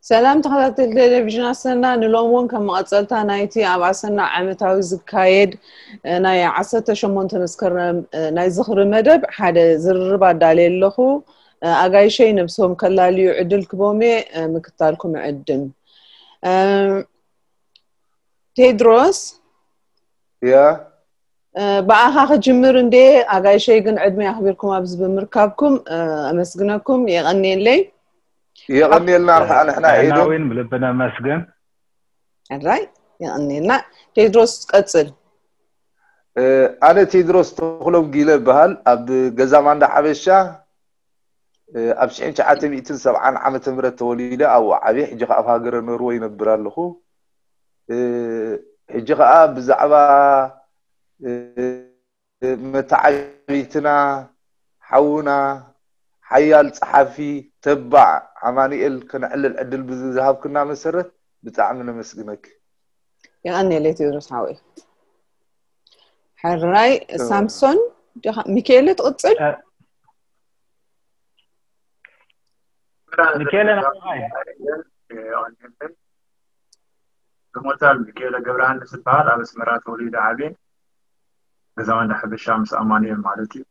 ሰላም ተኸታተልቲ ቴሌቪዥን ኣሰና፣ ንሎም እውን ከም መቐጸልታ ናይቲ ኣብ ኣሰና ዓመታዊ ዝካየድ፣ እ፣ ናይ ዓሰርተ ሸሞንተ መስከረም፣ እ፣ ናይ ዝኽሪ መደብ ሓደ ዝርርብ ኣዳልየ ኣለኹ። እ፣ ኣጋይሸይ ነብሶም ከላልዩ ዕድል ክቦም እየ፣ እ፣ ምክታልኩም እዕድም። እ፣ ቴድሮስ፣ ያ። እ፣ ብኣኻ ክጅምር እንዴ፣ ኣጋይሸይ ግን ዕድመ ኣኽቢርኩም ኣብዚ ብምርካብኩም፣ እ፣ ኣመስግነኩም፣ የቐንየለይ። የቐንየልና ኸዓ ንሕና ኤዶም። ናዊን ብልቢ ነመስግን። ሕራይ፣ የቐንየልና። ቴድሮስ፣ ቀጽል። እ፣ ኣነ ቴድሮስ ተኽሎም ጊለ እበሃል። ኣብ ገዛ ማንዳ ሓበሻ፣ እ፣ ኣብ ሽሕን ትሽዓተ ሚእትን ሰብዓን ዓመተ ምህረት ተወሊደ ኣብኡ ዓብየ። ሕጂ ኸዓ ኣብ ሃገረ ኖርወይ ይነብር ኣለኹ። እ፣ ሕጂ ኸዓ ብዛዕባ፣ እ፣ መተዓቢትና ሓውና ሓያል ጸሓፊ ተባዕ ኣማኑኤል ከነዕልል ዕድል ብዝሃብክና መሰረት ብጣዕሚ ነመስግነኪ። የቐንየለይ ቴድሮስ ሓወይ። ሕራይ፣ እ። ሳምሶን፣ ዲኻ-፣ ሚካኤለ ትቕጽል? እ። ሚካኤለ ናባይ? ዝሞታል ሚካኤለ ገብረሃንስ ዝበሃል ኣብ ኣስመራ ተወሊደ ዓብየ። ገዛ ማንዳ ሓበሻ ምስ ኣማኑኤል ማለት እዩ።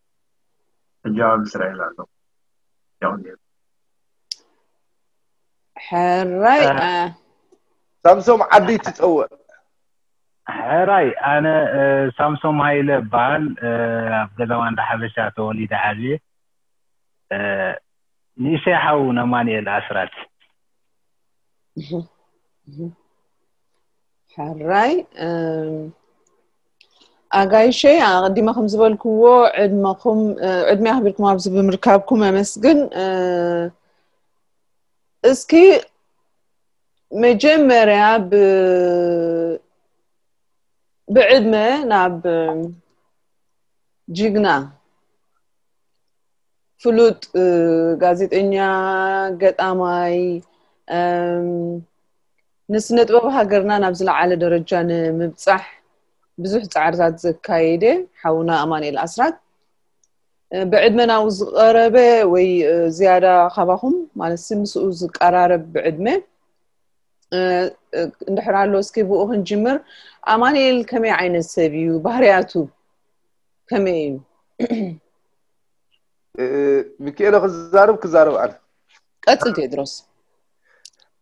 ሕጂ ኣብ እስራኤል ኣሎ። የቐንየለይ። ሕራይ፣ እ። እ። ሳምሶም ዓዲ ትጸውዕ። ሕራይ፣ ኣነ፣ እ፣ ሳምሶም ሃይለ እበሃል። እ፣ ኣብ ገዛ ማንዳ ሓበሻ ተወሊደ ዓብየ። እ፣ ንእሽተይ ሓው ነማንኤል ኣስራት። እህ፣ እህ። ሕራይ፣ እም፣ ኣጋይሸይ፣ ኣቐዲመ ከም ዝበልክዎ፣ ዕድመኹም፣ እ፣ ዕድመ ኣኽቢርኩም ኣብዚ ብምርካብኩም ኣመስግን። እ፣ እስኪ መጀመርያ ብ-፣ ብዕድመ ናብ፣ እም፣ ጅግና፣ ፍሉጥ፣ እ፣ ጋዜጠኛ፣ ገጣማይ፣ እም፣ ንስነ ጥበብ ሃገርና ናብ ዝለዓለ ደረጃ ንምብጻሕ ብዙሕ ጻዕርታት ዘካየደ ሓውና ኣማኑኤል ኣስራት፣ እ፣ ብዕድመ ናብኡ ዝቐረበ ወይ፣ እ፣ ዝያዳ ካባኹም፣ ማለት ሲ ምስኡ ዝቀራረብ ብዕድመ፣ እ፣ እ፣ እንድሕር ኣሎ፣ እስኪ ብኡ ክንጅምር። ኣማኑኤል ከመይ ዓይነት ሰብ እዩ? ባህርያቱ ከመይ እዩ? እ፣ ሚካኤለ ክዛረብ፣ ክዛረብ ኣነ። ቀጽል ቴድሮስ።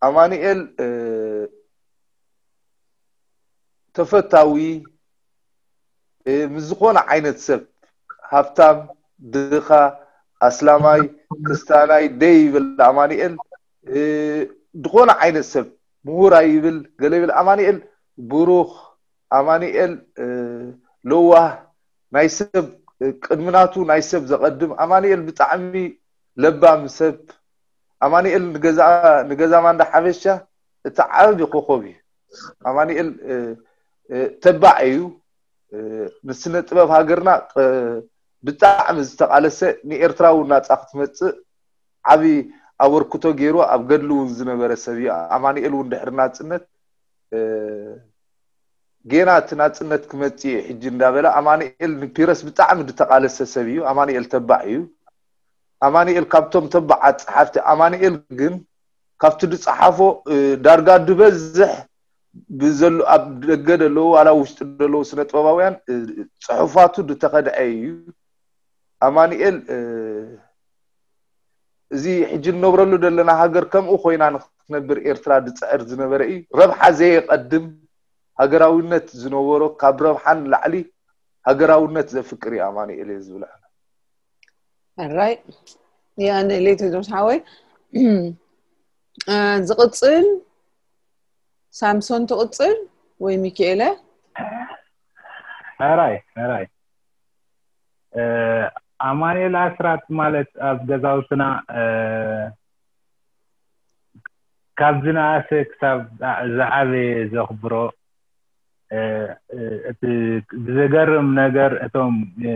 ኣማኑኤል፣ እ፣ ተፈታዊ፣ እ፣ ምስ ዝኾነ ዓይነት ሰብ፣ ሃብታም፣ ድኻ፣ ኣስላማይ፣ ክስታናይ ደይ ይብል ኣማኑኤል። እ፣ ዝኾነ ዓይነት ሰብ፣ ምሁር ኣይብል፣ ገለ ይብል። ኣማኑኤል ብሩኽ፣ ኣማኑኤል፣ እ፣ ለዋህ፣ ናይ ሰብ፣ እ፣ ቅድሚ ናቱ ናይ ሰብ ዘቐድም። ኣማኑኤል ብጣዕሚ ለባም ሰብ። ኣማኑኤል ንገዛ፣ ንገዛ ማንዳ ሓበሻ እቲ ዓቢ ኮኾብ እዩ። ኣማኑኤል፣ እ፣ እ፣ ተባዕ እዩ። እ፣ ንስነ ጥበብ ሃገርና፣ እ፣ ብጣዕሚ ዝተቓለሰ፣ ንኤርትራ እውን ናጻ ክትመጽእ ዓቢ ኣበርክቶ ገይሩ ኣብ ገድሊ እውን ዝነበረ ሰብ እዩ። ኣማኑኤል እውን ድሕሪ ናጽነት፣ እ፣ ጌና እቲ ናጽነት ክመጽእ እዩ ሕጂ እንዳበለ፣ ኣማኑኤል ንፒረስ ብጣዕሚ ዝተቓለሰ ሰብ እዩ። ኣማኑኤል ተባዕ እዩ። ኣማኑኤል ካብቶም ተባዓት ጸሓፍቲ፣ ኣማኑኤል ግን ካብቲ ዝጸሓፎ፣ እ፣ ዳርጋ ዝበዝሕ ብዘሎ፣ ኣብ ደገ ዘለዉ ዋላ ውሽጢ ዘለዉ ስነ ጥበባውያን፣ እ፣ ጽሑፋቱ ዝተኸድዐ እዩ። ኣማኑኤል፣ እ፣ እዚ ሕጂ እንነብረሉ ዘለና ሃገር ከምኡ ኮይና ንክትነብር ኤርትራ ዝጽዕር ዝነበረ እዩ። ረብሓ ዘየቐድም፣ ሃገራዊነት ዝነበሮ፣ ካብ ረብሓ ንላዕሊ ሃገራውነት ዘፍቅር እዩ ኣማኑኤል እየ ዝብል ኣነ። ሕራይ፣ የቐንየለይ ቴድሮስ ሓወይ። እ፣ ዝቕጽል ሳምሶን ትቕጽል ወይ ሚካኤለ? ሕራይ፣ ሕራይ። እ፣ ኣማኑኤል ኣስራት ማለት ኣብ ገዛውትና፣ እ፣ ካብ ዝነኣሰ ክሳብ ዝዓበየ ዘኽብሮ፣ እ፣ እ፣ እቲ ብዘገርም ነገር እቶም፣ እ፣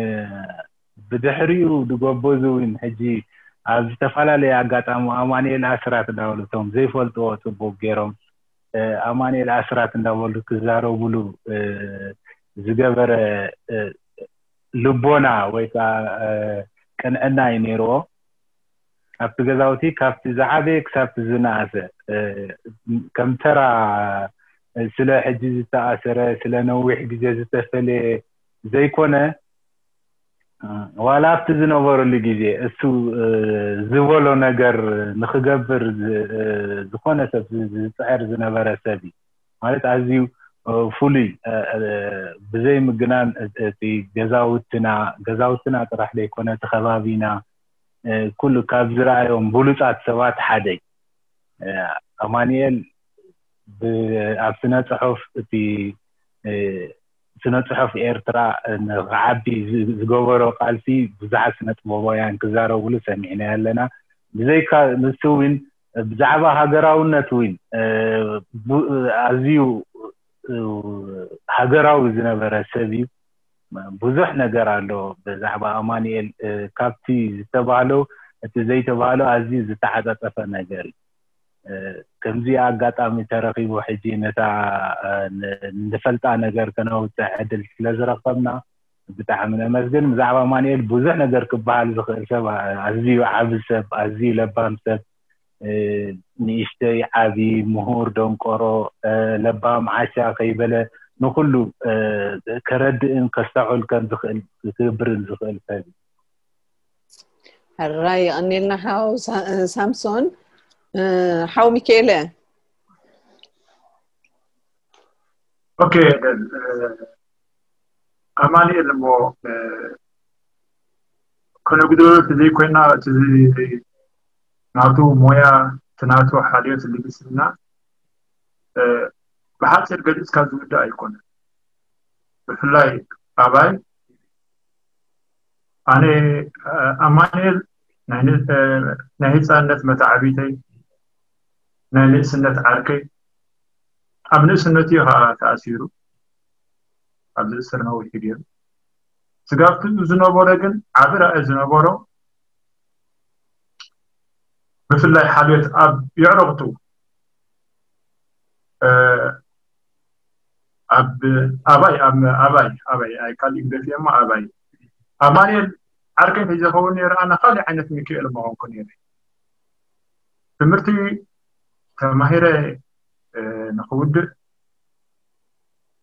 ብድሕሪኡ ዝጎበዙ እውን ሕጂ ኣብ ዝተፈላለየ ኣጋጣሚ ኣማኑኤል ኣስራት እንዳበሉ እቶም ዘይፈልጥዎ ጽቡቕ ገይሮም፣ እ፣ ኣማኑኤል ኣስራት እንዳበሉ ክዛረቡሉ፣ እ፣ ዝገበረ፣ እ፣ ልቦና ወይ ከዓ፣ እ፣ ቅንዕና እዩ ነይርዎ። ኣብቲ ገዛውቲ ካብቲ ዝዓበየ ክሳብቲ ዝነኣሰ ከም ተራ ስለ ሕጂ ዝተኣሰረ ስለ ነዊሕ ግዜ ዝተፈለየ ዘይኮነ፣ ዋላ ኣብቲ ዝነበረሉ ግዜ እሱ ዝበሎ ነገር ንክገብር ዝኾነ ሰብ ዝፅዕር ዝነበረ ሰብ እዩ። ማለት ኣዝዩ ፍሉይ፣ ብዘይ ምግናን እቲ ገዛውትና ገዛውትና ጥራሕ ዘይኮነ እቲ ከባቢና ኩሉ ካብ ዝረኣዮም ብሉፃት ሰባት ሓደ እዩ። ኣማኒኤል ኣብ ስነ ፅሑፍ እቲ ስነ ፅሑፍ ኤርትራ ንክዓቢ ዝገበሮ ቃልሲ ብዙሓት ስነ ጥበባውያን ክዛረብሉ ሰሚዕና ኣለና። ብዘይካ ንሱ እውን ብዛዕባ ሃገራውነት እውን ኣዝዩ ሃገራዊ ዝነበረ ሰብ እዩ። ብዙሕ ነገር ኣሎ ብዛዕባ ኣማኒኤል፣ ካብቲ ዝተባህሎ እቲ ዘይተባህሎ ኣዝዩ ዝተዓጻጸፈ ነገር እዩ። ከምዚ ኣጋጣሚ ተረኺቡ ሕጂ ነታ ንፈልጣ ነገር ከነውፅእ ዕድል ስለዝረኸብና ብጣዕሚ ነመስግን። ብዛዕባ ኣማኒኤል ብዙሕ ነገር ክበሃል ዝኽእል ሰብ፣ ኣዝዩ ዓቢ ሰብ፣ ኣዝዩ ለባም ሰብ፣ ንእሽተይ ዓቢ፣ ምሁር፣ ደንቆሮ፣ ለባም፣ ዓሻ ከይበለ ንኹሉ ከረድእን ከስተውዕል ከም ዝኽእል ክገብርን ዝኽእል ሰብ እዩ። ሕራይ የቐንየልና ሓው ሳምሶን። ሓው ሚካኤለ። ኦኬ፣ ኣማኒኤል እሞ ከነጉድሎ ዘይኮይና እቲ ናቱ ሞያ እቲ ናቱ ሓልዮት ልግስና ብሓፂር ገሊፅካ ዝውዳእ ኣይኮነን። ብፍላይ ኣባይ ኣነ ኣማኒኤል ናይ ህፃንነት መታዕቢተይ ናይ ንእስነት ዓርከይ ኣብ ንእስነቱ እዩ ከዓ ተኣሲሩ ኣብዚ እስር ነዊሑ ገይሩ ስጋብቲ ዝነበረ ግን ዓቢ ራእይ ዝነበሮ ብፍላይ ሓልዮት ኣብ የዕረቕቱ ኣብ ኣባይ ኣብ ኣባይ ኣባይ ኣይ ካልእ ገፊ እሞ ኣባይ ኣማኒኤል ዓርከይ ተዘኸውን ነይረ ኣነ ካልእ ዓይነት ሚካኤል መኾንኩ ነይረ ትምህርቲ ተማሂረ ንክውድእ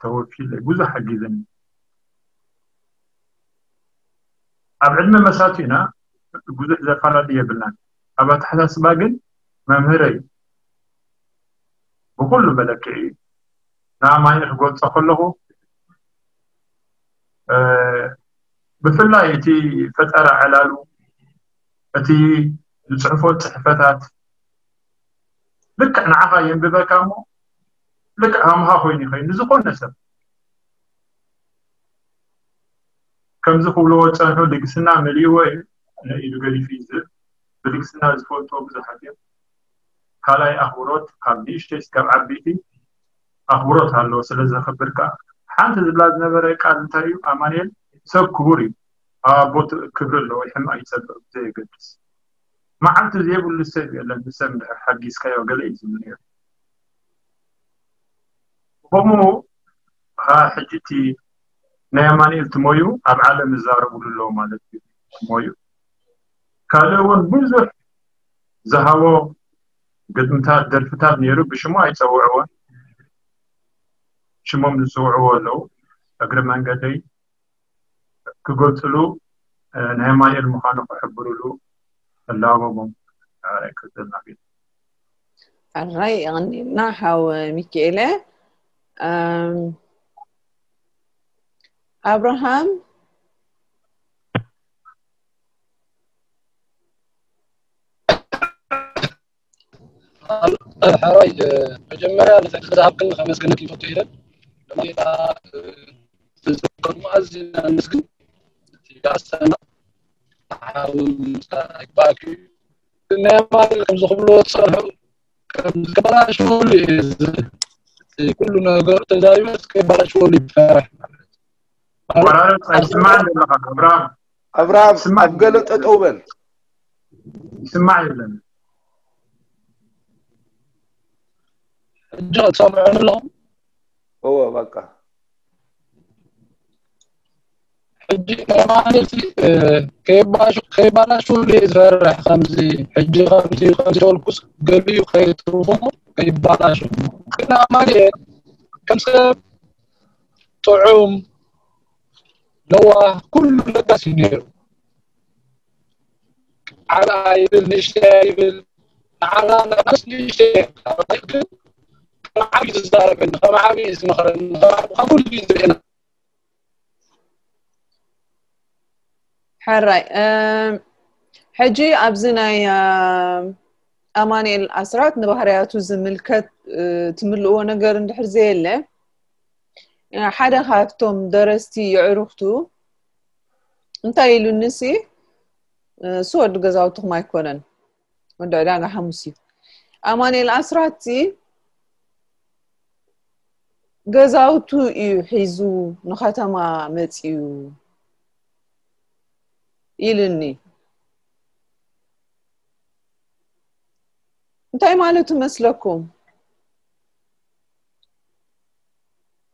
ተወኪለ ብዙሕ ሓጊዘኒ ኣብ ዕድመ መሳቱ ኢና ብዙሕ ዘፈላለ የብልናን ኣብ ኣተሓሳስባ ግን መምህረይ ብኩሉ መለክዒ ንኣማኒ ክገልፆ ከለኹ ብፍላይ እቲ ፈጠራ ዕላሉ እቲ ዝፅሕፎ ፅሕፈታት ልክዕ ንዓኻ የንብበካ እሞ ልክዕ ከምኻ ኮይኑ ይኸይኑ ዝኾነ ሰብ ከምዚ ክብልዎ ዝፀንሑ ልግስና መሊእዎ እዩ ኢሉ ገሊፉ እዩ ዝብል ብልግስና ዝፈልጥዎ ብዙሓት እዮም ካልኣይ ኣኽብሮት ካብ ንእሽተይ ስጋብ ዓበይቲ ኣኽብሮት ኣለዎ ስለ ዘኽብር ከዓ ሓንቲ ዝብላ ዝነበረ ቃል እንታይ እዩ ኣማንኤል ሰብ ክቡር እዩ ኣብ ኣቦቱ ክብሪ ኣለዎ ይሕማቕ ይፀብቕ ብዘየገድስ መዓልቲ ዘይብሉ ሰብ የለን ንሰብ እንድሕር ሓጊዝካዮ ገለ እዩ ዝብል ነይሩ ከምኡ ከዓ ሕጂ እቲ ናይ ኣማንኤል ትሞዩ ኣብ ዓለም ይዛረብሉ ኣለዉ ማለት እዩ ትሞዩ ካልእ እውን ብዙሕ ዝሃቦ ግጥምታት ደርፍታት ነይሩ ብሽሙ ኣይፀውዕዎን ሽሞም ዝፅውዕዎ ኣለዉ እግሪ መንገደይ ክገልፅሉ ናይ ኣማንኤል ምዃኑ ክሕብርሉ እላቦሞም ክፅልና ቤት ሕራይ የቐኒልና ሓው ሚካኤለ ኣብርሃም ሕራይ መጀመርያ ነቲ ዕድል ዝሃብክኒ ከመስግነኪ ይፈቱ ኢለን ጌታ ዝተዘከሩ ኣዝና ነመስግን ጋሰና ሓውን ይግባእክ ናይ ኣማኑኤል ከምዚ ክብልዎ ዝፀንሑ ከምዚ ከበላሽወሉ እየ ኩሉ ነገሩ ተዛሪበ ከበላሽወሉ ይፈራሕ ማለት ማለት ኣይስማዕን ዘለኻ ኣብርሃም ኣብርሃም ኣብ ገለ ጠጠው በል ይስማዕ የለን ሕጂ ክትሰምዑ ኣለኹም እወ በቃ ሕጂ ናይ ኣማኑኤል ከይባላሽወሉ እየ ዝፈርሕ። ከምዚ ሕጂ ከምዚ ከምዚ በልኩስ ገሊኡ ከይትርፎ ከይባላሽው። ግን ኣማኑኤል ከም ሰብ ጥዑም፣ ለዋህ፣ ኩሉ ለጋስ እዩ ነይሩ። ዓብኣ ይብል፣ ንእሽተያ ይብል፣ ንዓና ንኣስ ንእሽተያ ግን ከም ዓብዪ ዝዛረበኒ፣ ከም ዓብዪ ዝመኽረኒ፣ ከም ዓብዪ ካብ ኩሉ እዩ ዝርእየና። ሕራይ ሕጂ ኣብዚ ናይ ኣማኑኤል ኣስራት ንባህርያቱ ዝምልከት ትምልእዎ ነገር እንድሕር ዘየለ ሓደ ካብቶም ደረስቲ የዕሩኽቱ እንታይ ኢሉኒ ሲ እሱ ወዲ ገዛውትኹም ኣይኮነን ወዲ ዕዳጋ ሓሙስ እዩ ኣማኑኤል ኣስራት ገዛውቱ እዩ ሒዙ ንከተማ መፅዩ ኢልኒ እንታይ ማለቱ መስለኩም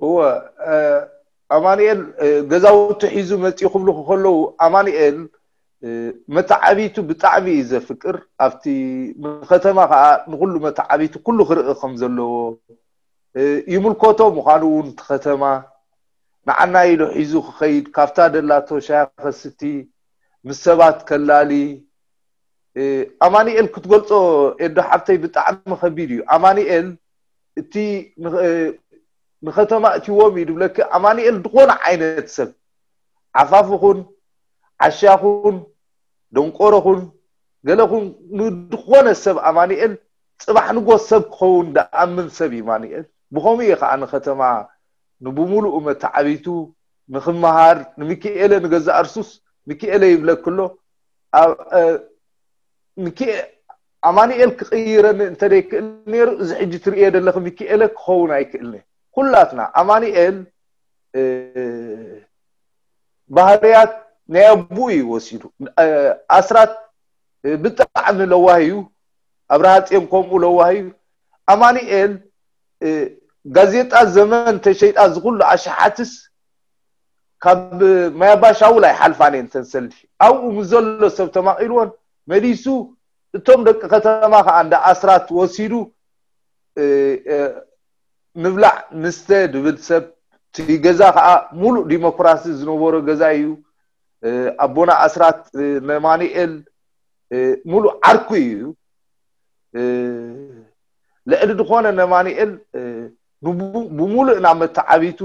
እወ ኣማኑኤል ገዛውቱ ሒዙ መፅኡ ክብሉ ከለዉ ኣማኑኤል መተዓቢቱ ብጣዕሚ እዩ ዘፍቅር ኣብቲ ንከተማ ከዓ ንኩሉ መተዓቢቱ ኩሉ ክርኢ ከም ዘለዎ ይምልከቶ ምዃኑ እውን እቲ ከተማ ንዓና ኢሉ ሒዙ ክኸይድ ካብታ ደላቶ ሻያ ከስቲ ምስ ሰባት ከላሊ ኣማኒኤል ክትገልጾ ኤዶ ሓብተይ ብጣዕሚ ከቢድ እዩ ኣማኒኤል እቲ ንኸተማ እትዎም እዩ ድብለኪ ኣማኒኤል ዝኾነ ዓይነት ሰብ ዓፋፍ ኹን ዓሻ ኹን ደንቆሮ ኹን ገለ ኹን ንድኾነ ሰብ ኣማኒኤል ጽባሕ ንጎ ሰብ ክኸውን ደኣምን ሰብ እዩ ማኒኤል ብኸምኡ እዩ ከዓ ንኸተማ ንብሙሉኡ መተዓቢቱ ንኽመሃር ንሚኪኤለ ንገዛእ እርሱስ ሚኪኤለ ይብለክሎ ኣማኒኤል ክቕይረኒ እንተደይክእል ነይሩ እዚ ሕጂ ትርእዮ ዘለኺ ሚኪኤለ ክኸውን ኣይክእልኒ ኩላትና ኣማኒኤል ባህርያት ናይ ኣቡኡ እዩ ወሲዱ ኣስራት ብጣዕሚ ለዋህ እዩ ኣብርሃ ፅዮን ከምኡ ለዋህ እዩ ኣማኒኤል ጋዜጣ ዘመን ተሸይጣ ዝኩሉ ኣሽሓትስ ካብ ማያባሻውል ኣይሓልፋን እየን ተንሰልዲ ኣብኡ ምስ ዘሎ ሰብ ተማቒልዎን መሊሱ እቶም ደቂ ከተማ ከዓ እንዳ ኣስራት ወሲዱ ንብላዕ ንስተ ድብል ሰብ እቲ ገዛ ከዓ ሙሉእ ዲሞክራሲ ዝነበሮ ገዛ እዩ ኣቦና ኣስራት ነማኒኤል ሙሉእ ዓርኩ እዩ ልዕሊ ዝኾነ ነማኒኤል ብሙሉእ ናብ መተዓቢቱ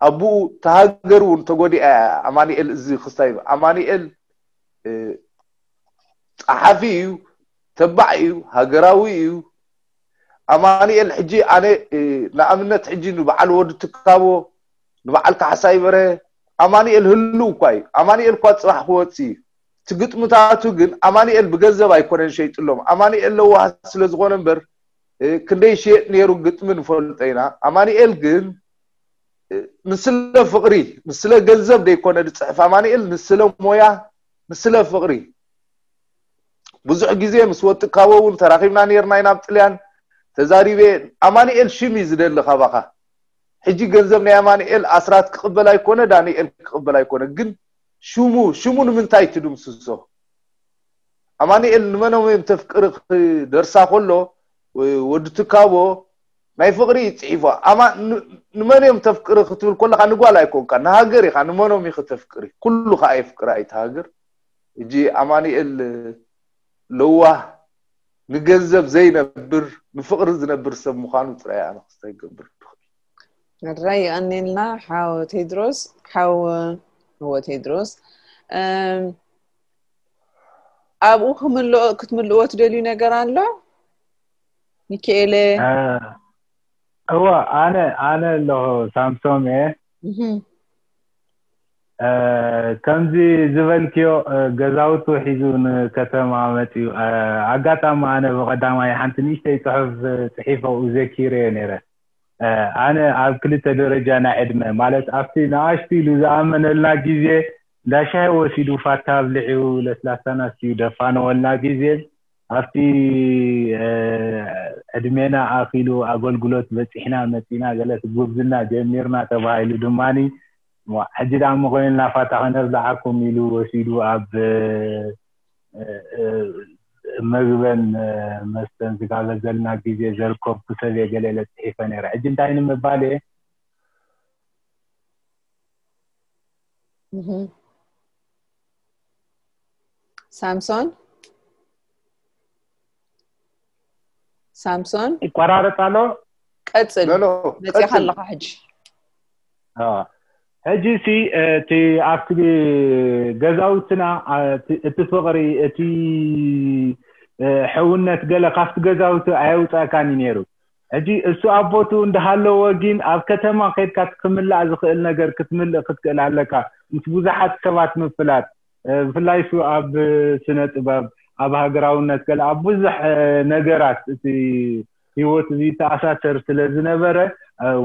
ኣቡኡ ተሃገር እውን ተጎዲኣ ኣማኒኤል እዚ ክስታይ ኣማኒኤል ፀሓፊ እዩ ተባዕ እዩ ሃገራዊ እዩ ኣማኒኤል ሕጂ ኣነ ንኣብነት ሕጂ ንበዓል ወዲ ትካቦ ንበዓል ካሕሳይ በርሀ ኣማኒኤል ህልው እኳ እዩ ኣማኒኤል እኳ ፅባሕ ክወፅ እዩ እቲ ግጥምታቱ ግን ኣማኒኤል ብገንዘብ ኣይኮነን ሸይጥሎም ኣማኒኤል ለዋህ ስለዝኾነ እምበር ክንደይ ሽየጥ ነይሩ ግጥሚ ንፈልጦ ኢና ኣማኒኤል ግን ንስለ ፍቕሪ ንስለ ገንዘብ ደይኮነ ዝፅሕፍ ኣማኒኤል ንስለ ሞያ ንስለ ፍቕሪ ብዙሕ ግዜ ምስ ወጥካቦ እውን ተራኺብና ነርና ኢና ኣብ ጥልያን ተዛሪበ ኣማኒኤል ሽም እዩ ዝደሊ ካባኻ ሕጂ ገንዘብ ናይ ኣማኒኤል ኣስራት ክቕበል ኣይኮነ ዳኒኤል ክቕበል ኣይኮነ ግን ሽሙ ሽሙ ንምንታይ ትድምስሶ ኣማኒኤል ንመኖም እዮም ተፍቅሪ ክደርሳ ከሎ ወዲ ትካቦ ናይ ፍቅሪ እዩ ፅሒፎ ኣማ ንመን እዮም ተፍቅሪ ክትብል ከለካ ንጓል ኣይኮንካ ንሃገር ኢካ ንመኖም ኢኪ ተፍቅሪ ኩሉ ከዓ የፍቅራ እዩ ሃገር እጂ ኣማኒኤል ለዋህ ንገንዘብ ዘይነብር ንፍቅሪ ዝነብር ሰብ ምኳኑ ጥራይ ኣነ ክስታይ ክገብር ትኽእል ራይ ኣኔልና ሓው ቴድሮስ ሓው እዎ ቴድሮስ ኣብኡ ክምልኦ ክትምልእዎ ትደልዩ ነገር ኣሎ ሚካኤለ እወ ኣነ ኣነ ኣለኹ ሳምሶም እየ ከምዚ ዝበልክዮ ገዛውቱ ሒዙ ንከተማ መፅዩ ኣጋጣሚ ኣነ ብቀዳማይ ሓንቲ ንእሽተይ ፅሑፍ ፅሒፈ ዘኪረዮ ነይረ ኣነ ኣብ ክልተ ደረጃ ናይ ዕድመ ማለት ኣብቲ ንኣሽቱ ኢሉ ዝኣመነልና ግዜ እንዳሻሂ ወሲዱ ፋታ ኣብልዕዩ ለስላሳና ስዩ ደፋነወልና ግዜ ኣብቲ ዕድሜና ኣኪሉ ኣገልግሎት በፂሕና መፂና ገለ ጉብዝና ጀሚርና ተባሂሉ ድማ ሕጂ ደኣ እሞ ኮይንና ፋታ ከነብልዓኩም ኢሉ ወሲዱ ኣብ መግበን መስተን ዝጋበዘልና ግዜ ዘርከብኩ ሰብ እየ ገለ ኢለ ጽሒፈ ነይረ። ሕጂ እንታይ ንምባል እየ? ሳምሶን ሳምሶን ይቆራረጥ ኣሎ። ቀጽል። መጽኻ ኣለኻ ሕጂ። ሕጂ ሲ እቲ ኣብቲ ገዛውትና እቲ ፍቕሪ፣ እቲ ሕውነት ገለ ካብቲ ገዛውቲ ኣየውፃእካን እዩ ነይሩ። ሕጂ እሱ ኣብ ቦትኡ እንዳሃለወ ግን ኣብ ከተማ ከይድካ ክምላእ ዝኽእል ነገር ክትምልእ ክትክእል ኣለካ። ምስ ብዙሓት ሰባት ምፍላጥ፣ ብፍላይ እሱ ኣብ ስነ ጥበብ፣ ኣብ ሃገራውነት ገለ ኣብ ብዙሕ ነገራት እቲ ህይወት እዚ ተኣሳሰር ስለ ዝነበረ፣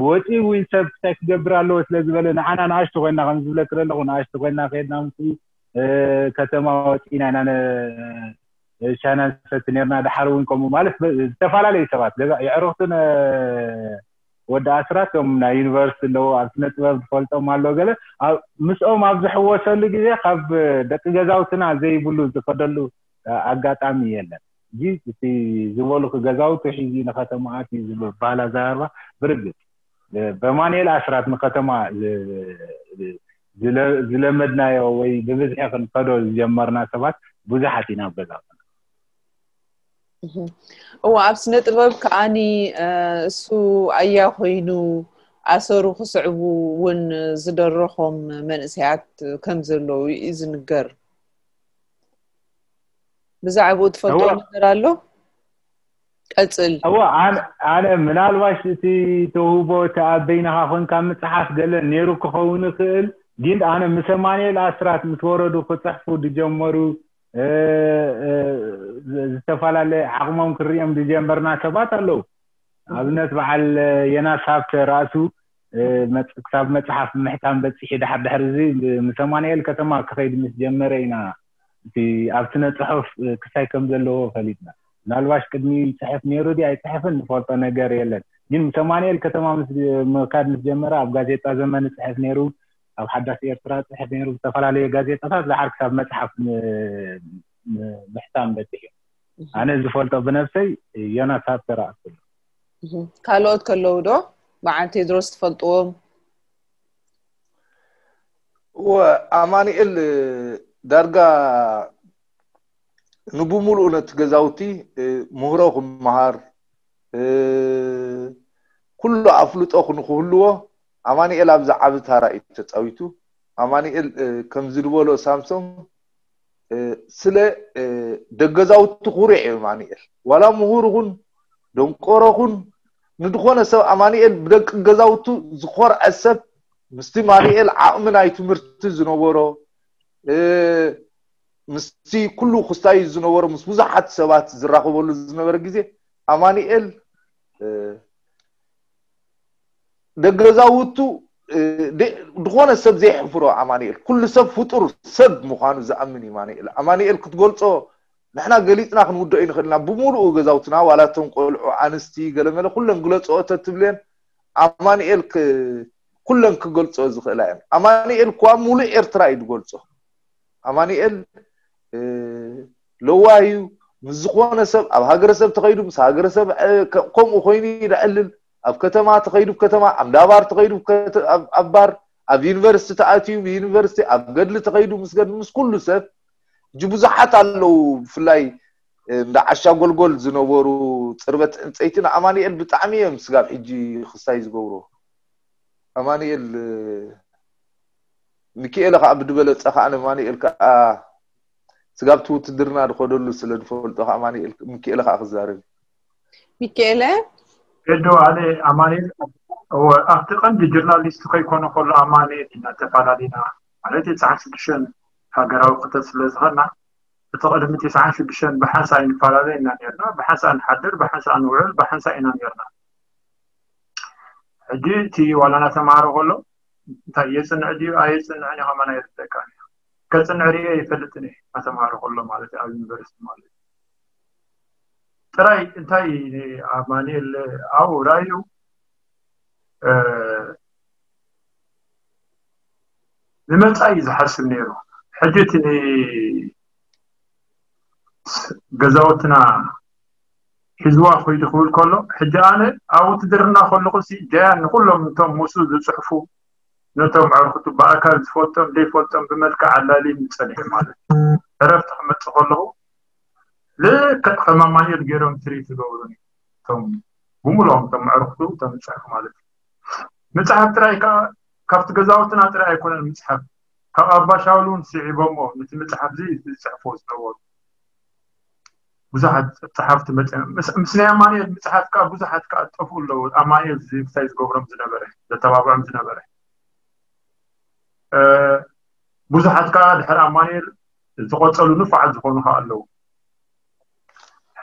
ወፂኡ እውን ሰብ ክታይ ክገብር ኣለዎ ስለ ዝበለ ንዓና ንኣሽቱ ኮይና ከም ዝብለክ ዘለኹ ንኣሽቱ ኮይና ከይድና ምስ ከተማ ወፂና ኢና ሻና ንሰቲ ነርና። ድሓር እውን ከምኡ ማለት ዝተፈላለዩ ሰባት ገዛ የዕሩኽትን ወዲ ኣስራት ቶም ናይ ዩኒቨርሲቲ ኣለዎ ኣብ ስነ ጥበብ ዝፈልጦም ኣሎ ገለ ምስኦም ኣብ ዝሕወሰሉ ግዜ ካብ ደቂ ገዛውትና ዘይብሉ ዝኸደሉ ኣጋጣሚ የለን። እዚ እቲ ዝበሉክ ገዛውቲ ሒዚ ንከተማ ኣትዩ ዝብል ባህላ ዘረባ ብርግጽ በማንኤል ኣስራት ንከተማ ዝለመድናዮ ወይ ብብዝሒ ክንከዶ ዝጀመርና ሰባት ብዙሓት ኢና ኣብ ገዛውትና። እዎ ኣብ ስነ ጥበብ ከዓኒ እሱ ኣያ ኮይኑ ኣሰሩ ክስዕቡ እውን ዝደረኾም መንእሰያት ከም ዘለዉ እዩ ዝንገር። ብዛዕባኡ ትፈልጦ ነገር ኣሎ? ቀጽል። እዎ ኣነ ምናልባሽ እቲ ተውህቦ እቲ ኣብ በይንኻ ኮንካ ምጽሓፍ ገለ ነይሩ ክኸውን ይኽእል፣ ግን ኣነ ምስ ኣማኑኤል ኣስራት ምስ ወረዱ ክጽሕፉ ዝጀመሩ ዝተፈላለየ ዓቕሞም ክርእዮም ዝጀመርና ሰባት ኣለዉ። ኣብነት በዓል የናስ ሃብተ ራእሱ ክሳብ መጽሓፍ ምሕታም በጺሑ ድሓር ድሕሪ እዚ ምስ ኣማኑኤል ከተማ ክኸይድ ምስ ጀመረ ኢና እቲ ኣብ ስነ ጽሑፍ ክሳይ ከም ዘለዎ ፈሊጥና። ምናልባሽ ቅድሚ ይጽሕፍ ነይሩ ድዩ ኣይጽሕፍን ንፈልጦ ነገር የለን። ግን ምስ ኣማኑኤል ከተማ ምስ ምኻድ ምስ ጀመረ ኣብ ጋዜጣ ዘመን ይጽሕፍ ነይሩ፣ ኣብ ሓዳስ ኤርትራ ይጽሕፍ ነይሩ፣ ዝተፈላለዩ ጋዜጣታት ድሓር ክሳብ መጽሓፍ ምሕታም በጺሑ። ኣነ ዝፈልጦ ብነብሰይ ዮናስ ሃብተ ራእሱ። ካልኦት ከለዉ ዶ በዓል ቴድሮስ ትፈልጥዎም? እወ ኣማኑኤል ዳርጋ ንብሙሉኡ ነቲ ገዛውቲ ምህሮ ክመሃር ኩሉ ኣፍልጦ ንክህልዎ ኣማኑኤል ኣብዚ ዓቢ ታራ እዩ ተፃዊቱ። ኣማኑኤል ከምዚ ዝበሎ ሳምሶን ስለ ደገዛውቲ ኩሩዕ እዩ ኣማኑኤል። ዋላ ምሁር ኹን ደንቆሮ ኹን ንድኾነ ሰብ ኣማኑኤል ብደቂ ገዛውቱ ዝኾርዐ ሰብ ምስቲ ኣማኑኤል ዓቕሚ ናይ ትምህርቲ ዝነበሮ ምስቲ ኩሉ ክስታይ ዝነበሮ ምስ ብዙሓት ሰባት ዝራኸበሉ ዝነበረ ግዜ ኣማኑኤል ደገዛውቱ ዝኾነ ሰብ ዘይሕፍሮ ኣማኑኤል ኩሉ ሰብ ፍጡር ሰብ ምዃኑ ዝኣምን እዩ ኣማኑኤል። ኣማኑኤል ክትገልጾ ንሕና ገሊጽና ክንውደኦ ይንኽእል ኢና ብምሉኡ ገዛውትና ዋላ እቶም ቆልዑ ኣንስቲ ገለመለ ኩለን ግለጽኦ ተትብልየን ኣማኑኤል ኩለን ክገልጾ ዝኽእላ እየን። ኣማኑኤል እኳ ሙሉእ ኤርትራ እዩ ዝገልጾ። ኣማኑኤል ለዋህ እዩ። ምስ ዝኾነ ሰብ ኣብ ሃገረሰብ ተኸይዱ ምስ ሃገረሰብ ከምኡ ኮይኑ ይዕልል። ኣብ ከተማ ተኸይዱ ከተማ ኣብ ዳባር ተኸይዱ ኣብ ባር ኣብ ዩኒቨርሲቲ ተኣትዩ ብዩኒቨርሲቲ ኣብ ገድሊ ተኸይዱ ምስ ገድሊ ምስ ኩሉ ሰብ እጂ ብዙሓት ኣለዉ። ብፍላይ እንዳ ዓሻ ጎልጎል ዝነበሩ ፅርበት ዕንፀይቲ ንኣማኑኤል ብጣዕሚ እዮም ስጋብ ሕጂ ክስታይ ዝገብሩ። ኣማኑኤል ሚኪኤለ ከዓ ብድበለፀ ከዓ ንኣማኑኤል ከዓ ስጋብቲ ውትድርና ዝኸደሉ ስለ ዝፈልጦ ከዓ ኣማኑኤል ሚኪኤለ ከዓ ክዛረብ እዩ። ሚኪኤለ ኤዶ ኣነ ኣማኑኤል ኣብቲ ቀንዲ ጀርናሊስት ከይኮነ ከሎ ኣማኑኤል ኢና ተፈላለና ማለት እዩ። ትስዓን ሽዱሽተን ሃገራዊ ክተት ስለ ዝኸና እቲ ቅድሚ ትስዓን ሽዱሽተን ብሓንሳእ ንፈላለ ኢና ነርና። ብሓንሳእ ንሓድር፣ ብሓንሳእ ንውዕል፣ ብሓንሳእ ኢና ነርና። ሕጂ እቲ ዋላ ናተምሃረ ከሎ እንታይ የፅንዕ ድዩ ኣየፅንዕን እዩ ከማን ኣይርደካን እዩ። ከፅንዕ ርየ ይፈልጥን እየ ናተምሃረ ከሎ ማለት እዩ ኣብ ዩኒቨርሲቲ ማለት እዩ። ጥራይ እንታይ ኣማኑኤል ኣብኡ ራእዩ ንመጻኢ ዝሓስብ ነይሩ። ሕጂ እቲ ገዛውትና ሒዝዋ ኮይዱ ክብል ከሎ፣ ሕጂ ኣነ ኣብ ውትድርና ከለኹ ሲ ጃያን ንኩሎም እቶም ምስኡ ዝጽሕፉ፣ ነቶም ኣዕርክቱ ብኣካል ዝፈልጦም ዘይፈልጦም ብመልክዕ ኣላልዩ ምጸንሐ ማለት እዩ። ዕረፍቲ ክመጽእ ከለኹ ልክዕ ከም ኣማኑኤል ገይሮም ትሪት ዝገብሩኒ እቶም ብምሉኦም እቶም ኣዕርክቱ እቶም ዝጽሕፉ ማለት እዩ። ምጽሓፍ ጥራይ ከዓ ካብቲ ገዛውትና ጥራይ ኣይኮነን ምጽሓፍ፣ ካብ ኣባ ሻውል እውን ስዒቦሞ ነቲ ምጽሓፍ እዚ ዝጽሕፎ ዝነበሩ ብዙሓት ጸሓፍቲ መጽ ምስ ናይ ኣማኑኤል ምጽሓፍ ከዓ ብዙሓት ከዓ ጠፍኡ ኣለዉ። ኣማኑኤል ዝብታይ ዝገብሮም ዝነበረ ዘተባብዖም ዝነበረ ብዙሓት ከዓ ድሕሪ ኣማኑኤል ዝተቆጸሉ ንፋዓት ዝኾኑ ከዓ ኣለዉ።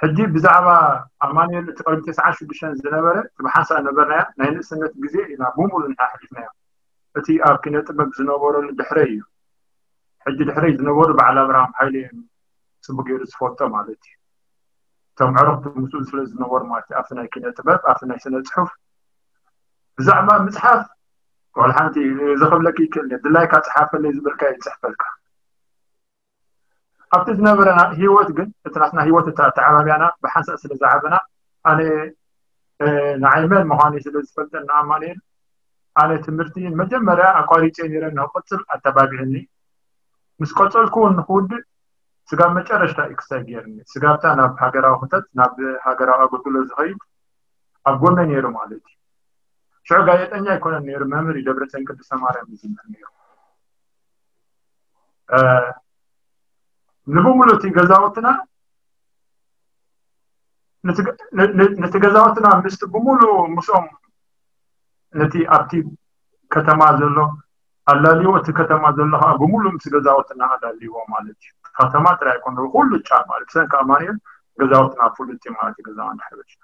ሕጂ ብዛዕባ ኣማኑኤል እቲ ቅድሚ ተስዓን ሽዱሽተን ዝነበረ እቲ ብሓንሳእ ነበርናያ ናይ ንእስነት ግዜ ኢና ብምሉ ንሓሕሊፍናዮ። እቲ ኣብ ኪነ ጥበብ ዝነበረሉ ድሕረይ እዩ። ሕጂ ድሕረይ ዝነበሩ በዓል ኣብርሃም ሓይለ እዮም ጽቡቅ ገይሩ ዝፈልጦ ማለት እዩ። እቶም ዕርክቱ ምስኡ ስለ ዝነበሩ ማለት እዩ ኣብቲ ናይ ኪነ ጥበብ ኣብቲ ናይ ስነ ጽሑፍ ብዛዕባ ምጽሓፍ ዋላ ሓንቲ እዚ ክብለኪ ይክእል ድላይካ ጽሓፈለይ ዝበልካ ይጽሕፈልካ። ኣብቲ ዝነበረና ህይወት ግን እቲ ናትና ህይወት እታ ኣተዓባብያና ብሓንሳእ ስለ ዝዓበና ኣነ ንዓይ መን ምዃነይ ስለ ዝፈልጠኒ ኣማኑኤል ኣነ ትምህርቲ መጀመርያ ኣቋሪፀ ነይረ ንክቅፅል ኣተባቢዕኒ ምስ ቀፀልኩ እውን ንክውድእ ስጋብ መጨረሽታ እዩ ክሳይ ገይርኒ ስጋብታ ናብ ሃገራዊ ክተት ናብ ሃገራዊ ኣገልግሎት ዝኸይድ ኣብ ጎነ ነይሩ ማለት እዩ ሽዑ ጋዜጠኛ ኣይኮነን ነይሩ መምህር እዩ ደብረፅዮን ቅድስተ ማርያም ዝምህር ነይሩ ንብሙሉ እቲ ገዛውትና ነቲ ገዛውትና ምስቲ ብሙሉ ምስኦም ነቲ ኣብቲ ከተማ ዘሎ ኣላልዎ እቲ ከተማ ዘሎ ከዓ ብሙሉ ምስ ገዛውትና ኣላልዎ ማለት እዩ። ከተማ ጥራይ ኣይኮነ ኩሉ ጫፍ ማለት ብሰንኪ ኣማኑኤል ገዛውትና ፍሉጥ እዩ ማለት እዩ። ገዛና እንድሕር በጅና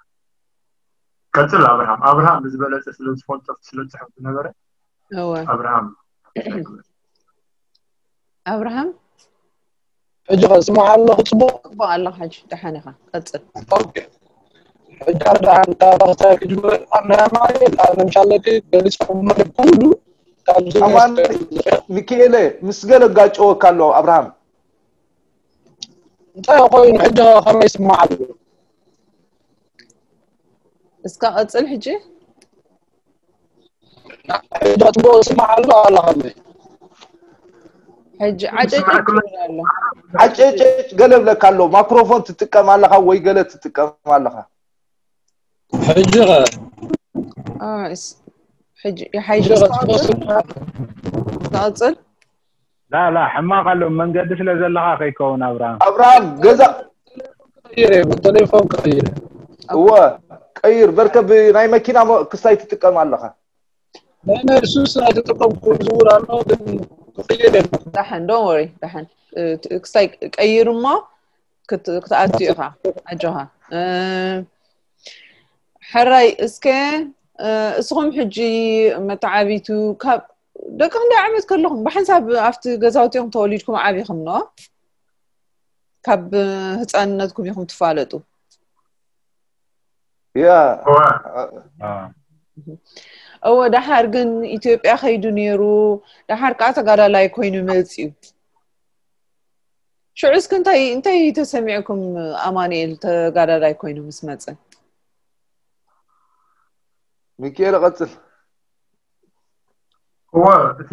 ቀፅል ኣብርሃም ኣብርሃም ብዝበለፀ ስለ ዝፈልጦ ስለ ዝፅሕፍ ዝነበረ እወ ኣብርሃም ኣብርሃም ሕጂ ከስማዕ ኣለኹ። ፅቡቅ ፅቡቅ ኣለኻ። ሕጂ ደሓን ኢኻ ቀፅል። ኦኬ ሕጂ ኣርዳ ኣንታ ባኽታ ክጅመር ኣና ማለት ኣነ ምሻለቲ ገሊጽ ማለት ኩሉ ካብዚ ኣማን ሚኪኤለ ምስ ገለ ጋጨወካ ኣሎ ኣብርሃም። እንታይ ኮይኑ ሕጂ ከመይ ይስማዕ ኣሎ? እስካ ቀፅል ሕጂ። ሕጂ ጽቡቅ ይስማዕ ኣሎ ኣላ ከመይ? ሕጂ ዓጨጭ ይብል ኣሎ። ዓጨጨጭ ገለ ብለካ ኣሎ። ማክሮፎን ትጥቀም ኣለኻ ወይ ገለ ትጥቀም ኣለኻ? ሕጂ ኸ? ኣስ ሕጂ ይሓይሽ እስካ ቀፅል። እስካ ቀፅል። ላ ላ ሕማቕ ኣሎ መንገዲ ስለ ዘለኻ ከይከውን ኣብርሃም ኣብርሃም ገዛ ቀይረ ብቴሌፎን ቀይረ እወ ቀይር በርከ ብናይ መኪና ሞ- ክስታይ ትጥቀም ኣለኻ ናይ ናይ ሱስ ኣይተጠቀምኩ ዝውር ኣሎ ግን ክቅይር የለ ዳሕን don't worry ዳሕን ክስታይ ቀይር እሞ ክት- ክትኣቱ ኢኻ ኣጆኻ እ፣ ሕራይ እስከ እ፣ እስኹም ሕጂ መተዓቢቱ ካብ ደቂ ክንደይ ዓመት ከለኹም ብሓንሳብ ኣብቲ ገዛውቲ ኢኹም ተወሊድኩም ዓቢኹም ኖ ካብ ህፃንነትኩም ኢኹም ትፋለጡ ያ እወ ደሓር ግን ኢትዮጵያ ከይዱ ነይሩ ደሓር ከዓ ተጋዳላይ ኮይኑ መፅዩ ሽዑ እስከ እንታይ እንታይ ተሰሚዕኩም ኣማኑኤል ተጋዳላይ ኮይኑ ምስ መፀ ሚኪኤል ቀፅል እወ እቲ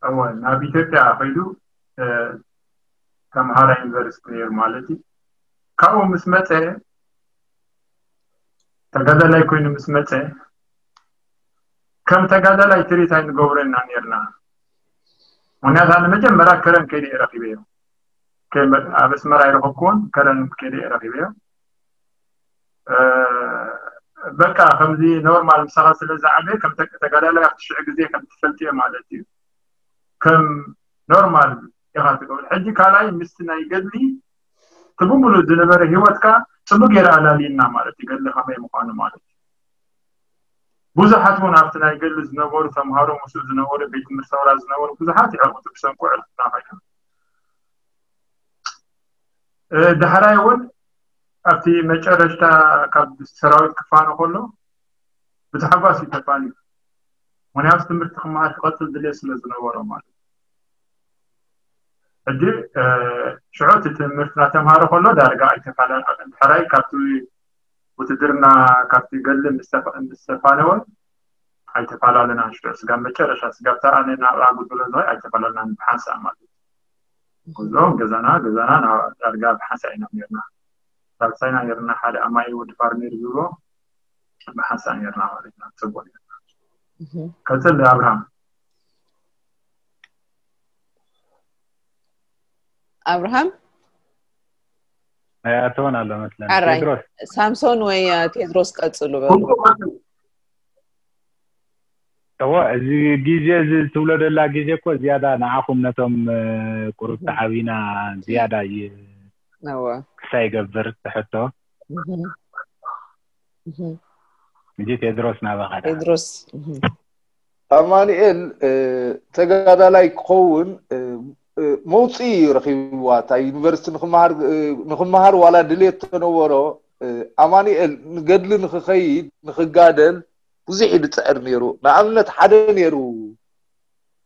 እወ ናብ ኢትዮጵያ ከይዱ ተምሃራይ ዩኒቨርሲቲ ነይሩ ማለት እዩ ካብኡ ምስ መፀ ተጋዳላይ ኮይኑ ምስ መፀ ከም ተጋዳላይ ትሪት ኣይንገብሮ ኢና ነርና ምክንያቱ ኣነ መጀመርያ ከረን ከይደ ረኪበዮ ኣብ ኣስመራ ይረኸብኩዎን ከረን ከይደ ረኪበዮ በቃ ከምዚ ኖርማል ምሳኻ ስለ ዝዓበየ ከም ተጋዳላይ ኣብቲ ሽዑ ግዜ ከም ትፈልጥዮ ማለት እዩ ከም ኖርማል ኢኻ ትገብር ሕጂ ካልኣይ ምስቲ ናይ ገድሊ እቲ ብምሉእ ዝነበረ ሂወትካ ፅቡቅ ገይረ ኣላልየና ማለት እዩ ገድሊ ከመይ ምኳኑ ማለት እዩ ብዙሓት እውን ኣብቲ ናይ ገድሊ ዝነበሩ ተምሃሮ ምስኡ ዝነበሩ ቤት ትምህርቲ ሰውራ ዝነበሩ ብዙሓት ይዕርቁ ብሰንኩ ዕርቁና ኮይኖም ዳሕራይ እውን ኣብቲ መጨረሽታ ካብ ሰራዊት ክፋኖ ከሎ ብታሕጓስ እዩ ተፋንዩ ምክንያቱ ትምህርቲ ክመሃር ክቐፅል ድልየት ስለ ዝነበሮ ማለት እዩ። ሕጂ ሽዑ እቲ ትምህርቲ እናተምሃረ ከሎ ዳርጋ ኣይተፈላለን። ድሕራይ ካብቲ ውትድርና ካብቲ ገድሊ ምስ ተፋነወ ኣይተፈላለናን። ሽዑ ስጋብ መጨረሻ ስጋብ ተኣነ ናብ ኣጉድሎ ዝኸ ኣይተፈላለናን ብሓንሳእ ማለት እዩ። ጉዞ ገዛና ገዛና ናብ ዳርጋ ብሓንሳእ ኢና ነርና። ሳልሳይና ነርና ሓደ ኣማይ ወዲ ፋርሜር ዝብሎ ብሓንሳእ ነርና ማለት ኢና። ፅቡቅ ነርና። ቀፅል ኣብርሃም። ኣብርሃም ኣይኣተወን ኣሎ መስለኒ። ኣራይ ቴድሮስ ሳምሶን ወይ ቴድሮስ ቀፅሉ በሉ። እዎ፣ እዚ ግዜ እዚ ትብሎ ደላ ግዜ እኮ ዝያዳ ንዓኹም ነቶም ቁሩብ ተዓቢና ዝያዳ እዩ እወ ክሳይ ይገብር ትሕቶ። እህ፣ እህ። እንጂ ቴድሮስ ናባኻ ደኣ። ቴድሮስ እህ። ኣማኑኤል ተጋዳላይ ክኸውን መውፅኢ እዩ ረኺብዋ። እታ ዩኒቨርሲቲ ንክመሃር ዋላ ድሌት ተነበሮ፣ ኣማኑኤል ንገድሊ ንክኸይድ ንክጋደል ብዙሕ እዩ ዝፅዕር ነይሩ። ንኣብነት ሓደ ነይሩ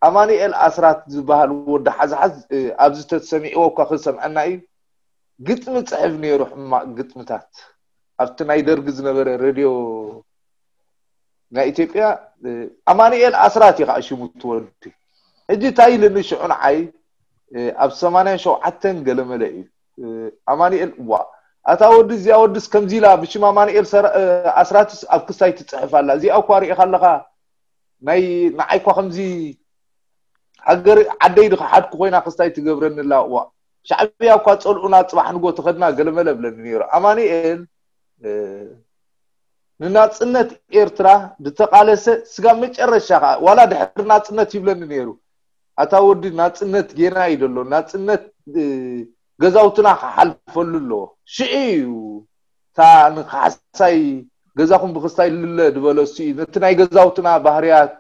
ኣማኑኤል ኣስራት ዝበሃል ወዲ ሓዝሓዝ፣ ኣብዚ ተሰሚዕዎ እኳ ክሰምዐና እዩ። ግጥሚ ፅሕፍ ነይሩ፣ ሕማቕ ግጥምታት። ኣብቲ ናይ ደርጊ ዝነበረ ሬድዮ ናይ ኢትዮጵያ ኣማኑኤል ኣስራት እዩ ከዓ ሽሙ ትወዲ። ሕጂ እንታይ ኢልኒ ሽዑ ንዓይ፣ ኣብ ሰማንያን ሸውዓተን ገለመለ እዩ ኣማኑኤል፣ ዋ ኣታ ወዲ እዚኣ ወድስ ከምዚ ኢላ ብሽም ኣማኑኤል ኣስራትስ ኣብ ክስታይ ትፅሕፍ ኣላ፣ እዚኣ እኳ ርኢኻ ኣለኻ፣ ናይ ንዓይ እኳ ከምዚ ሃገር ዓደይ ድኸሓድኩ ኮይና ክስታይ ትገብረኒ ኣላ፣ ዋ ሻዕብያ እኳ ፀልኡና ፅባሕ ንጎ ተኸድና ገለመለ ብለኒ ነይሩ ኣማኑኤል። ንናፅነት ኤርትራ ዝተቓለሰ ስጋብ መጨረሻ ከዓ ዋላ ድሕሪ ናፅነት ይብለኒ ነይሩ፣ ኣታ ወዲ ናፅነት ጌና እዩ ዘሎ፣ ናፅነት ገዛውትና ክሓልፈሉ ኣለዎ፣ ሽዑ እዩ እታ ንካሕሳይ ገዛኹም ብክስታይ ልለ ዝበለሱ እዩ። ነቲ ናይ ገዛውትና ባህርያት፣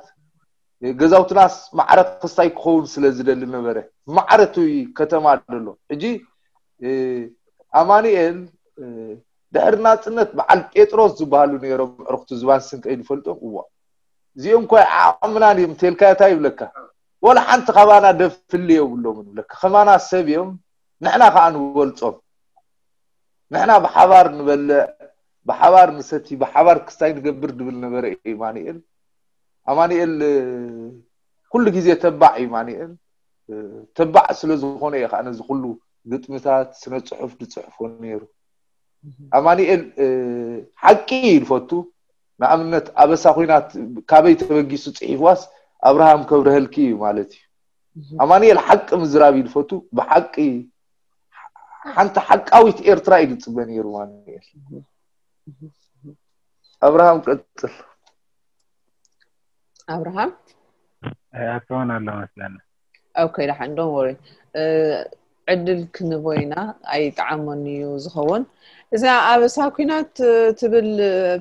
ገዛውትናስ ማዕረ ክስታይ ክኸውን ስለ ዝደሊ ነበረ። ማዕረ እቲ ከተማ ደሎ ሕጂ ኣማኑኤል ድሕሪ ናፅነት በዓል ጴጥሮስ ዝበሃሉ ነይሮም፣ ዕርክቱ ዝባን ስንቀይ ዝፈልጦም እዋ እዚኦም ኮይ ዓቕምናን እዮም ተልካዮ እንታይ ይብለካ? ወላ ሓንቲ ካባና ደፍሊ የብሎም ይብለካ። ከማና ሰብ እዮም፣ ንሕና ከዓ ንበልፆም። ንሕና ብሓባር ንበልዕ፣ ብሓባር ንሰቲ፣ ብሓባር ክስታይ ንገብር ድብል ነበረ ኣማኑኤል። ኣማኑኤል ኩሉ ግዜ ተባዕ እዩ ኣማኑኤል። ተባዕ ስለ ዝኾነ እዩ ከዓ ነዚ ኩሉ ግጥምታት ስነ ፅሑፍ ዝፅሕፎ ነይሩ። ኣማኑኤል ሓቂ እዩ ዝፈቱ። ንኣብነት ኣበሳ ኩናት ካበይ ተበጊሱ ፅሒፍዋስ ኣብርሃም ከብረሀልኪ እዩ ማለት እዩ። ኣማኑኤል ሓቂ ምዝራብ እዩ ዝፈቱ። ብሓቂ ሓንቲ ሓቃዊት ኤርትራ እዩ ዝፅበ ነይሩ ኣማኑኤል። ኣብርሃም ቀፅል። ኣብርሃም ኣይኣተወን ኣሎ መስለኒ። ኦኬ ደሓን don't worry። ዕድል ክንቦ ኢና። ኣይጠዓሞን እዩ ዝኸውን። እዛ ኣበሳ ኩናት ትብል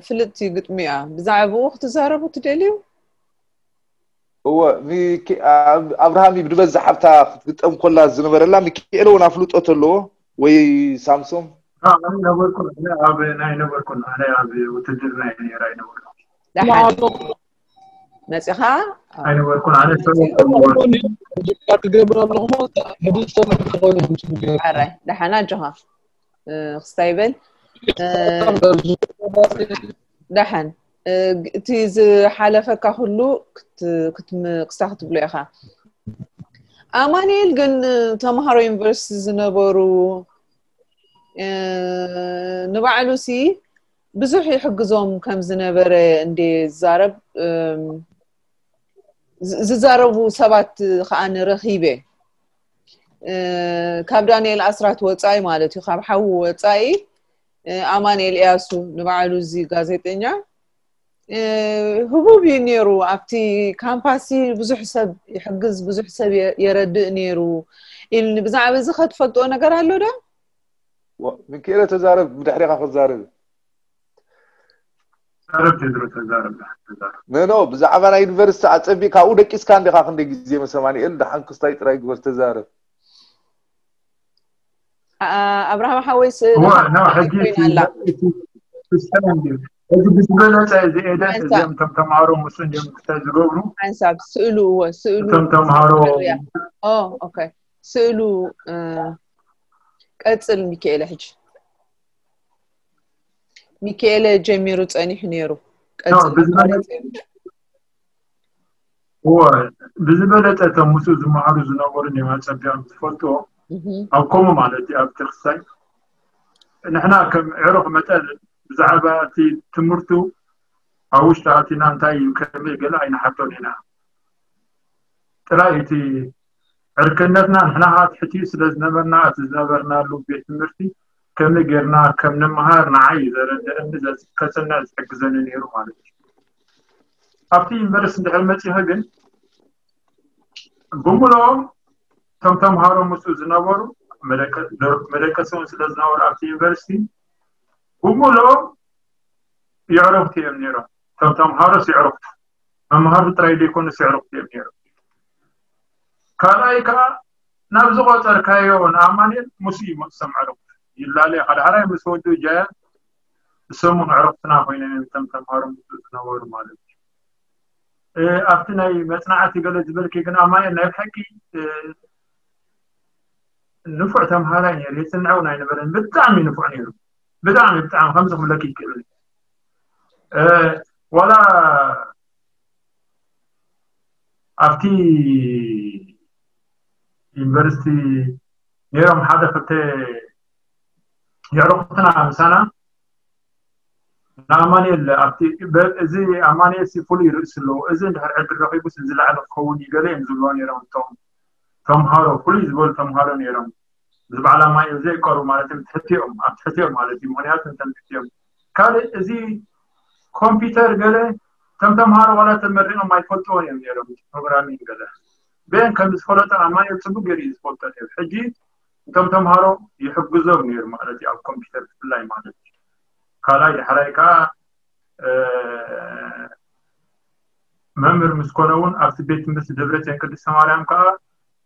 ፍልጥቲ ግጥሚ እያ። ብዛዕባኡ ክትዛረቡ ትደልዩ? እወ ኣብርሃም እዩ ብዝበዝሕ ኣብታ ክትግጠም ኮላ ዝነበረላ። ሚኪኤል እውን ኣፍልጦ ተለዎ ወይ ሳምሶም? ኣይነበርኩን ኣነ ኣብ ናይ ነበርኩን ኣነ ኣብ ውትድርና እየ ነይረ ኣይነበርኩን። ደሓን መፂኻ ኣይነበርኩን ኣነ ክገብር ኣለኹ። ሕጂ ዝተመልከ ኮይኑ ኣራይ ደሓን ኣጆኻ ክስታይ በል። ደሓን እቲ ዝሓለፈካ ኩሉ ክስታ ክትብሎ ኢኻ። ኣማኑኤል ግን ተምሃሮ ዩኒቨርሲቲ ዝነበሩ ንባዕሉ ሲ ብዙሕ ይሕግዞም ከም ዝነበረ እንደ ዝዛረብ ዝዛረቡ ሰባት ከዓ ንረኺበ ካብ ዳንኤል ኣስራት ወፃኢ ማለት እዩ ካብ ሓዉ ወፃኢ ኣማንኤል እያሱ ንባዕሉ እዚ ጋዜጠኛ ህቡብ እዩ ነይሩ ኣብቲ ካምፓሲ ብዙሕ ሰብ ይሕግዝ ብዙሕ ሰብ የረድእ ነይሩ ኢልኒ ብዛዕባ እዚ ከትፈልጥዎ ነገር ኣሎ ዶ ሚኪኤለ ተዛረብ ብድሕሪካ ክዛረብ ተዛረብ ቴድሮ ተዛረብ ተዛረብ ኖ ኖ ብዛዕባ ናይ ዩኒቨርሲቲ ኣፀቢቅ ካብኡ ደቂስካ እንዲካ ክንደይ ግዜ ምስ ኣማኒኤል ደሓን ክስታይ ጥራይ ግበር ተዛረብ ኣብርሃም ሓወይስ እዋ ኖ ሕጂ ኮይና ኣላ ክስታይ እንድዩ። እዚ ብዝበለፀ እዚ ኤደን ሓንሳብ። እዚኦም እቶም ተምሃሮ ምስ እንድዮም ክስታይ ዝገብሩ ሓንሳብ ስእሉ እወ ስእሉ እቶም ተምሃሮ ስእሉ እያ። ኦ ኦኬ ስእሉ እ፣ ቀጽል ሚካኤለ ሕጂ ሚካኤለ ጀሚሩ ጸኒሑ ነይሩ። ቀጽል ብዝበለፀ እወ ብዝበለፀ እቶም ምስኡ ዝመሃሩ ዝነበሩ እዮም ኣፀቢቖም ዝፈልጥዎ እህ፣ ኣብ ከምኡ ማለት እዩ። ኣብቲ ክስታይ ንሕና ከም ዕሩኽ መጠን ብዛዕባ እቲ ትምህርቱ ኣብ ውሽጢ ኣቲና እንታይ እዩ ከመይ ገለ ኣይንሓቶን ኢና። ጥራይ እቲ ዕርክነትና ንሕና ከዓ ትሕቲኡ ስለ ዝነበርና እቲ ዝነበርናሉ ቤት ትምህርቲ ከመይ ጌርና ከም ንመሃር ንዓይ እዩ ዘረድእኒ ዘ- ከፅንዕ ዝሕግዘኒ ነይሩ ማለት እዩ። ኣብቲ ዩኒቨርሲቲ እንድሕር መፂኸ ግን ብምልኦም እቶም ተምሃሮ ምስኡ ዝነበሩ መደቀ- መደቀሲ እውን ስለ ዝነበሩ ኣብቲ ዩኒቨርሲቲ ብምልኦም የዕረፍቲ እዮም ነይሮም። እቶም ተምሃሮስ የዕረፍቲ መምሃሪ ጥራይ ዘይኮኑስ የዕረፍቲ እዮም ነይሮም። ካልኣይ ከዓ ናብ ዝቆፀርካዮ ንኣማኑኤል ምስኡ ይመፅሶም ዕረፍቲ ይላለዩ። ሓደ ሓራይ ምስ ወዱ ጃያ እሶም እውን ዕረፍትና ኮይኖም እዮም እቶም ተምሃሮ ምስኡ ዝነበሩ ማለት እዩ። እ፣ ኣብቲ ናይ መፅናዕቲ ገለ ዝበልኪ ግን ኣማኑኤል ናይ ብሓቂ እ፣ ንፉዕ ተምሃራይ ነይሩ። የፅንዐውን ኣይነበረን። ብጣዕሚ ንፉዕ ነይሩ። ብጣዕሚ ብጣዕሚ ከምዚ ክብለኪ ይክእል እ፣ ዋላ ኣብቲ ዩኒቨርሲቲ ነይሮም ሓደ ክልተ የዕሩኽትና ምሳና ንኣማኑኤል ኣብቲ በ- እዚ ኣማኑኤል ሲ ፍሉይ ርእሲ ኣለዎ። እዚ እንድሕር ዕድል ረኺቡስ እዚ ላዕሊ ክኸውን እዩ ገለ እዮም ዝብልዎ ነይሮም። እቶም ተምሃሮ ፍሉይ ዝበሉ ተምሃሮ ነይሮም። እዚ በዓል ኣማኑኤል ዘይቀሩ ማለት እዮም ትሕቲኦም ኣብ ትሕቲኦም ማለት እዩ። ምክንያቱ እንተን ትሕቲኦም ካልእ እዚ ኮምፒውተር ገለ እቶም ተምሃሮ ዋላ ተመሪቖም ኣይፈልጥዎን እዮም ነይሮም። ፕሮግራሚንግ ገለ በን ከም ዝፈለጠ ኣማኑኤል ፅቡቅ ገይሩ እዩ ዝፈልጦ ነይሩ። ሕጂ እቶም ተምሃሮ ይሕግዞም ነይሩ ማለት እዩ ኣብ ኮምፒውተር ብፍላይ ማለት እዩ። ካልኣይ ዳሕራይ ከዓ እ፣ መምህር ምስ ኮነ እውን ኣብቲ ቤት ትምህርቲ ደብረፅዮን ቅድስተ ማርያም ከዓ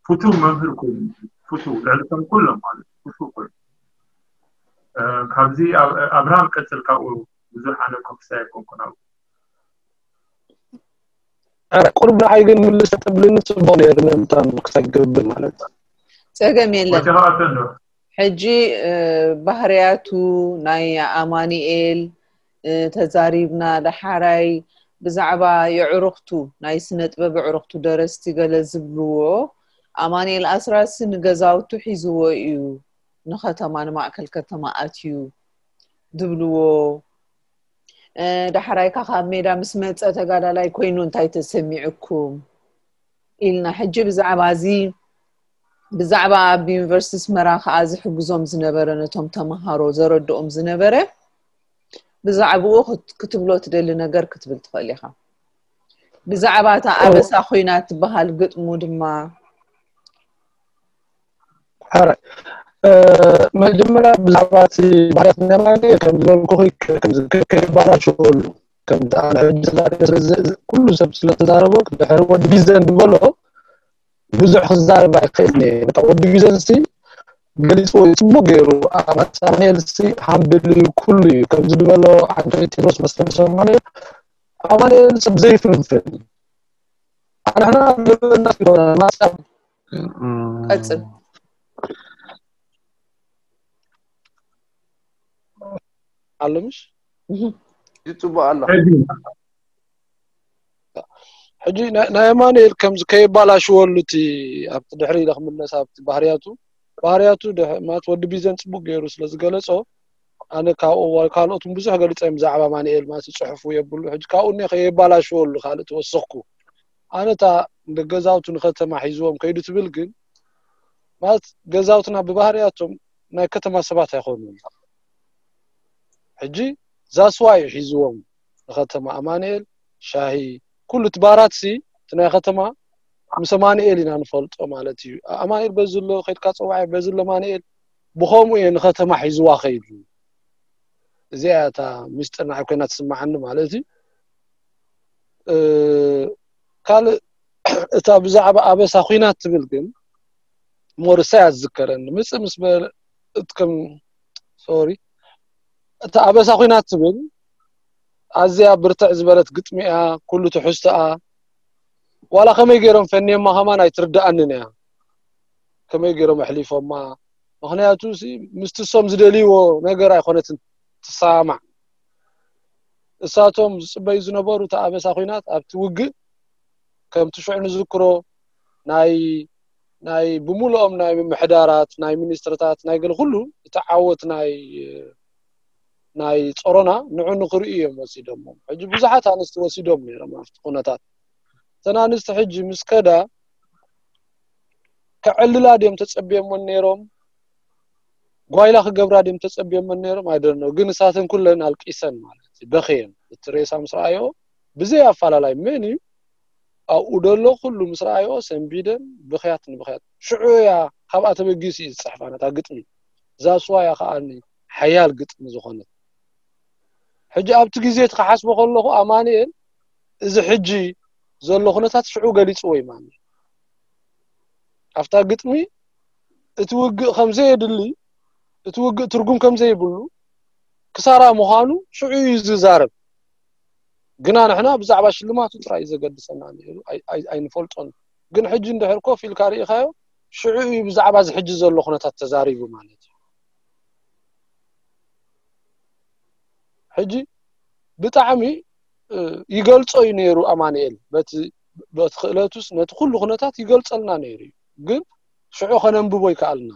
ፍቱው መምህር ኮይኑ ፍቱው ልዕሊ እቶም ኩሎም ማለት እዩ ፍቱው ኮይኑ እ፣ ካብዚ ኣብ- ኣብርሃም ቀፅል ካብኡ ብዙሕ ኣነ ኮክሳ ኣይኮንኩን ኣብኡ ቁርብ ንዓይ ግን ምልስ ተብልኒ ፅቡቅ ነይሩ ምእንታን ክሳይ ክገብር ማለት ጸገም የለን። ወሲኻ ኣተንዶ ሕጂ እ፣ ባህርያቱ ናይ ኣማኑኤል እ፣ ተዛሪብና። ዳሓራይ ብዛዕባ የዕሩኽቱ ናይ ስነ ጥበብ የዕሩኽቱ ደረስቲ ገለ ዝብልዎ ኣማኑኤል ኣስራሲ ንገዛውቱ ሒዝዎ እዩ ንከተማ ንማእከል ከተማ ኣትዩ ዝብልዎ እ፣ ዳሕራይ ከ ካብ ሜዳ ምስ መጸ ተጋዳላይ ኮይኑ እንታይ ተሰሚዑኩም ኢልና ሕጂ ብዛዕባ እዚ ብዛዕባ ኣብ ዩኒቨርሲቲ ኣስመራ ከኣ ዝሕግዞም ዝነበረ ነቶም ተምሃሮ ዘረድኦም ዝነበረ ብዛዕባኡ ክት- ክትብሎ ትደሊ ነገር ክትብል ትኽእል ኢኻ። ብዛዕባ እታ ኣበሳ ኮይና ትበሃል ግጥሙ ድማ ሓራይ መጀመርያ ብዛዕባ እቲ ባህርያት ናይ ኣማኑኤል ከም ዝበልኩ ከይባላሸወሉ ከም ኩሉ ሰብ ስለተዛረቦ ድሕሪ ወዲ ቢዘን ዝበሎ ብዙሕ ክዛረብ ኣይክእል በቃ ወዲ ቢዘን ሲ ገሊፅዎ እዩ ፅቡቅ ገይሩ ኣማኑኤል ሲ ሃምብል ኩሉ እዩ ከምዚ ዝበሎ ዓንቶኒ ቴድሮስ መስለኒ ኣማኑኤል ኣማኑኤል ሰብ ዘይፍንፍን ኣንሕና ንበና ማሳብ ቀጽል ኣሎ ምሽ ይፅቡቅ ኣሎ ሕጂ ናይ ኣማኑኤል ከምዚ ከይባላሽወሉ እቲ ኣብቲ ድሕሪ ኢለ ክምለስ ኣብቲ ባህርያቱ ባህርያቱ ማለት ወዲ ቢዘን ፅቡቅ ገይሩ ስለዝገለፆ ኣነ ካብኡ ካልኦት ብዙሕ ገሊፀ እዮም ብዛዕባ ኣማኑኤል ማለት ፅሑፉ የብሉ ሕጂ ካብኡ እኒ ከየባላሽወሉ ካልእ ተወሰኽኩ ኣነ እታ ገዛውቱ ንከተማ ሒዝዎም ከይዱ ትብል ግን ማለት ገዛውትና ብባህርያቶም ናይ ከተማ ሰባት ኣይኮኑን ሕጂ ዛስዋ እዩ ሒዝዎም ንከተማ ኣማንኤል ሻሂ ኩሉ እቲ ባራት ሲ እቲ ናይ ከተማ ምስ ኣማንኤል ኢና ንፈልጦ ማለት እዩ ኣማንኤል በዚ ኣሎ ከድካ ፀዋዕ በዚ ኣሎ ኣማንኤል ብከምኡ እየ ንከተማ ሒዝዋ ከይዱ እዚኣ እታ ምስጢር ንዓይ ኮይና ትስምዓኒ ማለት እዩ ካልእ እታ ብዛዕባ ኣበሳ ኩናት ትብል ግን ሞርሳ እያ ዝዝከረኒ ምፅእ ምስ በለ እትከም ሶሪ እታ ኣበሳ ኹናት ትብል ኣዝያ ብርትዕ ዝበለት ግጥሚ እያ። ኩሉ ትሕዝቶኣ ዋላ ከመይ ገይሮም ፈንዮማ ከማን ኣይትርድኣንን እያ። ከመይ ገይሮም ኣሕሊፎማ? ምኽንያቱ ምስቲ እሶም ዝደልይዎ ነገር ኣይኮነትን ትሰማማዕ። እሳቶም ዝፅበዩ ዝነበሩ እታ ኣበሳ ኹናት ኣብቲ ውግእ ከምቲ ሽዑ ንዝክሮ ናይ ናይ ብምሉኦም ናይ ምምሕዳራት ናይ ሚኒስትርታት ናይ ገለ ኩሉ እቲ ዓወት ናይ ናይ ጾሮና ንዑ ንክርእዩ እዮም ወሲዶሞ። ሕጂ ብዙሓት ኣንስቲ ወሲዶም ነይሮም ኣብቲ ኩነታት። እተን ኣንስቲ ሕጂ ምስ ከዳ ከዕልላ ድዮም ተጸብዮመን ነይሮም? ጓይላ ክገብራ ድዮም ተጸብዮመን ነይሮም? ኣይደኖ ግን እሳተን ኩለን ኣልቂሰን ማለት እዩ። በኽየን እቲ ሬሳ ምስ ረኣዮ ብዘይ ኣፋላላይ መን እዩ ኣብኡ ደሎ ኩሉ ምስ ረኣዮ ሰንቢደን ብኽያት ንብኽያት። ሽዑ እያ ካብኣ ተበጊሱ እዩ ዝፅሕፋ ነታ ግጥሚ። ዛስዋ እያ ከዓኒ ሓያል ግጥሚ ዝኾነት። ሕጂ ኣብቲ ግዜ እቲ ክሓስቦ ከለኹ ኣማንኤል እዚ ሕጂ ዘሎ ኩነታት ሽዑ ገሊፅዎ እዩ ማለት ኣብታ ግጥሚ እቲ ውግእ ከምዘየድሊ እቲ ውግእ ትርጉም ከምዘይብሉ ክሳራ ምዃኑ ሽዑ እዩ ዝዛረብ። ግና ንሕና ብዛዕባ ሽልማቱ ጥራይ እዩ ዘገድሰና ነይሩ ኣይንፈልጦን። ግን ሕጂ እንድሕር ኮፍ ኢልካ ርኢኻዮ ሽዑ እዩ ብዛዕባ እዚ ሕጂ ዘሎ ኩነታት ተዛሪቡ ማለት እዩ። ሕጂ ብጣዕሚ ይገልጾ እዩ ነይሩ ኣማንኤል በቲ በቲ ክእለቱስ ነቲ ኩሉ ኩነታት ይገልጸልና ነይሩ እዩ። ግን ሽዑ ከነንብቦ ይከኣልና።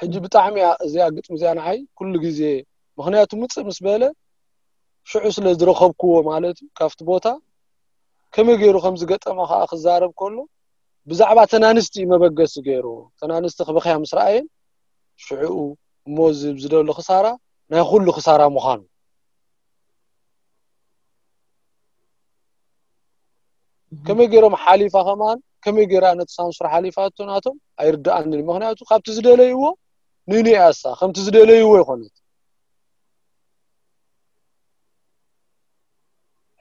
ሕጂ ብጣዕሚ እያ እዚኣ ግጥሚ እዚኣ ንዓይ ኩሉ ግዜ ምኽንያቱ ምፅእ ምስ በለ ሽዑ ስለ ዝረኸብክዎ ማለት እዩ ካብቲ ቦታ ከመይ ገይሩ ከም ዝገጠማ ከዓ ክዛረብ ከሎ ብዛዕባ ተናንስቲ እዩ መበገሲ ገይሩ። ተናንስቲ ክበኽያ ምስ ረኣየን ሽዕኡ እሞ ዝብ ዝደሎ ክሳራ ናይ ኩሉ ክሳራ ምዃኑ ከመይ ገይሮም ሓሊፋ ከማን ከመይ ገይራ ነቲ ሳንሱር ሓሊፋቶ ናቶም ኣይርድኣንን። ምክንያቱ ካብቲ ዝደለይዎ ንንያሳ ከምቲ ዝደለይዎ ይኮነት።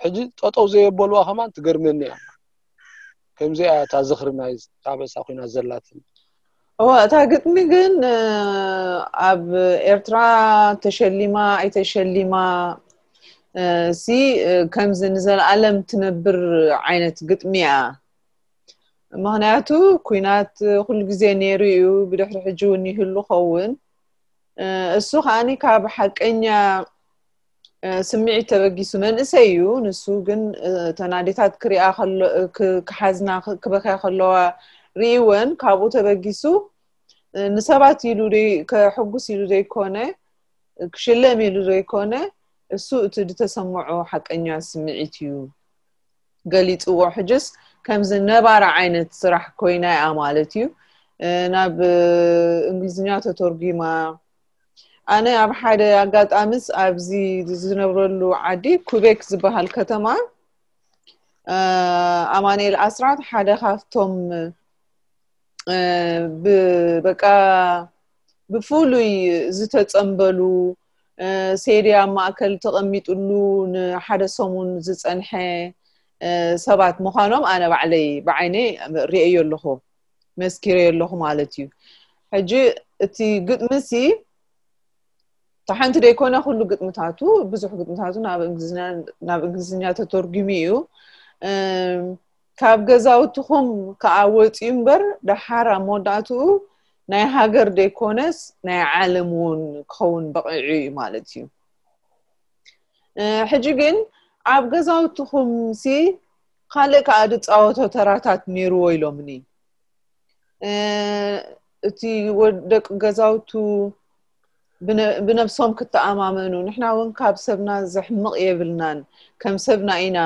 ሕጂ ጠጠው ዘየበልዋ ከማን ትገርመኒ እያ። ከምዚኣ እያ እታ ዝኽሪ ናይ ታበሳ ኮይና ዘላትን። እዋ እታ ግጥሚ ግን ኣብ ኤርትራ ተሸሊማ ኣይተሸሊማ ሲ ከምዚ ንዘለኣለም ትነብር ዓይነት ግጥሚ እያ። ምክንያቱ ኩናት ኩሉ ግዜ ነይሩ እዩ፣ ብድሕሪ ሕጂ እውን ይህሉ ኸውን። እሱ ከዓኒ ካብ ሓቀኛ ስምዒት ተበጊሱ መንእሰይ እዩ። ንሱ ግን እተን ኣዴታት ክሪኣ ክሓዝና ክበክያ ከለዋ ርእይወን ካብኡ ተበጊሱ ንሰባት ኢሉ ከሕጉስ ኢሉ ዘይኮነ ክሽለም ኢሉ ዘይኮነ እሱ እቲ ዝተሰምዖ ሓቀኛ ስምዒት እዩ ገሊፅዎ። ሕጅስ ከምዚ ነባራ ዓይነት ስራሕ ኮይና እያ ማለት እዩ ናብ እንግሊዝኛ ተተርጉማ። ኣነ ኣብ ሓደ ኣጋጣምስ ኣብዚ ዝነብረሉ ዓዲ ኩቤክ ዝበሃል ከተማ ኣማኑኤል ኣስራት ሓደ ካብቶም በቃ ብፍሉይ ዝተፀንበሉ ሴዲ ኣብ ማእከል ተቐሚጥሉ ንሓደ ሰሙን ዝፀንሐ ሰባት ምዃኖም ኣነ ባዕለይ ብዓይነይ ርእየዮ ኣለኹ፣ መስኪረዮ ኣለኹ ማለት እዩ። ሕጂ እቲ ግጥሚ ሲ እታ ሓንቲ ደይኮነ ኩሉ ግጥምታቱ ብዙሕ ግጥምታቱ ናብ እንግሊዝኛ ተተርጉሙ እዩ። ካብ ገዛውትኹም ከዓ ወፂኡ እምበር ደሓር ኣብ መወዳእትኡ ናይ ሃገር ደይኮነስ ናይ ዓለም እውን ክኸውን በቒዑ እዩ ማለት እዩ። ሕጂ ግን ኣብ ገዛውትኹም ሲ ካልእ ከዓ ዝፃወቶ ተራታት ነይርዎ ኢሎምኒ። እቲ ደቂ ገዛውቱ ብነብሶም ክተኣማመኑ፣ ንሕና እውን ካብ ሰብና ዘሕምቕ የብልናን፣ ከም ሰብና ኢና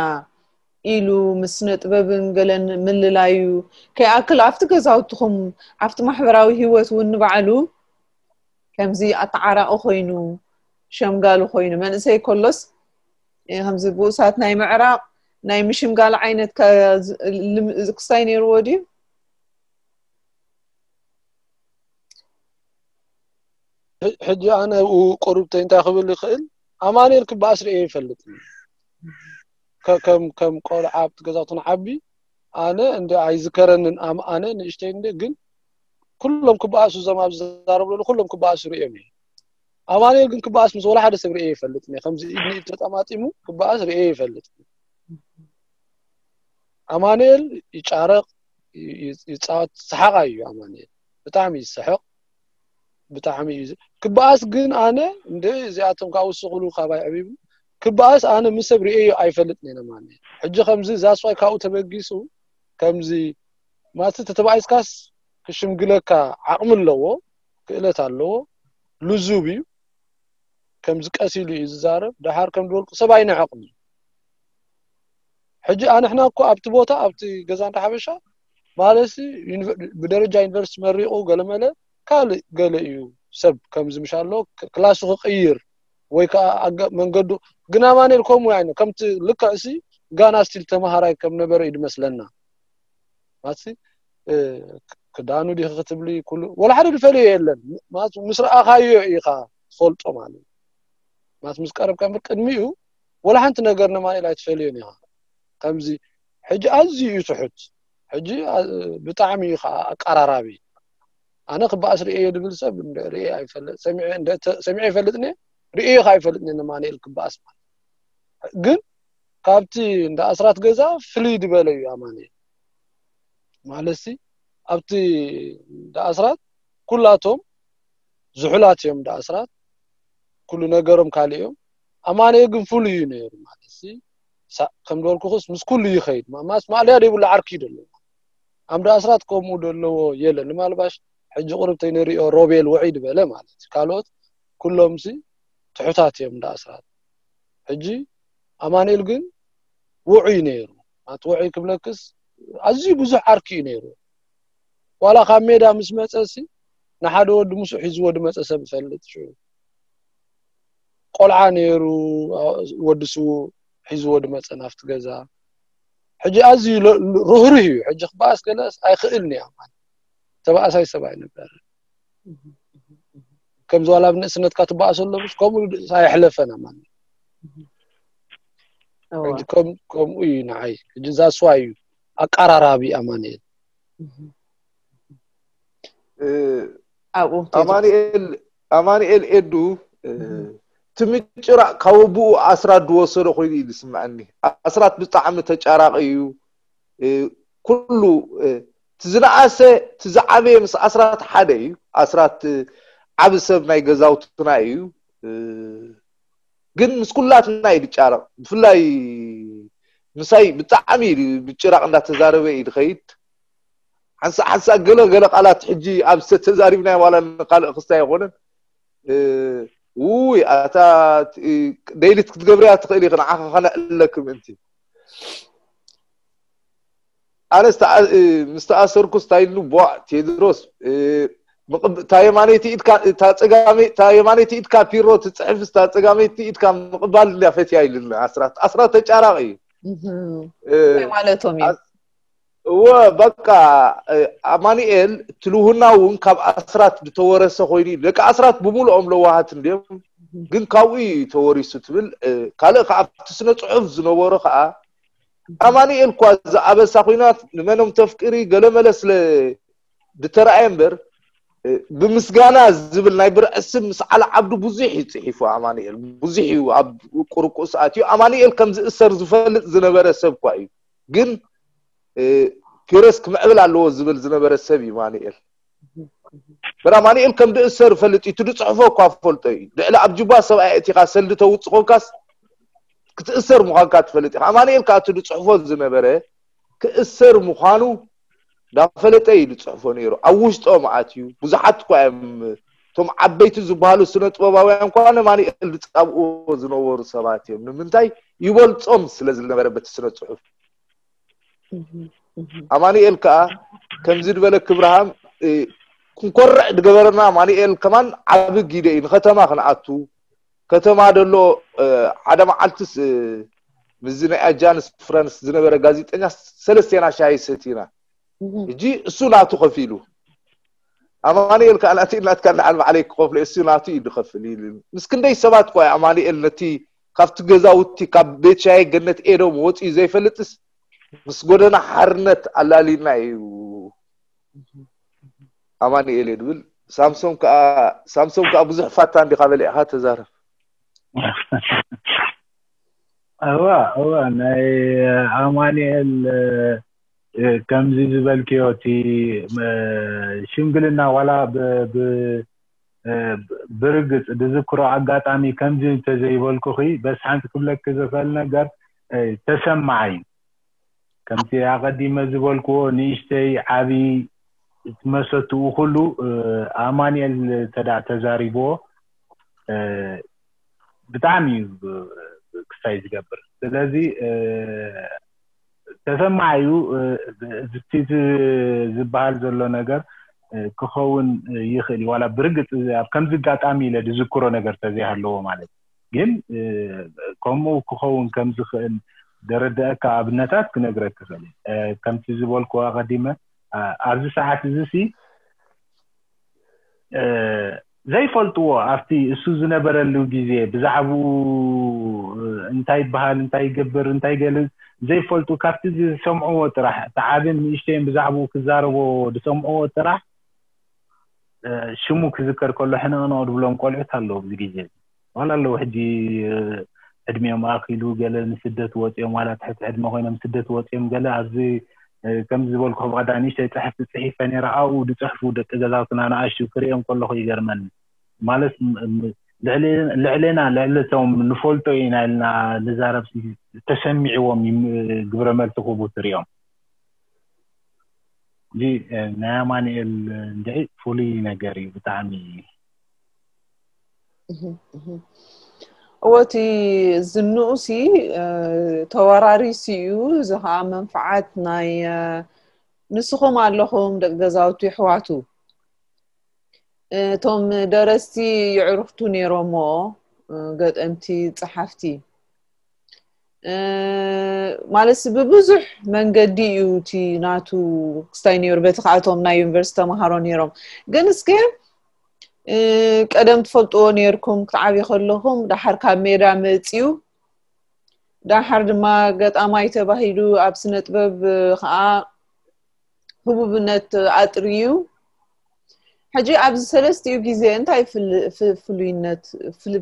ኢሉ ምስ ስነ ጥበብን ገለን ምልላዩ ከይኣክል ኣብቲ ገዛውትኹም ኣብቲ ማሕበራዊ ህይወት እውን ንባዕሉ ከምዚ ኣተዓራቒ ኮይኑ ሸምጋሊ ኮይኑ መንእሰይ ከሎስ ከምዚ ብኡሳት ናይ ምዕራቕ ናይ ምሽምጋል ዓይነት ክስታይ ነይርዎ ድዩ? ሕጂ ኣነ ኣብኡ ቁሩብተይ እንታይ ክብል ይኽእል ኣማኑኤል ክበኣስ ርእየ ይፈልጥ ከም ከም ቆልዓ ኣብቲ ገዛውቲ ንዓቢ ኣነ እንደ ኣይዝከረንን ኣነ ንእሽተይ እንደ ግን ኩሎም ክበኣሱ፣ እዞም ኣብዚ ዝዛረቡ ዘለዉ ኩሎም ክበኣሱ ርእዮም እየ። ኣማኑኤል ግን ክበኣስ ምስ ወላ ሓደ ሰብ ርእየ ይፈልጥ እየ። ከምዚ ኢድ ንኢድ ተጠማጢሙ ክበኣስ ርእየ ይፈልጥ። ኣማኑኤል ይጫረቕ፣ ይ- ይ- ይጻወት፣ ሰሓቓይ እዩ ኣማኑኤል። ብጣዕሚ ይስሕቕ፣ ብጣዕሚ እዩ ዝ- ክበኣስ ግን ኣነ እንደ እዚኣቶም ካብኡ ስቕሉ ካባይ ዕቢቡ ክበኣስ ኣነ ምስ ሰብ ርእየ ኣይፈልጥን እየ ኣማኑኤል። ሕጂ ከምዚ ዛስዋይ ካብኡ ተበጊሱ ከምዚ ማለት ተተባኢስካስ ክሽምግለካ ዓቕሚ ኣለዎ፣ ክእለት ኣለዎ፣ ልዙብ እዩ። ከምዚ ቀስ ኢሉ እዩ ዝዛረብ። ደሓር ከም ድበልኩ ሰብ ኣይንዕቕን እዩ። ሕጂ ኣንሕና እኮ ኣብቲ ቦታ ኣብቲ ገዛ እንዳ ሓበሻ ማለት ብደረጃ ዩኒቨርሲቲ መሪቑ ገለመለ ካልእ ገለ እዩ ሰብ ከምዚ ምሽ ኣሎ ክላሱ ክቕይር ወይ ከዓ ኣገ- መንገዱ ግን ኣማኑኤል ከምኡ ኣይነ ከምቲ ልክዕ ሲ ጋና ስቲል ተምሃራይ ከም ነበረ እዩ ድመስለና። ማሲ ክዳኑ ዲኺ ክትብሊ ኩሉ ወላ ሓደ ዝፈልዮ የለን። ማስ ምስ ረኣኻዮ ኢኻ ትፈልጦ ማለት እዩ። ማስ ምስ ቀረብካ እምበር ቅድሚኡ ወላ ሓንቲ ነገር ንማኑኤል ኣይትፈልዮን ኢኻ። ከምዚ ሕጂ ኣዝዩ እዩ ትሑት። ሕጂ ኣ- ብጣዕሚ እዩ ከዓ ኣቀራራቢ። ኣነ ክበኣስ ርእየ ድብል ሰብ እንደ ርእየ ኣይፈልጥ ሰሚዐ እንደ ተ- ሰሚዐ ይፈልጥ ነ ርእየ ከዓ ኣይፈልጥ ነ ንማኑኤል ክበኣስ ማለት ግን ካብቲ እንደ ኣስራት ገዛ ፍልይ ዝበለ እዩ ኣማኑኤል። ማለትሲ ኣብቲ እንደ ኣስራት ኩላቶም ዝሑላት እዮም እንደ ኣስራት ኩሉ ነገሮም ካልእ እዮም። ኣማኑኤል ግን ፍሉይ እዩ ነይሩ ማለትሲ ሳ- ከም ዝበልኩኽስ ምስ ኩሉ ይኸይድ ማ- ማስ ማእለያ ዘይብሉ ዓርኪ እዩ ደለዎ። ኣምደ ኣስራት ከምኡ ደለዎ የለን ንማልባሽ ሕጂ ቁርብ ተይንሪኦ ሮቤል ውዒ ዝበለ ማለት እዩ። ካልኦት ኩሎምሲ ትሑታት እዮም እንደ ኣስራት። ሕጂ ኣማኑኤል ግን ውዑይ ነይሩ። ማለት ውዑይ ክብለክስ ኣዝዩ ብዙሕ ዓርኪ እዩ ነይሩ። ዋላ ካብ ሜዳ ምስ መፀ ሲ ንሓደ ወዲ ምስኡ ሒዝዎ ድመፀ ሰብ ይፈልጥ። ሽዑ ቆልዓ ነይሩ፣ ወዲ ስዉእ ሒዝዎ ድመፀ ናብቲ ገዛ። ሕጂ ኣዝዩ ለ- ርህሩህ እዩ። ሕጂ ክበኣስ ገለስ ኣይኽእልን እያ ማለት ተባእሳይ ሰብ ኣይነበረ። ከምዚ ዋላ ኣብ ንእስነትካ ትበኣሰ ኣሎ ምስ ከምኡ ኣይሕለፈና ማለት እዩ። እዋ ሕጂ ከም- ከምኡ እዩ ንዓይ። ሕጂ ዛስዋ እዩ ኣቀራራቢ ኣማኑኤል። እ፣ ኣብኡ ኣማኑኤል ኣማኑኤል ኤዱ እ፣ እቲ ምጭራቕ ካብ ኣቦኡ ኣስራት ዝወሰዶ ኮይኑ እዩ ዝስምዐኒ። ኣስራት ብጣዕሚ ተጫራቂ እዩ። እ፣ ኩሉ እ፣ እቲ ዝነኣሰ እቲ ዝዓበየ ምስ ኣስራት ሓደ እዩ። ኣስራት እ፣ ዓቢ ሰብ ናይ ገዛውትና እዩ። እ፣ ግን ምስ ኩላትና እዩ ዝጫረቕ። ብፍላይ ምሳይ ብጣዕሚ እዩ ምጭራቕ እንዳተዛረበ እዩ ዝኸይድ። ሓንሳእ ሓንሳእ ገለ ገለ ቃላት ሕጂ ኣብ ሰት ተዛሪብናዮ ዋላ ንካልእ ክስታይ ኣይኮነን። እ፣ ውይ ኣታ እ፣ ደይሊት ክትገብርያ ትኽእል ኢኺ ንዓኻ ከነዕልለኪ ምእንቲ። ኣነስ ተኣ- እ፣ ምስ ተኣሰርኩስ እንታይ ኢሉ ቦዕ ቴድሮስ እ፣ ምቕብ- እታ የማነይቲ ኢድካ እታ ጸጋመይ እታ የማነይቲ ኢድካ ፒሮ ትጽሕፍስ እታ ጸጋመይቲ ኢድካ ምቕባል እንድያ ፈትያ ኢሉኒ። ኣስራት ኣስራት ተጫራቂ እዩ። እህም። እ፣ እንታይ ማለቶም እዩ እወ በቃ እ፣ ኣማኑኤል ትልውና እውን ካብ ኣስራት ዝተወረሰ ኮይኑ እዩ። ደቂ ኣስራት ብምልኦም ለዋሃት እንድዮም ግን ካብኡ እዩ ተወሪሱ ትብል እ፣ ካልእ ከዓ ኣብቲ ስነ ፅሑፍ ዝነበሮ ከዓ ኣማኑኤል እኳ ዝኣበሳ ኮይናት ንመኖም ተፍቅሪ ገለመለ ስለ ዝተረኣየ እምበር እ፣ ብምስጋና ዝብል ናይ ብርዒ ስም ምስ ዓሊ ዓብዱ ብዙሕ እዩ ፅሒፉ። ኣማኑኤል ብዙሕ እዩ ኣብ ቁርቁስ ኣትዩ። ኣማኑኤል ከም ዝእሰር ዝፈልጥ ዝነበረ ሰብ እኳ እዩ። ግን እ፣ ፒረስ ክምዕብል ኣለዎ ዝብል ዝነበረ ሰብ እዩ ኣማኑኤል። በራ ኣማኑኤል ከም ዝእሰር ፈልጥ እዩ። እቲ ዝፅሕፎ እኳ ፈልጦ እዩ። ልዕሊ ኣብ ጁባ ሰብኣይ እቲኻ ሰልዲ ተውፅእ ኮንካስ ክትእሰር ምዃንካ ትፈልጥ ኢኻ። ኣማኑኤል ከዓ እቲ ዝፅሕፎ ዝነበረ ክእሰር ምዃኑ እንዳፈለጠ እዩ ዝፅሕፎ ነይሩ። ኣብ ውሽጦም ኣትዩ ብዙሓት እኳ እዮም እቶም ዓበይቲ ዝበሃሉ ስነ ጥበባውያን እኳ ንኣማኑኤል ዝፃብእዎ ዝነበሩ ሰባት እዮም። ንምንታይ? ይበልፆም ስለ ዝነበረ በቲ ስነ ፅሑፍ። ኣማኑኤል ከዓ ከምዚ ዝበለ ክብርሃም እ፣ ክንኮርዕ ዝገበረና ኣማኑኤል ከማን ዓቢ ጊደ እዩ። ንከተማ ክንኣቱ ከተማ ደሎ እ፣ ሓደ መዓልትስ እ፣ ምስዚ ናይ ኣጃንስ ፍራንስ ዝነበረ ጋዜጠኛ ሰለስቴና ሻሂ ሰቲና። ሕጂ እሱ ናቱ ከፊሉ ኣማኑኤል ከዓ ናቲ ናትካ ንዓል ባዕለይ ክኸፍሎ እሱ ናቱ እዩ ዝኸፍል ኢሉ። ምስ ክንደይ ሰባት እኳ ኣማኑኤል ነቲ ካብቲ ገዛውቲ ካብ ቤት ሻሂ ገነት ኤዶም ወፂኡ ዘይፈልጥስ ምስ ጎደና ሓርነት ኣላሊና እዩ። ኣማኒኤል እየ ድብል። ሳምሶም ከዓ ሳምሶም ከዓ ብዙሕ ፋታ እንዲኻ በሊዕኻ ተዛረብ። እዋ እዋ ናይ ኣማኒኤል ከምዚ ዝበልክዮ እቲ ሽምግልና ዋላ ብርግጽ ዝዝክሮ ኣጋጣሚ ከምዚ እንተዘይበልኩኺ በስ ሓንቲ ክብለኪ ዝኽእል ነገር ተሰማዓይ ከምቲ ኣቐዲመ ዝበልክዎ ንእሽተይ ዓብዪ መሰትኡ ኩሉ ኣማኒኤል ተዳ ተዛሪብዎ ብጣዕሚ እዩ ክስታይ ዝገብር። ስለዚ ተሰማዒ እዩ እቲ ዝበሃል ዘሎ ነገር ክኸውን ይኽእል እዩ። ዋላ ብርግፅ ኣብ ከምዚ ኣጋጣሚ ኢለ ዝዝክሮ ነገር ተዘይሃለዎ ማለት እዩ። ግን ከምኡ ክኸውን ከምዝኽእል ደረደአካ ኣብነታት ክነግረክ ይኽእል እየ። ከምቲ ዝበልኩ ኣቐዲመ ኣብዚ ሰዓት እዚ ሲ ዘይፈልጥዎ ኣብቲ እሱ ዝነበረሉ ግዜ ብዛዕባኡ እንታይ ይበሃል እንታይ ይገብር እንታይ ይገልፅ ዘይፈልጡ ካብቲ ዝሰምዕዎ ጥራሕ እቲ ዓብን ንእሽተይን ብዛዕባኡ ክዛረቦ ዝሰምዕዎ ጥራሕ ሽሙ ክዝከር ከሎ ሕንቕንቕ ዝብሎም ቆልዑት ኣለዉ ኣብዚ ግዜ ዋላ ኣለዉ ሕጂ ዕድሚኦም ኣኪሉ ገለ ንስደት ወፂኦም ዋላ ትሕቲ ዕድመ ኮይኖም ስደት ወፂኦም ገለ ኣብዚ ከም ዝበልኩ ብቐዳ ንእሽተይ ፅሕፍቲ ፅሒፈ ነይረ ኣብኡ ዝፅሕፉ ደቂ ገዛውትና ንኣሽቱ ክሪኦም ከለኹ ይገርመኒ ማለት ልዕሌና ልዕሊ እቶም ንፈልጦ ኢና ኢልና ንዛረብ ተሰሚዕዎም ግብረ መልሲ ክህቡ ትሪኦም እዚ ናይ ኣማኑኤል እንድዒ ፍሉይ ነገር እዩ ብጣዕሚ እወ እቲ ዝንኡሲ ተወራሪሲ እዩ እዚ ከዓ መንፍዓት ናይ ንስኹም ኣለኹም ደቂ ገዛውቲ ይሕዋቱ እቶም ደረስቲ ይዕርፍቱ ነይሮሞ ገጠምቲ ፀሓፍቲ ማለት ብብዙሕ መንገዲ እዩ እቲ ናቱ ክስታይ ነይሩ በቲ ከኣቶም ናይ ዩኒቨርሲቲ ተምሃሮ ነይሮም ግን እስከ ቀደም ትፈልጥዎ ነይርኩም ክትዓብዩ ከለኹም ዳሓር ካብ ሜዳ መፅዩ ዳሓር ድማ ገጣማይ ተባሂሉ ኣብ ስነ ጥበብ ከዓ ህቡብነት ኣጥርዩ ሕጂ ኣብዚ ሰለስቲኡ ግዜ እንታይ ፍሉይነት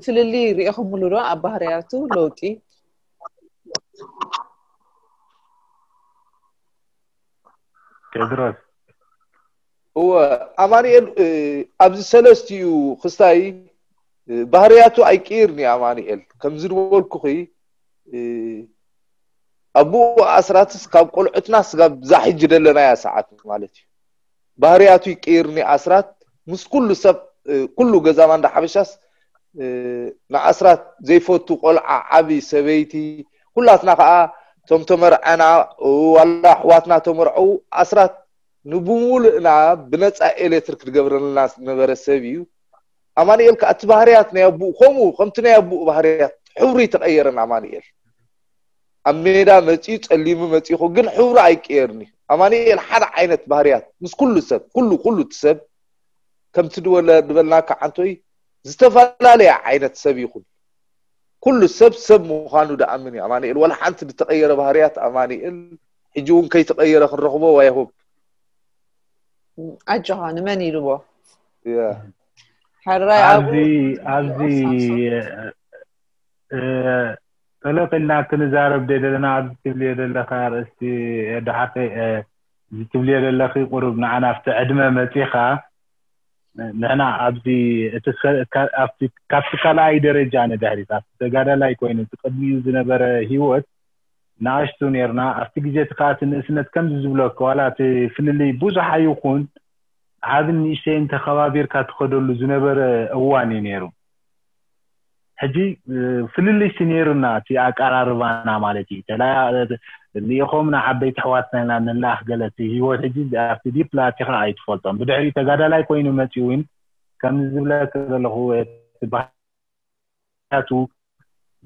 ፍልልይ ሪኢኹምሉ ዶ ኣብ ባህርያቱ ለውጢ ቴድሮስ እወ ኣማኑኤል ኣብዚ ሰለስቲኡ ክስታይ ባህርያቱ ኣይቅይርኒ ኣማኑኤል ከምዚ ዝበልኩኺ ኣቦኡ ኣስራትስ ካብ ቆልዑትና ስጋብ ዛ ሕጂ ደለናያ ሰዓት ማለት እዩ ባህርያቱ ይቅይርኒ ኣስራት ምስ ኩሉ ሰብ ኩሉ ገዛ ማንዳ ሓበሻስ ንኣስራት ዘይፈቱ ቆልዓ ዓቢ ሰበይቲ ኩላትና ከዓ ቶም ተመርዐና ዋላ ኣሕዋትና ተመርዐው ኣስራት ንብሙሉእና ብነፃ ኤሌክትሪክ ዝገብረልና ዝነበረ ሰብ እዩ ኣማኑኤል ከዓ እቲ ባህርያት ናይ ኣቡኡ ከምኡ ከምቲ ናይ ኣቡኡ ባህርያት ሕብሩ ይተቀየረን ኣማኑኤል ኣብ ሜዳ መፂኡ ፀሊሙ መፂኹ ግን ሕብሩ ኣይቀየርኒ ኣማኑኤል ሓደ ዓይነት ባህርያት ምስ ኩሉ ሰብ ኩሉ ኩሉ እቲ ሰብ ከምቲ ድበልናካ ዓንቶይ ዝተፈላለየ ዓይነት ሰብ ይኹን ኩሉ ሰብ ሰብ ምዃኑ ድኣምን እዩ ኣማኑኤል ወላ ሓንቲ ዝተቀየረ ባህርያት ኣማኑኤል ሕጂ እውን ከይተቀየረ ክንረኽቦ ዋይሆብ ኣጆኻ ንመን ኢልዎ ያ ሕራይ ኣብዚ ኣብኡ ኣብዚ ጠለቕ ኢልና ክንዛረብ ደ ዘለና ኣብዚ ትብልዮ ዘለካ ኣርእስቲ ዳሓተይ እዚ ትብልዮ ዘለኺ ቁሩብ ንዓና ኣብቲ ዕድመ መፂኻ ንሕና ኣብዚ እቲ ከ- ካ- ኣብቲ ካብቲ ካልኣይ ደረጃ ንድሕሪት ኣብቲ ተጋዳላይ ኮይኑ እቲ ቅድሚኡ ዝነበረ ሂወት ንኣሽቱ ነርና ኣብቲ ግዜ እቲ ከዓ እቲ ንእስነት ከምዚ ዝብለካ ዋላ እቲ ፍልልይ ብዙሕ ኣይኹን ዓብን ንእሽተይን ተኸባቢርካ ትኸደሉ ዝነበረ እዋን እዩ ነይሩ ሕጂ ፍልልይሲ ነይሩና እቲ ኣቀራርባና ማለት እዩ ተላ ልኢኾምና ዓበይቲ ኣሕዋትና ኢና ንላኣኽ ገለ እቲ ሂወት ሕጂ ኣብቲ ዲፕ ላቲኻ ኣይትፈልጦም ብድሕሪኡ ተጋዳላይ ኮይኑ መፂኡ እውን ከምዚ ዝብለካ ዘለኹ እቲ ባህያቱ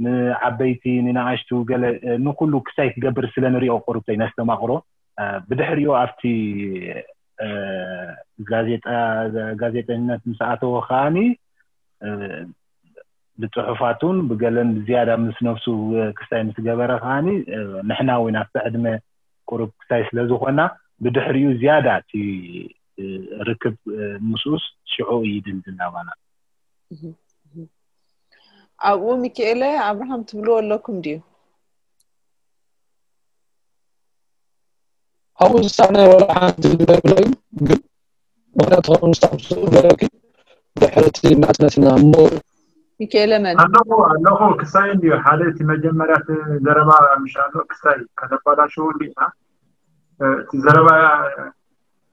ንዓበይቲ ንንኣሽቱ ገለ ንኩሉ ክሳይ ክገብር ስለ ንሪኦ ቁሩብ ነስተማቕሮ ብድሕሪኡ ኣብቲ ጋዜጣ ጋዜጠኝነት ምስ ኣተወ ከዓኒ ብፅሑፋቱን ብገለን ብዝያዳ ምስ ነብሱ ክስታይ ምስ ገበረ ከዓኒ ንሕና እውን ኣብቲ ዕድመ ቁሩብ ክስታይ ስለ ዝኾና ብድሕሪኡ ዝያዳ እቲ ርክብ ምስኡስ ሽዑ ይድልድል ኣባና። ኣብኡ ሚካኤለ ኣብርሃም ትብልዎ ኣለኩም ድዩ? ኣብኡ ዝሳነ ወላ ሓንቲ ዝብለብለይ ግን ምክንያቱ ከም ስታፍ ዝብለኪ ድሕርቲ ናጽነትና እሞ ሚካኤለ መን ኣለኹ ኣለኹ ክሳይ እንድዩ ሓደ እቲ መጀመርያ እቲ ዘረባ ምሽ ኣሎ ክሳይ ከነባላሽው እንዲና እቲ ዘረባ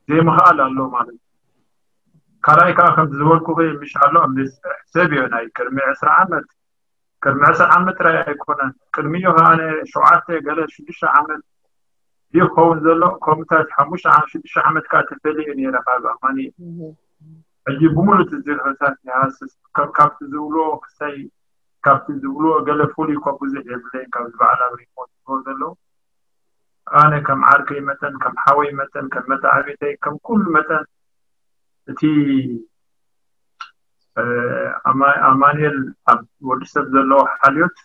ዘይምኽኣል ኣሎ ማለት እዩ። ካልኣይ ከዓ ከም ዝበልኩ ምሽ ኣሎ ሰብ እዮ ናይ ቅድሚ ዕስራ ዓመት ቅድሚ ዕስራ ዓመት ጥራይ ኣይኮነን ቅድሚዮ ከዓ ሸውዓተ ገለ ሽዱሽተ ዓመት ድዩ ክኸውን ዘሎ ከምኡታት ሓሙሽተ ዓመት ሽዱሽተ ዓመት ከዓ ተፈልየ ነይረ ካብ ኣማኒ ሕጂ ብምሉእ ዝርህታት ይሃስስ ካብቲ ዝብልዎ ክሳይ ካብቲ ዝብልዎ ገለ ፍሉይ እኳ ብዙሕ የብለይን ካብዚ በዓል ኣብ ሪፖርት ዝብሎ ዘለዉ ኣነ ከም ዓርከይ መጠን ከም ሓወይ መጠን ከም መተዓቢተይ ከም ኩሉ መጠን እቲ ኣማኑኤል ኣብ ወዲ ሰብ ዘለዎ ሓልዮት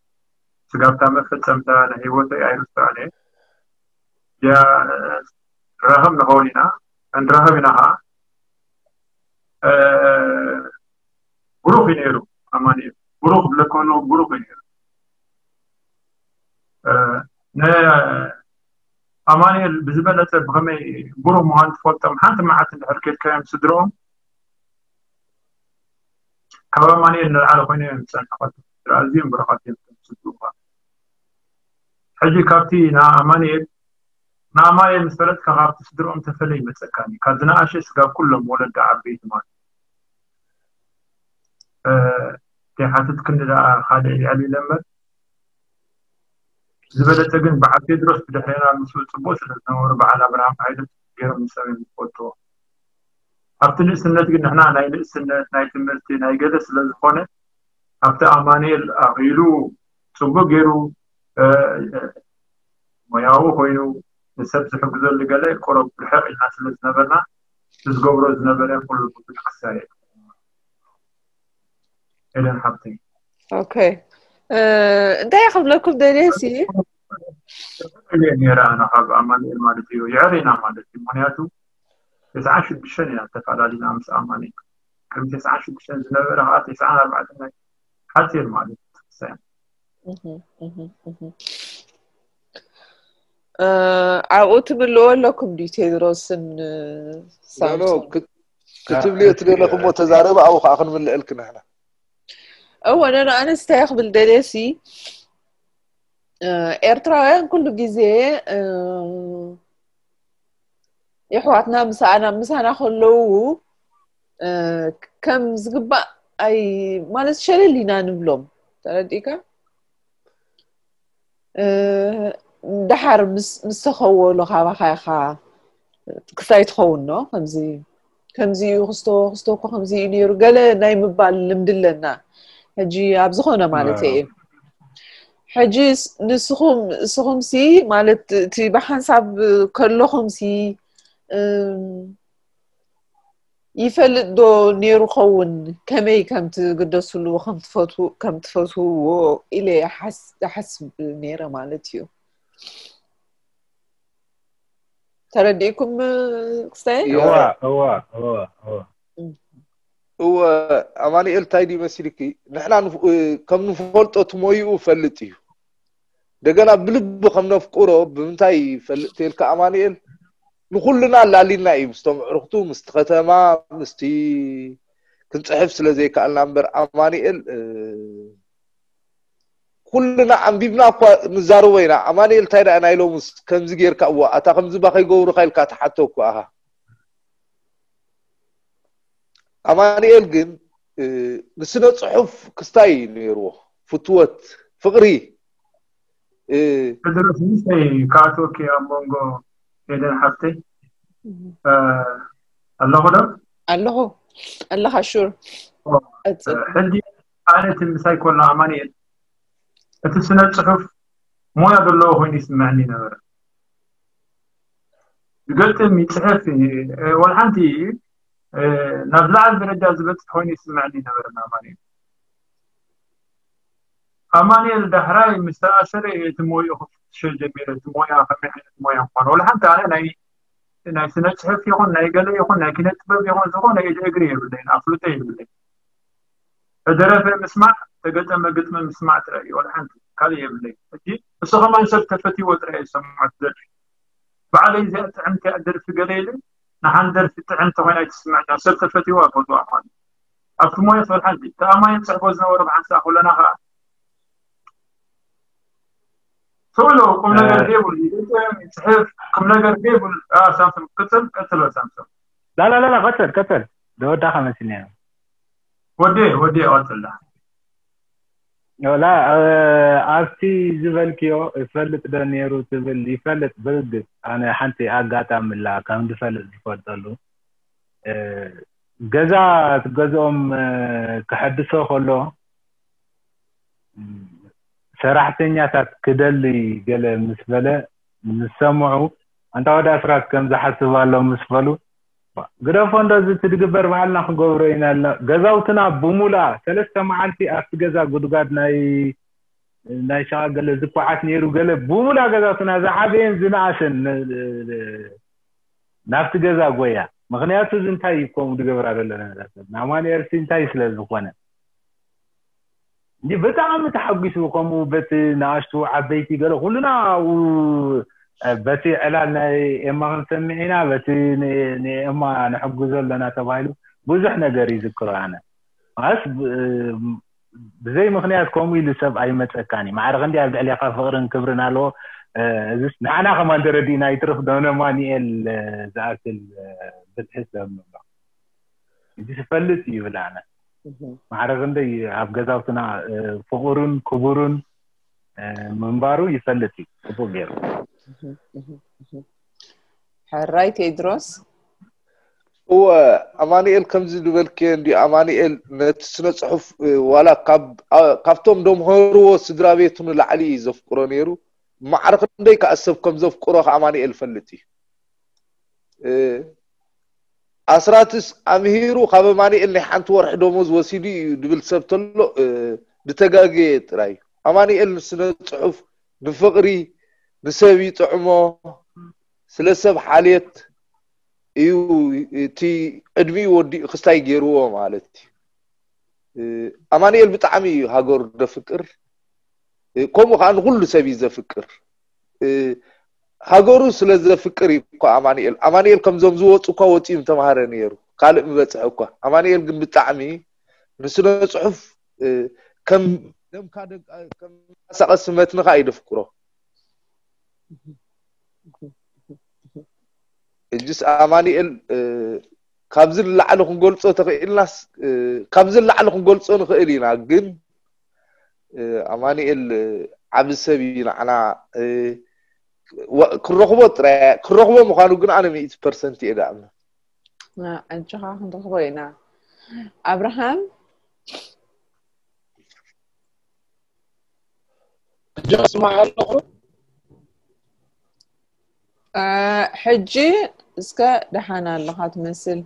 ስጋብታ መፈጸምታ ናይ ህይወተይ ኣይርስዖን እየ ያ ንራኸብ ንኸውን ኢና ንራኸብ ኢና ከዓ ብሩኽ እዩ ነይሩ ኣማኑኤል ብሩኽ ብለኮኑ ብሩኽ እዩ ነይሩ ኣማኑኤል ብዝበለፀ ብኸመይ ብሩህ ምዃን ትፈልጦም ሓንቲ መዓልቲ እንድሕር ኬድካዮም ስድርኦም ካብ ኣማኑኤል ንላዕሊ ኮይኖም እዮም ዝፀንሑ ኣዝዮም ብሩኻት እዮም ስድርኦም ሕጂ ካብቲ ንኣማኑኤል ንኣማኑኤል ምስ ፈለጥካ ካብቲ ስድርኦም ተፈለ ይመፀካኒ ካብ ዝነኣሸ ስጋብ ኩሎም ወለዲ ዓበይቲ ማለት ዘይሓትት ክንዲ ደኣ ካልእ ይዕሊለ እምበር ዝበለፀ ግን በዓል ቴድሮስ ብድሕሬና ምስኡ ፅቡቅ ስለ ዝነበሩ በዓል ኣብርሃም ሃይለ ገይሮም ንሰብ እዮም ዝፈልጥዎ ኣብቲ ንእስነት ግን ንሕና ናይ ንእስነት ናይ ትምህርቲ ናይ ገለ ስለ ዝኾነ ኣብቲ ኣማኑኤል ኣኺሉ ፅቡቅ ገይሩ ሞያዊ ኮይኑ ንሰብ ዝሕግዘሉ ገለ ቁሩብ ርሕቕ ኢልና ስለ ዝነበርና ዝገብሮ ዝነበረ ኩሉ ብዙሕ ክሳየ ኤደን ሓብተይ ኦኬ እንታይ ክብለኩም ደልየ ሲ እየ ነይረ ኣነ ካብ ኣማኑኤል ማለት እዩ ይዕር ኢና ማለት እዩ ምክንያቱ ተስዓ ሽዱሽተ ኢና ተፈላለና ምስ ኣማኑኤል ቅድሚ ተስዓ ሽዱሽተ ዝነበረ ከዓ ተስዓ ኣርባዕተ ናይ ሓፂር ማለት እዩ ኣብኡ ትምልዎ ኣለኩም ድዩ ቴድሮስን ኖ ክትብልዮ ትደለኹ እሞ ተዛረበ ኣብኡ ከዓ ክንምልአልክ ንሕና እወ ነንኣንስታይ ክብል ደልየሲ ኤርትራውያን ኩሉ ግዜ የሕዋትና ምሳና ምሳና ከለዉ ከም ዝግባእ ኣይ ማለት ሸለል ኢና ንብሎም ተረዲእካ ደሓር ምስ ምስ ተኸወሉ ካባኻ ኢኻ ክስታይ ትኸውን ዶ ከምዚ ከምዚ እዩ ክስቶ ክስቶ እኮ ከምዚ እዩ ነይሩ ገለ ናይ ምባል ልምዲ ኣለና ሕጂ ኣብ ዝኾነ ማለት እየ ሕጂ ንስኹም ንስኹም ሲ ማለት እቲ ብሓንሳብ ከለኹም ሲ ይፈልጥ ዶ ነይሩ ኸውን ከመይ ከም ትግደስሉ ከም ትፈትውዎ ኢለ ይሓስብ ነይረ ማለት እዩ ተረዲእኩም ክስታይ እወ ኣማኒኤል እንታይ ድዩ መሲልኪ ንሕና ከም ንፈልጦ ትሞይኡ ፈልጥ እዩ እንደገና ብልቢ ከም ነፍቅሮ ብምንታይ ይፈልጥ ተልካ ኣማኑኤል ንኩልና ኣላሊና እዩ ምስቶም ዕርክቱ ምስቲ ከተማ ምስቲ ክንፅሕፍ ስለ ዘይከኣልና እምበር ኣማኑኤል ኩልና ኣንቢብና እኳ ንዛረቦ ኢና ኣማኑኤል እንታይ ደኣ ናይ ሎምስ ከምዚ ጌርካ እዋ ኣታ ከምዚ ባ ከይገብሩካ ኢልካ ትሓቶ እኮ ኣኻ ኣማኑኤል ግን ንስነ ፅሑፍ ክስታይ እዩ ነይርዎ ፍትወት ፍቅሪ ድረስ ምስተይ ከኣትወኪ ኣብ መንጎ ኤደን ሓፍተይ ኣለኹ ዶ ኣለኹ ኣለኻ ሹር ሕጂ ኣነ እቲ ምሳይ ኮሎ ኣማኑኤል እቲ ስነ ፅሑፍ ሞያ ዘለዎ ኮይኑ ይስምዐኒ ነበረ ዝገጥም ይፅሕፍ ወላ ሓንቲ ናብ ዝለዓለ ደረጃ ዝበፅሕ ኮይኑ ይስምዐኒ ነበረ ኣማኑኤል ኣማኑኤል ዳሕራይ ምስ ተኣሰረ እቲ ሞይኡ ክፍትሸ ጀሚረ እቲ ሞያ ከመይ ዓይነት ሞያ ምኳኑ ወላ ሓንቲ ኣነ ናይ ናይ ስነ ጽሑፍ ይኹን ናይ ገለ ይኹን ናይ ኪነ ጥበብ ይኹን ዝኾነ ኢድ እግሪ የብለይን፣ ኣፍልጦ የብለይን። ተደረፈ ምስማዕ፣ ተገጠመ ግጥሚ ምስማዕ ጥራይ እዩ፣ ወላ ሓንቲ ካልእ የብለይን። ሕጂ እሱ ከማን ሰብ ተፈትይዎ ጥራይ እዩ ዝሰምዖ እቲ ደርፊ። ባዕለይ እዚኣ ጥዕምቲ እያ ደርፊ ገለ ኢለ፣ ንሓንቲ ደርፊ ጥዕምቲ ኮይና ኣይትስምዐኒ፣ ሰብ ተፈትይዋ ይፈትዋ ማለት እዩ። ኣብቲ ሞያ ትበል ሓንቲ ተኣማኒ ንጽሕፎ ዝነበሩ ብሓንሳእ ኩለና ከኣ ትብሎ ቁም ነገር ዘይብሉ ይግጥም፣ ይጽሕፍ፣ ቁም ነገር ዘይብሉ። ሳምሶም ቅጽል፣ ቀጽሎ ሳምሶም። ላላላላ ቀጽል ቀጽል ደወዳኻ መስልኒ። ወዴ ወዴ ቀጽላ። ላ ኣብቲ ዝበልክዮ ይፈልጥ ዶ ነይሩ ትብል፣ ይፈልጥ ብርግጽ። ኣነ ሓንቲ ኣጋጣሚ ላ ከም ዝፈልጥ ዝፈልጠሉ ገዛ ትገዝኦም ክሐድሶ ከሎ ሰራሕተኛታት ክደሊ ገለ ምስ በለ ምስ ሰምዑ፣ ኣንታ ወዲ ኣስራት ከም ዝሓስብ ኣሎ ምስ በሉ፣ ግደፎ እንዶ እዚ ትድግበር ባዕልና ክገብሮ ኢና ኢልና። ገዛውትና ብሙላ ሰለስተ መዓልቲ ኣብቲ ገዛ ጉድጓድ ናይ ናይ ሸቓ ገለ ዝኳዓት ነይሩ፣ ገለ ብሙላ ገዛውትና ዝዓበየን ዝነኣሰን ናብቲ ገዛ ጎያ። ምክንያቱ እዚ እንታይ እዩ ከምኡ ዝገብራ ዘሎ ነገር? ንኣማኑኤል ሲ እንታይ ስለ ዝኾነ እንዲ ብጣዕሚ ተሓጒሱ፣ ከምኡ በቲ ንኣሽቱ ዓበይቲ ገለ ኩሉና ኣብኡ በቲ ዕላል ናይ ኤማ ክንሰምዕ ኢና፣ በቲ ንኤማ ንሕግዞ ኣለና ተባሂሉ ብዙሕ ነገር ይዝክሮ። ኣነ ማስ ብዘይ ምክንያት ከምኡ ኢሉ ሰብ ኣይመፀካን እዩ። ማዕረ ክንዲ ኣብ ልዕሌካ ፍቅርን ክብርን ኣለዎ። እዚስ ንዓና ከማን ተረዲእና ይትርፍ ዶ ንኣማኑኤል ዝኣክል ብልሒ ሰብ ንብሎ እዚ ትፈልጥ እዩ ይብል። ኣነ ማዕረ ክንደይ ኣብ ገዛውትና ፍቁርን ክቡርን ምንባሩ ይፈልጥ እዩ ጽቡቅ ገይሩ። ሕራይ ቴድሮስ። እወ ኣማኑኤል ከምዚ ዝበልክዮ እንዲ ኣማኑኤል ነቲ ስነ ጽሑፍ ዋላ ካብቶም ደምሃርዎ ስድራ ቤቱ ንላዕሊ እዩ ዘፍቅሮ ነይሩ። ማዕረ ክንደይ ከኣ ሰብ ከም ዘፍቅሮ ከኣ ኣማኑኤል ይፈልጥ እዩ። ኣስራትስ ኣምሂሩ ካብ ኣማኑኤል ናይ ሓንቲ ወርሒ ደሞዝ ወሲዱ እዩ ድብል ሰብ ተሎ ድተጋገየ ጥራይ እዩ። ኣማኑኤል ንስነ ጽሑፍ ንፍቕሪ ንሰብ ይጥዕሞ፣ ስለ ሰብ ሓልየት እዩ እቲ ዕድሚኡ ወዲኡ ክስታይ ገይርዎ ማለት እዩ። ኣማኑኤል ብጣዕሚ እዩ ሃገሩ ደፍቅር፣ ከምኡ ከዓ ንኩሉ ሰብ እዩ ዘፍቅር። ሃገሩ ስለ ዘፍቅር እዩ እኮ ኣማኑኤል። ኣማኑኤል ከምዞም ዝወፁ እኳ ወፂኡ ምተማሃረ ነይሩ፣ ካልእ ምበፅሐ እኳ። ኣማኑኤል ግን ብጣዕሚ ንስነ ፅሑፍ ከም ደምካ ደንቃ- ከም መንቀሳቐሲ መትንኻ እዩ ደፍቅሮ። እጅስ ኣማኑኤል ካብዚ ንላዕሊ ክንገልፆ ተኽኢልናስ ካብዚ ንላዕሊ ክንገልፆ ንኽእል ኢና፣ ግን ኣማኑኤል ዓቢ ሰብ እዩ። ንዓና ክንረኽቦ ጥራይ ክንረኽቦ ምዃኑ ግን ኣነ ሚእቲ ፐርሰንት እየ ዝኣምን። ኣጆኻ ክንረኽቦ ኢና። ኣብርሃም ሕጂ ስማዕ ኣለኹ። ሕጂ እስከ ደሓን ኣለኻ ትመስል።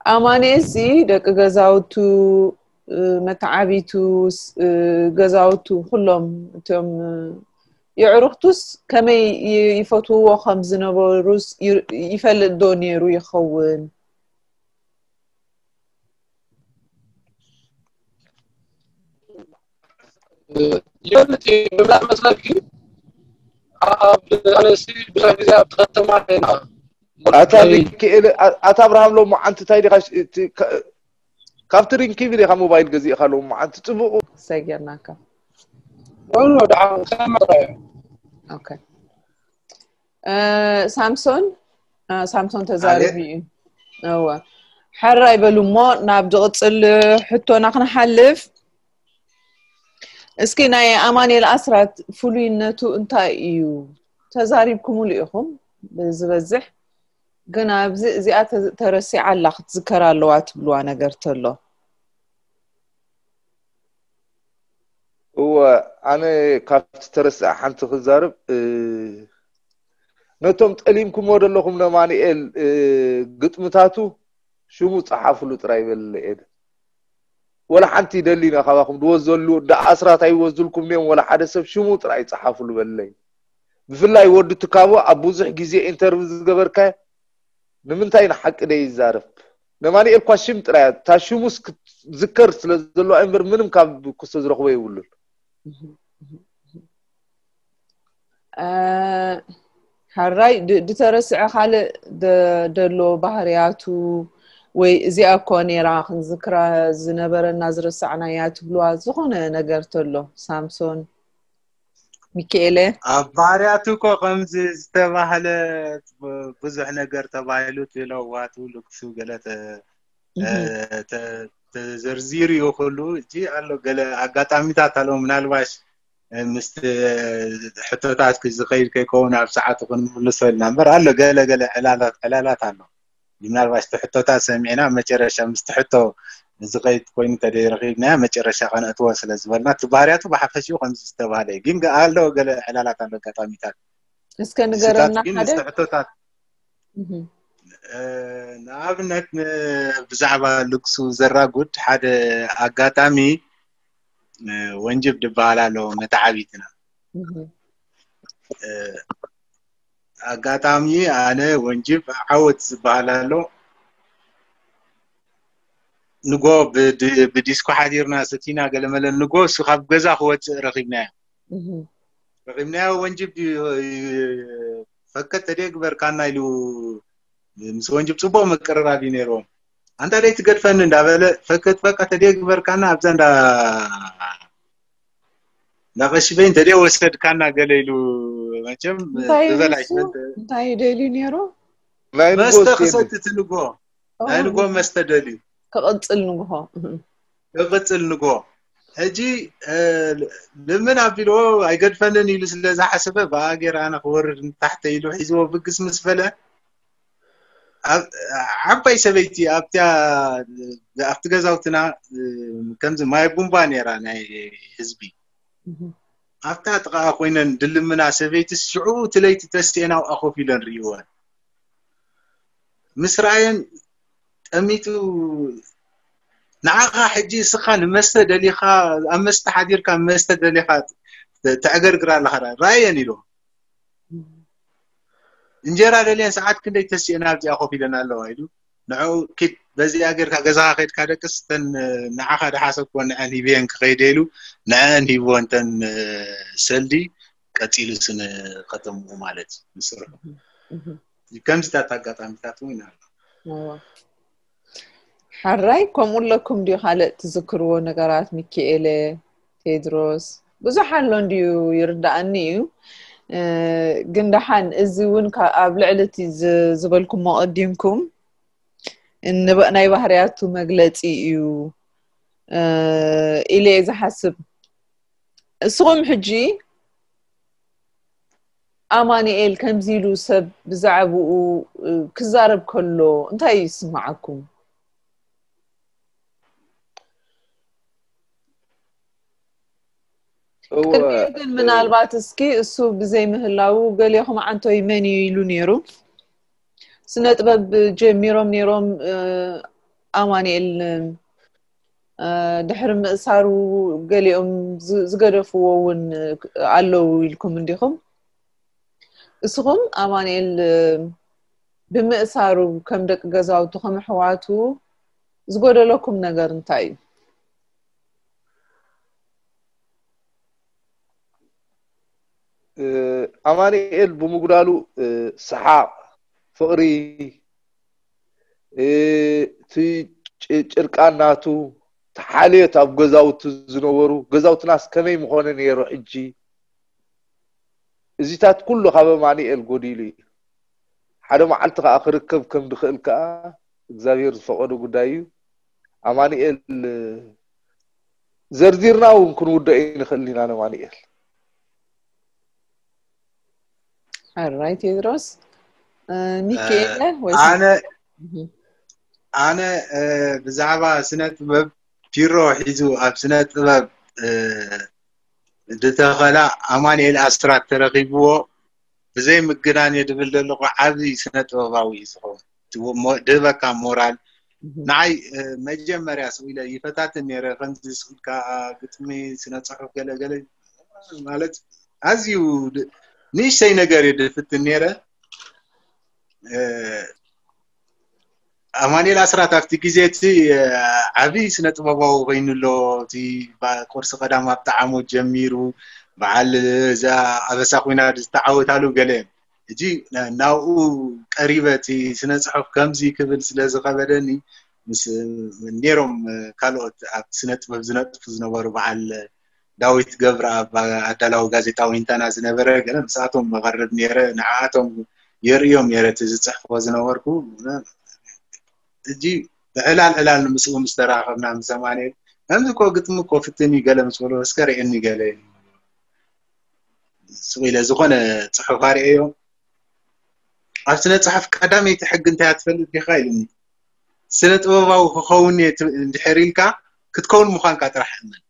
ንኣማኑኤል ሲ ደቂ ገዛውቱ መተዓቢቱ ገዛውቱ ኩሎም እቶም የዕሩኽቱስ ከመይ ይፈትውዎ ከም ዝነበሩስ ይፈልጥ ዶ ነይሩ ይኸውን? ይፈልጥ እዩ። ብመን መሰልኪ ኣብ ኣነሲ ብዙሕ ግዜ ኣብቲ ከተማ ኢና ኣታ ሚካኤል ኣታ ኣብርሃም ሎማዓንቲ እንታይ ዲኻ ካብቲ ሪንኪቪ ዲኻ ሞባይል ገዚእካ ሎማዓንቲ ጽቡቕ ሰጊርናካ ኖ ኖ ደሓን ከመረ ኦኬ ሳምሶን ሳምሶን ተዛሪቡ እዩ። እወ ሕራይ በሉ እሞ ናብ ዝቕፅል ሕቶና ክንሓልፍ። እስኪ ናይ ኣማኑኤል ኣስራት ፍሉይነቱ እንታይ እዩ? ተዛሪብኩምሉ ኢኹም ብዝበዝሕ፣ ግን ኣብዚ እዚኣ ተረሲዓ ኣላ ክትዝከር ኣለዋ ትብልዋ ነገር ተሎ? እወ ኣነ ካብቲ ተረስዐ ሓንቲ ክዛርብ ነቶም ጠሊምኩሞ ዘለኹም ነማንኤል ግጥምታቱ ሽሙ ጸሓፍሉ ጥራይ በለ ኤደ ወላ ሓንቲ ይደሊና ካባኹም ድወዘሉ ዳ ኣስራት ኣይወዝልኩም ኔም ወላ ሓደ ሰብ ሽሙ ጥራይ ጸሓፍሉ በለይ ብፍላይ ወዲ ትካቦ ኣብ ብዙሕ ግዜ ኢንተርቪው ዝገበርካዮ ንምንታይ ንሓቂ ደይዛረብ? ነማንኤል ኳ ሽም ጥራይ እያ። እታ ሽሙስ ክትዝከር ስለ ዘለዋ እምበር ምንም ካብ ክስቶ ዝረኽቦ የብሉን። ሕራይ ድተረስዐ ካልእ ደሎ ባህርያቱ ወይ እዚኣ እኮ ነይራ ክንዝክራ ዝነበረና ዝረሳዕናያ ትብልዋ ዝኾነ ነገር ተሎ ሳምሶን ሚካኤለ ኣብ ባህርያቱ እኮ ከምዚ ዝተባህለ ብዙሕ ነገር ተባሂሉ ትለዋቱ ልክሱ ገለ ተዘርዚሩ ይኽሉ እጂ ኣሎ ገለ ኣጋጣሚታት ኣሎ ምናልባሽ ምስ ሕቶታት ዝኸይድ ከይከውን ኣብ ሰዓቱ ክንምልሶ ኢልና እምበር ኣሎ ገለ ገለ ዕላላት ኣሎ ምናልባሽ ትሕቶታት ሰሚዕና መጨረሻ ምስ ትሕቶ ዝኸይድ ኮይኑ ተደይ ረኺብናያ መጨረሻ ከነእትዎ ስለ ዝበልና እቲ ባህርያቱ ብሓፈሽኡ ከምዚ ዝተባህለ እዩ ግን ኣሎ ገለ ዕላላት ኣሎ ኣጋጣሚታት እስከ ንገረና ሓደ ትሕቶታት ንኣብነት ብዛዕባ ልግሱ ዘራጉድ ሓደ ኣጋጣሚ ወንጅብ ዝበሃል ኣሎ መተዓቢትና ኣጋጣሚ ኣነ ወንጅብ ዓወት ዝበሃል ኣሎ ንጎ ብዲስኮ ሓዲርና ሰቲና ገለመለ ንጎ እሱ ካብ ገዛ ክወፅእ ረኺብናዮ ረኺብናዮ ወንጅብ ፈከት ተደግበርካና ኢሉ ምስ ወንጅብ ፅቡቅ ምቅርራብ እዩ ነይርዎም ኣንታ ደይ ትገድፈኒ እንዳበለ ፈከት በቃ ተደግበርካና ኣብዛ እንዳ እንዳቀሽበይ እንተደ ወሰድካና ገለ ኢሉ መቸም ዝበላሽ እንታይ ደልዩ ነይሩ መስተ ክሰቲ ትንጎ ናይ ንጎ መስተ ደልዩ ክቕፅል ንግሆ ክቕፅል ንጎ ሕጂ ልምን ኣቢልዎ ኣይገድፈንን ኢሉ ስለ ዝሓሰበ ብኣጌር ኣነ ክወርድ ንታሕተ ኢሉ ሒዝዎ ብግስ ምስ በለ ዓባይ ሰበይቲ ኣብቲ ገዛውትና ከምዚ ማይ ቡምባ ነይራ ናይ ህዝቢ ኣብታ ጥቃ ኮይነን ድልምና ሰበይቲ ሽዑ እቲ ለይቲ ተስኤን ኣብኣ ኮፍ ኢለን ርእይወን ምስ ረኣየን ጠሚቱ ንዓኻ ሕጂ እስኻ ንመስተ ደሊኻ ኣብ መስተ ሓዲርካ መስተ ደሊኻ ተዕገርግር ኣለኻ ራእየን ኢሎም እንጀራ ደልየን ሰዓት ክንደይ ተሲአን ኣብዚኣ ኮፍ ኢለን ኣለዋ ኢሉ ንዕኡ ኪድ በዚኣ ጌርካ ገዛኻ ከድካ ደቅስ ተን ንዓኻ ድሓሰብኮ ንዐን ሂብየን ክኸይደ ኢሉ ንዐን ሂብወን ተን ሰልዲ ቀፂሉ ስነ ከተምኡ ማለት እዩ ንስርሑ ከምዚታት ኣጋጣሚታት እውን ኣሎ ሓራይ ከምኡ ኣለኩም ድዩ ካልእ ትዝክርዎ ነገራት ሚኪኤለ ቴድሮስ ብዙሕ ኣሎ እንድዩ ይርዳእኒ እዩ ግን ደሓን እዚ እውን ኣብ ልዕሊ እቲ ዝበልኩም መቐዲምኩም ናይ ባህርያቱ መግለፂ እዩ ኢለ ዝሓስብ እስኹም ሕጂ ኣማንኤል ከምዚ ኢሉ ሰብ ብዛዕባኡ ክዛረብ ከሎ እንታይ ይስምዓኩም? ቅድሚኡ ግን ምናልባት እስኪ እሱ ብዘይ ምህላው ገሌኹም ዓንቶይ መን እዩ ኢሉ ነይሩ። ስነ ጥበብ ጀሚሮም ነይሮም ኣማንኤል ድሕሪ ምእሳሩ ገሊኦም ዝገደፍዎ እውን ኣለዉ ኢልኩም እንዲኹም እስኹም ኣማንኤል ብምእሳሩ ከም ደቂ ገዛውቱ ከም ኣሕዋቱ ዝጎደለኩም ነገር እንታይ እዩ ኣማንኤል ብምጉዳሉ ሰሓቕ ፍቕሪ እቲ ጭርቃን ናቱ ተሓልዮት ኣብ ገዛውቲ ዝነበሩ ገዛውትናስ ከመይ ምኾነ ነይሩ ሕጂ እዚታት ኩሉ ካብ ኣማንኤል ጎዲሉ እዩ ሓደ መዓልቲ ከዓ ክርከብ ከም ድኽእል ከዓ እግዚኣብሔር ዝፈቀዶ ጉዳይ እዩ ኣማንኤል ዘርዚርና እውን ክንውደኦ ይንኽእል ኢና ነማንኤል ሕራይ ቴድሮስ ሚካኤለ ወይ ኣነ ኣነ ብዛዕባ ስነ ጥበብ ፒሮ ሒዙ ኣብ ስነ ጥበብ ዝተኸላ ኣማንኤል ኣስራት ተረኺብዎ ብዘይ ምግናን እየ ድብል ዘለኹ ዓብዪ ስነ ጥበባዊ እዩ ዝኸውን ድህበካ ሞራል ንዓይ መጀመርያ ስኢለ ይፈታትን ነረ ከምዚ ስኢልካ ግጥሚ ስነ ፅሑፍ ገለገለ ማለት ኣዝዩ ንእሽተይ ነገር እየ ድፍትን ነይረ። ኣማኑኤል ኣስራት ኣብቲ ግዜ እቲ ዓብዪ ስነ ጥበባዊ ኮይኑ ኣሎ። እቲ ቁርሲ ቀዳም ኣብ ጣዕሙ ጀሚሩ በዓል እዛ ኣበሳ ኩናት ዝተዓወታሉ ገለ ሕጂ ናብኡ ቀሪበ እቲ ስነ ፅሑፍ ከምዚ ክብል ስለ ዝኸበደኒ ምስ ነይሮም ካልኦት ኣብ ስነ ጥበብ ዝነጥፉ ዝነበሩ በዓል ዳዊት ገብረኣብ ኣዳላዊ ጋዜጣ ዊንታና ዝነበረ ገለ ምስኣቶም መቐርብ ነይረ። ንዓኣቶም የርእዮም ነይረ እቲ ዝፅሕፎ ዝነበርኩ። ሕጂ ብዕላል ዕላል ምስኡ ምስ ተራኸብና ምስ ኣማኑኤል ከምዚ እኮ ግጥሚ እኮ ፍትን እዩ ገለ ምስ በሎ እስከ ርእየኒ ገለ ስቕ ኢለ ዝኾነ ፅሑፍ ኣርእየዮ። ኣብ ስነ ፅሑፍ ቀዳመይቲ ሕጊ እንታይ ትፈልጥ ዲኻ ኢሉኒ። ስነ ጥበባዊ ክኸውን እየ እንድሕር ኢልካ ክትከውን ምዃንካ ጥራሕ እመን።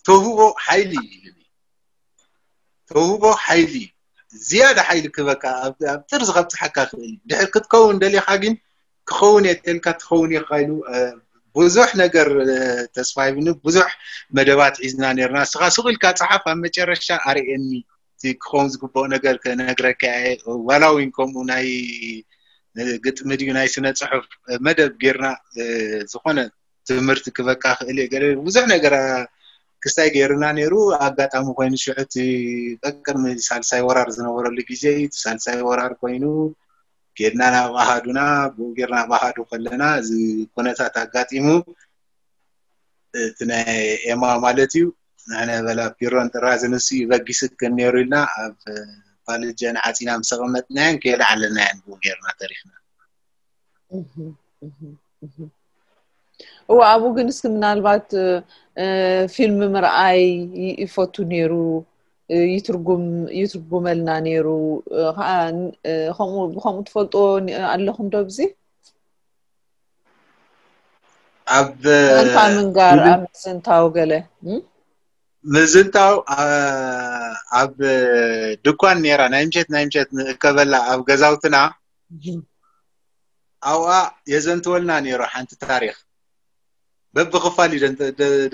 ተውህቦ ሓይሊ እዩ ኢሉኒ። ተውህቦ ሓይሊ እዩ። ዝያዳ ሓይሊ ክበካ ኣብ ጥርዚ ከብፅሓካ ክእል እዩ። ድሕር ክትከውን ደሊኻ ግን ክኸውን እየ ተልካ ትኸውን ኢኻ ኢሉ ብዙሕ ነገር ተስፋ ሂብኒ። ብዙሕ መደባት ሒዝና ነርና። እስኻ ስቕ ኢልካ ፀሓፍ ኣብ መጨረሻ ኣርእየኒ ክኸውን ዝግብኦ ነገር ክነግረካ እየ። ዋላ እውን ከምኡ ናይ ግጥሚ ድዩ ናይ ስነ ፅሑፍ መደብ ጌርና ዝኾነ ትምህርቲ ክበካ ክእል እየ ገለ ብዙሕ ነገር ክስታይ ገይርና ነይሩ። ኣጋጣሚ ኮይኑ ሽዑ እቲ ቀቅድሚ ሳልሳይ ወራር ዝነበረሉ ግዜ እዩ። እቲ ሳልሳይ ወራር ኮይኑ ጌድና ናብ ኣሃዱና ብኡ ጌርና ኣብ ኣሃዱ ከለና እዚ ኩነታት ኣጋጢሙ እቲ ናይ ኤማ ማለት እዩ። ንሕነ በላ ፒሮን ጥራዝን እሱ እዩ በጊስክን ነይሩ ኢልና ኣብ ፋልጀን ዓፂና ምስ ኣቐመጥናየን ከየለዓለናየን ብኡ ጌርና ተሪፍና። እወ ኣብኡ ግን እስኪ ምናልባት ፊልም ምርኣይ ይፈቱ ነይሩ። ይትርጉመልና ነይሩ። ብከምኡ ትፈልጦ ኣለኹም ዶ ብዚ ኣብ ኣንታ ምንጋር ኣብ ምዝንታው ገለ ምዝንታው ኣብ ድኳን ነይራ ናይ ምሸት ናይ ምሸት ንእከበላ ኣብ ገዛውትና ኣብኣ የዘንትወልና ነይሩ ሓንቲ ታሪክ በብክፋል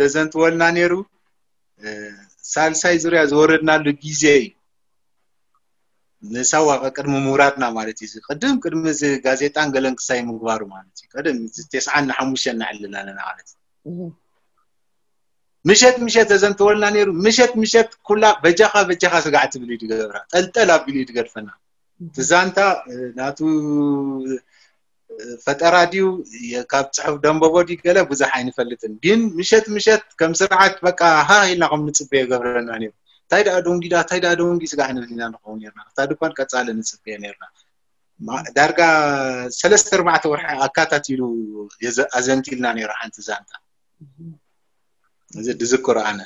ደዘንትወልና ነይሩ። ሳልሳይ ዙርያ ዝወረድናሉ ግዜ እዩ። ንሳዋ ቅድሚ ምውራድና ማለት እዩ። ቅድም ቅድሚ እዚ ጋዜጣን ገለን ክሳይ ምግባሩ ማለት እዩ። ቅድም ተስዓን ሓሙሽተን ንዕልል ኣለና ማለት እዩ። ምሸት ምሸት ተዘንትወልና ነይሩ። ምሸት ምሸት ኩላ በጃኻ በጃኻ ስጋዕ ትብል እዩ ድገብራ። ጠልጠል ኣቢሉ እዩ ድገድፈና። ትዛንታ ናቱ ፈጠራ ድዩ ካብ ፅሑፍ ደንበቦ ድዩ ገለ ብዙሕ ኣይንፈልጥን። ግን ምሸት ምሸት ከም ስርዓት በቃ ሃ ኢልና ከም ንፅበዮ ይገብረና ነይሩ። እንታይ ደኣ ደንጊዳ እንታይ ደኣ ደንጊ ስጋዕ ንብል ኢና ንኸውን ነርና። እታ ድኳን ቀፃሊ ንፅበዮ ነርና። ዳርጋ ሰለስተ ኣርባዕተ ወርሒ ኣካታቲሉ ኣዘንቲልና ነይሩ ሓንቲ ዛንታ። እዚ ድዝክሮ ኣነ።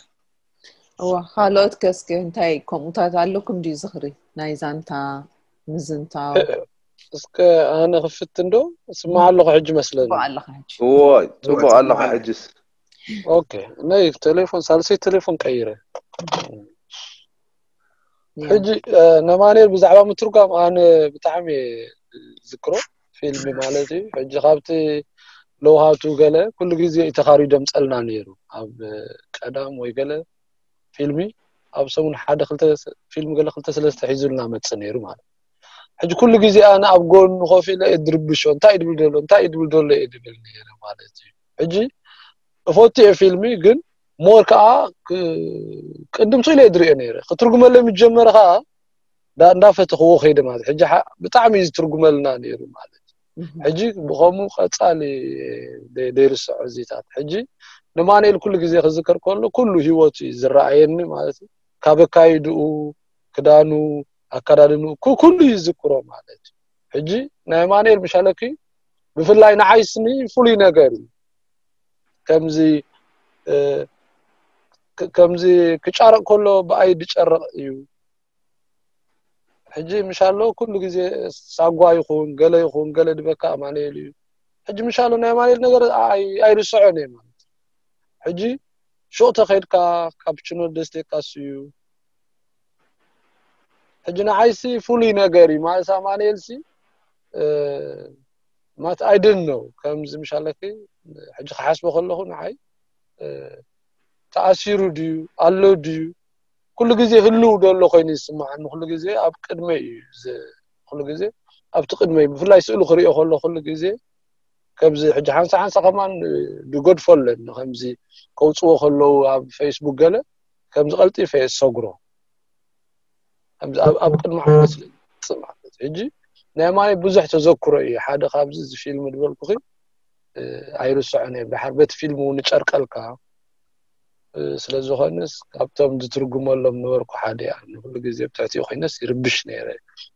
እዋ ካልኦት ከ እስከ እንታይ ከምኡታት ኣለኩም ድዩ ዝኽሪ ናይ ዛንታ ምዝንታው? እስከ ኣነ ክፍት እንዶ ስማዕ ኣለኹ ሕጂ መስለኒ። ጽቡቕ ኣለኻ ሕጂ። እዎ ጽቡቕ ኣለኻ ሕጅስ። ኦኬ ናይ ቴሌፎን ሳልሰይ ቴሌፎን ቀይረ። ሕጂ ነማንኤል ብዛዕባ ምትርጓም ኣነ ብጣዕሚ ዝክሮ ፊልም ማለት እዩ። ሕጂ ካብቲ ለውሃቱ ገለ ኩሉ ግዜ እዩ ተኻሪዶ ምጸልና ነይሩ። ኣብ ቀዳም ወይ ገለ ፊልሚ ኣብ ሰሙን ሓደ ክልተ ፊልም ገለ ክልተ ሰለስተ ሒዙልና መጽእ ነይሩ ማለት። ሕጂ ኩሉ ግዜ ኣነ ኣብ ጎኑ ኮፍ ኢለ እየ ድርብሾ፣ እንታይ ድብል ደሎ እንታይ ድብል ደሎ እየ ድብል ነይረ ማለት እዩ። ሕጂ እፈቱ እየ ፊልሚ ግን ሞር ከዓ ቅድም ስኢለ እየ ድሪኦ ነይረ። ክትርጉመለይ ምስ ጀመረ ከዓ እንዳፈተኽዎ ከይደ ማለት ሕጂ ብጣዕሚ እዩ ዝትርጉመልና ነይሩ ማለት። ሕጂ ብኸምኡ ቀፃሊ ደይርስዖ እዚታት። ሕጂ ንማንኤል ኩሉ ግዜ ክዝከር ከሎ ኩሉ ህይወቱ እዩ ዝረኣየኒ ማለት እዩ። ካብ ኣካይድኡ፣ ክዳኑ፣ ኣካዳድንኡ ኩሉ ይዝክሮ ማለት እዩ። ሕጂ ናይ ማንኤል ምሻለኪ ብፍላይ ንዓይ ስኒ ፍሉይ ነገር እዩ። ከምዚ ከምዚ ክጫረቕ ከሎ ብኣይ ድጨረቕ እዩ። ሕጂ ምሻሎ ኩሉ ግዜ ሳጓ ይኹን ገለ ይኹን ገለ ድበካ ኣማንኤል እዩ። ሕጂ ምሻሎ ናይ ኣማንኤል ነገር ኣይርስዖን እየ ማለት። ሕጂ ሹቕ ተኸይድካ ካፕችኖ ደስቴካስ እዩ። ሕጂ ንዓይሲ ፍሉይ ነገር እዩ ማለት ኣማንኤልሲ ማለት ኣይድን ነው ከምዚ ምሻለኪ ሕጂ ክሓስቦ ከለኹ ንዓይ ተኣሲሩ ድዩ ኣሎ ድዩ ኩሉ ግዜ ህልው ዘሎ ኮይኑ ይስምዓኒ። ኩሉ ግዜ ኣብ ቅድመይ እዩ ዝ- ኩሉ ግዜ ኣብቲ ቅድመይ፣ ብፍላይ ስእሉ ክሪኦ ከሎ ኩሉ ግዜ ከምዚ ሕጂ ሓንሳ ሓንሳ ከማን ድገድፎ ኣለኒ። ከምዚ ከውፅዎ ከለዉ ኣብ ፌስቡክ ገለ ከምዚ ቀልጢፈ እየ ዝሰግሮ። ከምዚ ኣብ ኣብ ቅድሚ ዓይነ ስለ ዝመፅእ ማለት እዩ። ሕጂ ናይ ማይ ብዙሕ ተዘክሮ እዩ። ሓደ ካብዚ እዚ ፊልም ዝበልኩኺ ኣይርስዖን እየ። ድሓር በቲ ፊልም እውን ይጨርቀልካ። ስለ ዝኾነስ ካብቶም ዝትርጉመሎም ነበርኩ ሓደ እያ። ኩሉ ግዜ ብትሕቲኡ ኮይነስ ይርብሽ ነይረ።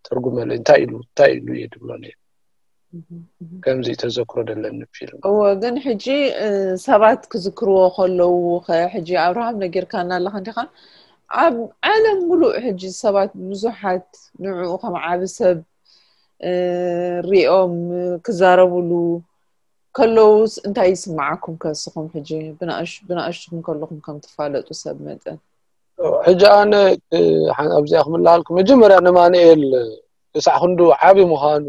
ተርጉመለይ፣ እንታይ ኢሉ እንታይ ኢሉ እየ ድብሎ ነይረ። ከምዚ ተዘክሮ ደለኒ ፊልም። እዎ፣ ግን ሕጂ ሰባት ክዝክርዎ ከለዉ ከ፣ ሕጂ ኣብርሃም ነጊርካና ኣለኻ እንዲኻ፣ ኣብ ዓለም ሙሉእ ሕጂ ሰባት ብዙሓት ንዕኡ ከም ዓቢ ሰብ ሪኦም ክዛረብሉ ከለዉስ እንታይ ይስምዓኩም ከ ንስኹም ሕጂ ብንኣሽቱኹም ከለኹም ከም ትፋለጡ ሰብ መጠን? ሕጂ ኣነ ኣብዚኣ ክምልሃልኩ፣ መጀመርያ ንማንኤል ክሳዕ ክንዱ ዓቢ ምዃኑ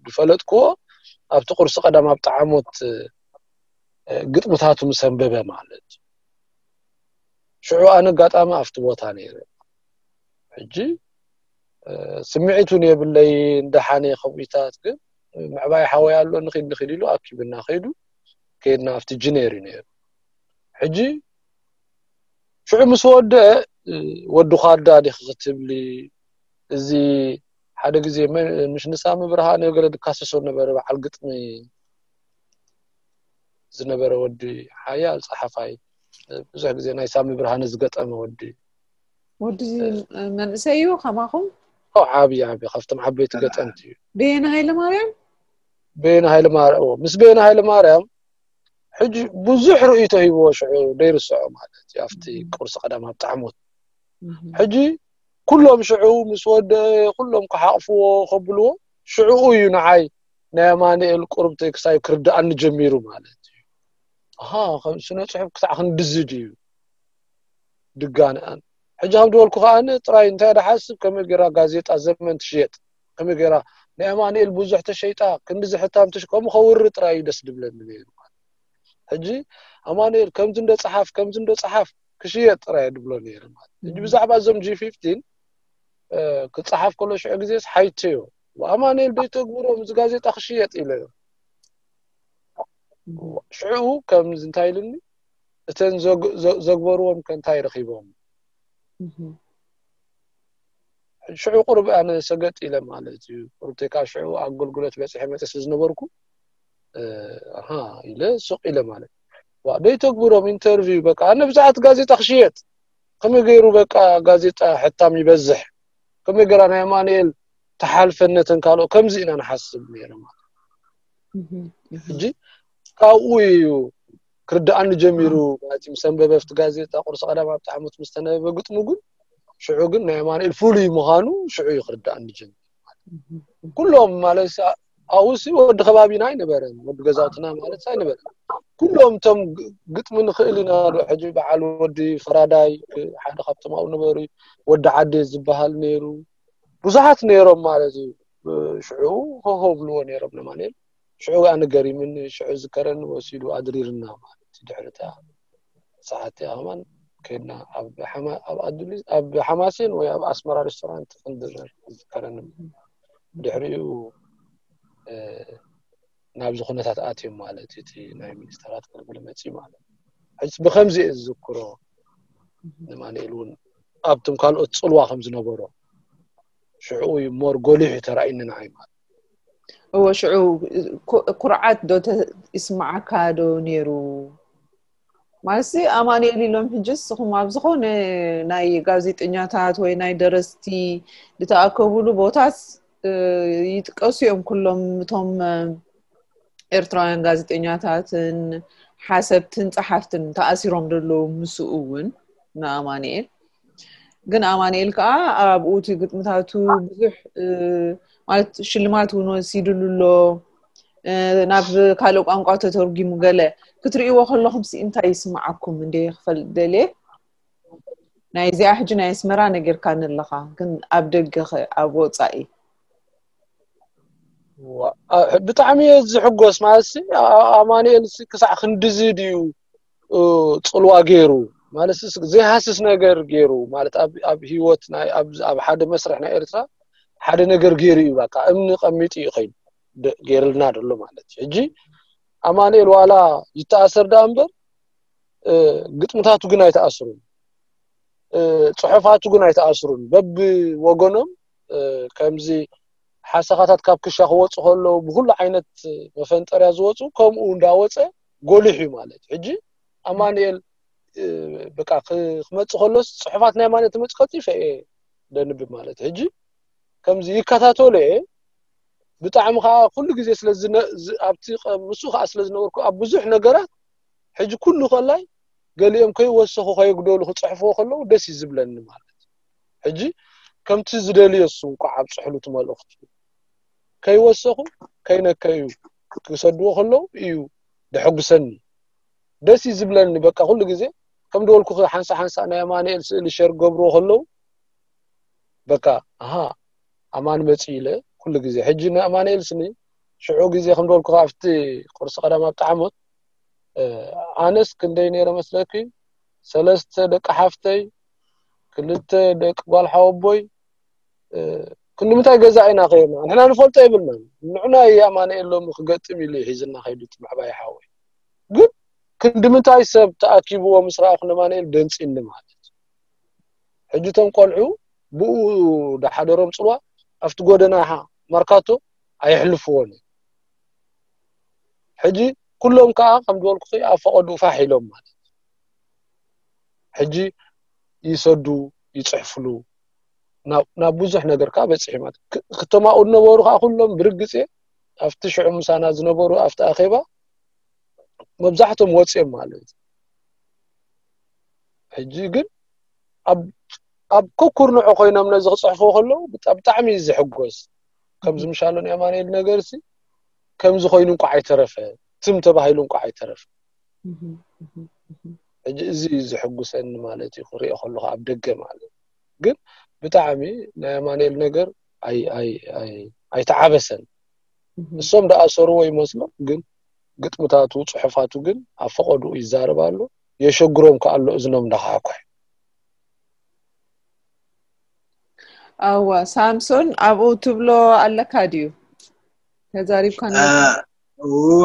ዝፈለጥክዎ ኣብቲ ቁርሲ ቀዳም ኣብ ጠዓሞት ግጥምታቱ ምስ ኣንበበ ማለት። ሽዑ ኣነ ኣጋጣሚ ኣብቲ ቦታ ነይረ። ሕጂ ስምዒት እውን የብለይ፣ እንደሓነ ከምኡታት፣ ግን ምዕባይ ሓወይ ኣሎ፣ ንኺድ ንኺድ ኢሉ ኣኪብና ከይዱ። ከይድና ኣብቲ ጅኔር እዩ ነይሩ። ሕጂ ሽዑ ምስ ወደአ ወዲ ኳዳ ዲኺ ክትብሊ፣ እዚ ሓደ ግዜ ምሽ ንሳሚ ብርሃነ ገለ ድካሰሶ ነበረ፣ በዓል ግጥሚ ዝነበረ ወዲ፣ ሓያል ጸሓፋይ፣ ብዙሕ ግዜ ናይ ሳሚ ብርሃነ ዝገጠመ ወዲ። ወዲ መንእሰይ እዩ ከማኹም? ዓብዪ ዓብዪ ካብቶም ዓበይቲ ገጠምቲ እዩ። በየነ ሃይለ ማርያም? በየነ ሃይለ ማርያም፣ ምስ በየነ ሃይለ ማርያም ሕጂ ብዙሕ ርእይቶ ሂብዎ ሽዑ ደይርስዖ ማለት እዩ። ኣብቲ ቁርሲ ቀዳም ኣብ ጣዕሞት ሕጂ ኩሎም ሽዑ ምስ ወደ ኩሎም ክሓቕፍዎ ከብልዎ ሽዑኡ እዩ ንዓይ ናይ ኣማኑኤል ቁርብ ቴክስታይ ክርድኣኒ ጀሚሩ ማለት እዩ። ኣሃ፣ ከም ስነ ጽሑፍ ክሳዕ ክንድዚ ድዩ ድጋንኣን? ሕጂ ከም ዝበልኩ ከኣ ጥራይ እንታይ ደሓስብ፣ ከመይ ገይራ ጋዜጣ ዘመን ትሽየጥ፣ ከመይ ገይራ ናይ ኣማኑኤል ብዙሕ ተሸይጣ፣ ክንድዚ ሕታም ትሽ-፣ ከምኡ ከውሪ ጥራይ እዩ ደስ ድብለኒ ነይሩ። ሕጂ ኣማኑኤል ከምዚ እንዶ ጸሓፍ፣ ከምዚ እንዶ ጸሓፍ ክሽየጥ ጥራይ ድብሎ ነይሩ ማለት። ሕጂ ብዛዕባ እዞም ጂ ፊፍቲን ክጸሓፍ ከሎ ሽዑ ግዜስ ሓይተዮ፣ ኣማኑኤል ደይተግብሮም እዚ ጋዜጣ ክሽየጥ ኢለዮ። ሽዑ ከምዚ እንታይ ኢሉኒ፣ እተን ዘግ-፣ ዘ-፣ ዘግበርዎም ከ እንታይ ረኺቦም? ሽዑ ቁሩብ ኣነ ሰገጥ ኢለ ማለት እዩ። ቁሩብ ተካ ሽዑ ኣገልግሎት በጺሐ መጽ ስለ ዝነበርኩ፣ ኣሃ ኢለ ሱቕ ኢለ ማለት። ዋ፣ ደይተግብሮም ኢንተርቪው በቃ፣ ኣነ ብዛዕባ እቲ ጋዜጣ ክሽየጥ፣ ከመይ ገይሩ በቃ ጋዜጣ ሕታም ይበዝሕ፣ ከመይ ገይራ ናይ ኣማኑኤል ተሓልፈን ነተን ካልኦ፣ ከምዚ ኢና ንሓስብ ነይረ ማለት። ሕጂ ካብኡ እዩ ክርድኣኒ ጀሚሩ ማለት እዩ። ምስ ኣንበበ ኣብቲ ጋዜጣ ቁርሲ ቀዳም ኣብ ጣዕሞት ምስ ተነበበ ግጥሙ ግን ሽዑ ግን ናይ ኣማኑኤል ፍሉይ ምዃኑ ሽዑ እዩ ክርድኣኒ ጀሚሩ። ኩሎም ማለት ኣብኡሲ ወዲ ከባቢና ኣይነበረን፣ ወዲ ገዛውትና ማለት ኣይነበረን። ኩሎም እቶም ግ-፣ ግጥሚ ንኽእል ኢና ዶ፣ ሕጂ በዓል ወዲ ፈራዳይ ሓደ ካብቶም ኣብኡ ነበሩ፣ ወዲ ዓዴ ዝበሃል ነይሩ፣ ብዙሓት ነይሮም ማለት እዩ። ሽዑ ሆሆ ብልዎ ነይሮም ንማኑኤል። ሽዑ ኣነ ገሪምኒ፣ ሽዑ ዝከረኒ ወሲዱ ኣድሪርና ማለት እዩ። ድሕሪ እታ ሰዓት እቲኣ ከማን ከይድና ኣብ ሓማ-፣ ኣብ ኣዱሊስ፣ ኣብ ሓማሴን ወይ ኣብ ኣስመራ ሬስቶራንት ክንድር ዝከረኒ። ድሕሪኡ፣ እ፣ ናብዚ ኩነታት ኣትዮም ማለት እዩ። እቲ ናይ ሚኒስተራት ክልብል መጺኡ ማለት እዩ። ሕጅስ ብኸምዚ እየ ዝዝክሮ። ንማኑኤል እውን ኣብቶም ካልኦት ጽልዋ ከም ዝነበሮ ሽዑ እዩ ሞር ጎሊሑ ተራእዩኒ ንዓይ ማለት። እወ፣ ሽዑ ኩ-፣ ኩርዓት ዶ ተ-፣ ይስምዓካ ዶ ነይሩ? ማለትሲ ኣማኑኤል ኢሎም ሕጂ ንስኹም ኣብ ዝኾነ ናይ ጋዜጠኛታት ወይ ናይ ደረስቲ ዝተኣከቡሉ ቦታስ፣ እ፣ ይጥቀሱ እዮም ኩሎም እቶም፣ እ፣ ኤርትራውያን ጋዜጠኛታትን ሓሰብትን ጸሓፍትን ተኣሲሮም ዘለዉ ምስኡ እውን ንኣማኑኤል። ግን ኣማኑኤል ከኣ ኣብኡ እቲ ግጥምታቱ ብዙሕ፣ እ፣ ማለት ሽልማት እውን ወሲድሉ ኣሎ። እ፣ ናብ ካልእ ቋንቋ ተተርጒሙ ገለ ክትርእይዎ ከለኹም ሲ እንታይ ይስምዓኩም እንዴ ክፈልጥ ደልየ። ናይ እዚኣ ሕጂ ናይ ኣስመራ ነጊርካኒ ኣለኻ፣ ግን ኣብ ደገ ኸ፣ ኣብ ወጻኢ? ዋ፣ አ-፣ ብጣዕሚ እየ ዝሕጎስ። ማለትሲ ኣ-፣ ኣማኑኤል ሲ ክሳዕ ክንድዚ ድዩ፣ እ፣ ጽልዋ ገይሩ? ማለት ስ ዘይሃስስ ነገር ገይሩ ማለት ኣብ ኣብ ህይወት ናይ ኣብ ኣብ ሓደ መስርሕ ናይ ኤርትራ ሓደ ነገር ገይሩ እዩ። በቃ እምኒ ቀሚጡ እዩ ኸይዱ ደ- ገይርልና ደሎ ማለት እዩ። ሕጂ ኣማኑኤል ዋላ ይተኣሰር ደኣ እምበር እ፣ ግጥምታቱ ግን ኣይተኣስሩን፣ እ፣ ጽሑፋቱ ግን ኣይተኣስሩን። በብወገኖም እ፣ ከምዚ ሓሰኻታት ካብ ክሻ ክወፁ ከለዉ ብኩሉ ዓይነት መፈንጠርያ ዝወፁ ከምኡ እንዳወፀ ጎሊሑ እዩ ማለት እዩ። ሕጂ ኣማኑኤል እ፣ በቃ ክ- ክመፅእ ከሎስ ጽሑፋት ናይ ኣማኑኤል ትመፅእ ቀልጢፈ እየ ደንብብ ማለት እዩ። ሕጂ ከምዚ ይከታተሎ እየ ብጣዕሚ ከዓ ኩሉ ግዜ ስለ ዝነ- ዝ- ኣብቲ ቀ- ምስኡ ከዓ ስለ ዝነበርኩ ኣብ ብዙሕ ነገራት ሕጂ ኩሉ ከላይ ገሊኦም ከይወሰኹ ከየጉደሉ ክፅሕፍዎ ከለዉ ደስ እዩ ዝብለኒ ማለት ሕጂ ከምቲ ዝደልዮ እሱ እንኳዕ ኣብፅሕሉ እቲ መልእኽቱ ከይወሰኹ ከይነከዩ ክሰድዎ ከለዉ እዩ ደሐጉሰኒ ደስ እዩ ዝብለኒ በቃ ኩሉ ግዜ ከም ደወልኩ ሓንሳ ሓንሳ ናይ ኣማኑኤል ስእሊ ሸር ገብርዎ ከለዉ በቃ ኣሃ ኣማን መፂ ኢለ ኩሉ ግዜ ሕጂ ንኣማኑኤል ስኒ ሽዑ ግዜ ከም ደወልኩ ኣብቲ ቁርሲ ቀዳም ኣብቲ ዓመት ኣነስ ክንደይ ነይረ መስለኪ ሰለስተ ደቂ ሓፍተይ ክልተ ደቂ ጓል ሓወቦይ ክንዲ ምንታይ ገዛ ኢና ከይርና ንሕና ንፈልጦ የብልናን ንዑና ኣማኑኤል ሎሚ ክገጥም ኢሉ ሒዝና ከይዱ እቲ ምዕባይ ሓወይ ግን ክንዲ ምንታይ ሰብ ተኣኪብዎ ምስ ረኣኹ ነማንኤል ደንፂኒ ማለት ሕጂ እቶም ቆልዑ ብኡ ዳሓደሮም ፅልዋ ኣብቲ ጎደና መርካቶ ኣየሕልፍዎን ሕጂ ኩሎም ከዓ ከም ዝበልኩ ኣብ ፈቐድኡ ፋሕ ኢሎም ማለት ሕጂ ይሰዱ ይፅሕፍሉ ናብ ብዙሕ ነገር ከዓ በፂሑ ማለት ክተማኡ ዝነበሩ ከዓ ኩሎም ብርግፅ ኣብቲ ሽዑ ምሳና ዝነበሩ ኣብቲ ኣኼባ መብዛሕቶም ወፅኦም ማለት ሕጂ ግን ኣብ ኩርንዖ ኮይኖም ነዚ ክፅሕፍዎ ከለዉ ብጣዕሚ እዩ ዝሕጎስ ከምዚ ምሻሎ ናይ ኣማኑኤል ነገርሲ ከምዚ ኮይኑ እንኳ ኣይተረፈ ትም ተባሂሉ እንኳ ኣይተረፈ ሕጂ እዚ እዩ ዝሕጉሰኒ ማለት እዩ ክሪኦ ከለኩ ኣብ ደገ ማለት ግን ብጣዕሚ ናይ ኣማኑኤል ነገር ኣይተዓበሰን እሶም ደኣ ሰርዎ ይመስሎም ግን ግጥምታቱ ፅሑፋቱ ግን ኣብ ፈቐድኡ ይዛረብ ኣሎ የሸግሮም ከኣሎ እዝኖም እንዳኸዓኳሕ ኣዋ ሳምሶን ኣብኡ ትብሎ ኣለካ ድዩ ተዛሪብካ እወ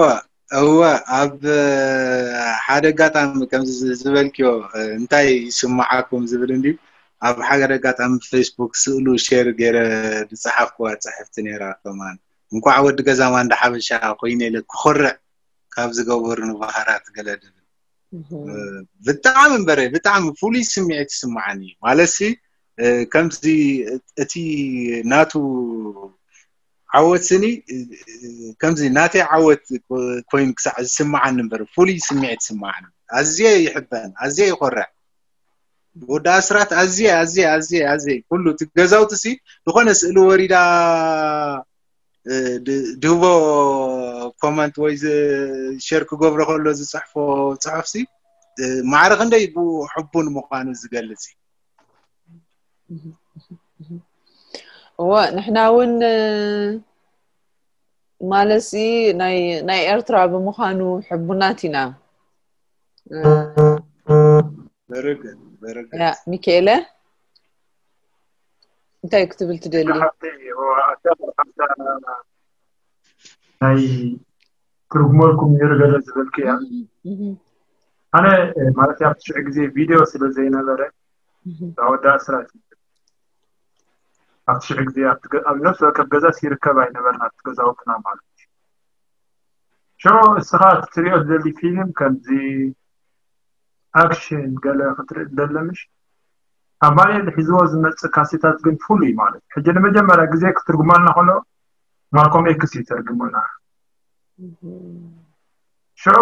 እወ ኣብ ሓደ ኣጋጣሚ ከምዚ ዝበልክዮ እንታይ ይስምዓኩም ዝብል እንድዩ ኣብ ሓደ ኣጋጣሚ ፌስቡክ ስእሉ ሼር ገይረ ዝፀሓፍኩዋ ፅሕፍቲ ነይራ ከማን እንኳዕ ወዲ ገዛ ማንዳ ሓበሻ ኮይነ ኢለ ክኾርዕ ካብ ዝገበሩኒ ባህርያት ገለ ድብል ብጣዕሚ እምበረ ብጣዕሚ ፍሉይ ስምዒት ይስምዓኒ እዩ ማለትሲ ከምዚ እቲ ናቱ ዓወት ስኒ ከምዚ ናተይ ዓወት ኮይኑ ክሳዕ ዝስምዓኒ እምበር ፍሉይ ስምዒት ይስምዓኒ ኣዝየ ይሕበን ኣዝየ ይኾርዕ ወዲ ኣስራት ኣዝየ ኣዝየ ኣዝየ ኣዝየ ኩሉ እቲ ገዛውቲ ሲ ዝኾነ ስእሊ ወሪዳ ድህቦ ኮመንት ወይ ሸር ክገብሮ ከሎ ዝፅሕፎ ፅሑፍ ሲ ማዕረ ክንደይ ብኡ ሕቡን ምዃኑ ዝገልፅ እዩ እወ ንሕና እውን ማለትሲ ናይ ኤርትራ ብምዃኑ ሕቡናት ኢና ሚካኤለ እንታይ ክትብል ትደሊ ናይ ትርጉመልኩም ነይሩ ገለ ዝበልክያ ኣነ ማለት ኣብቲ ሽዑ ግዜ ቪድዮ ስለ ዘይነበረ ወዳ ኣስራት ኣብቲ ሽዑ ግዜ ኣብ ነፍሲ ወከፍ ገዛ ሲርከብ ኣይነበርና ኣብቲ ገዛውትና ማለት እዩ ሽዑ እስኻ ትሪኦ ዝደሊ ፊልም ከምዚ ኣክሽን ገለ ክትርኢ ደለምሽ ኣማኑኤል ሒዝዎ ዝመፅእ ካሴታት ግን ፍሉይ ማለት ሕጂ ንመጀመርያ ግዜ ክትርጉመልና ከሎ ማልኮም ኤክስ እዩ ተርግሙልና ሽዑ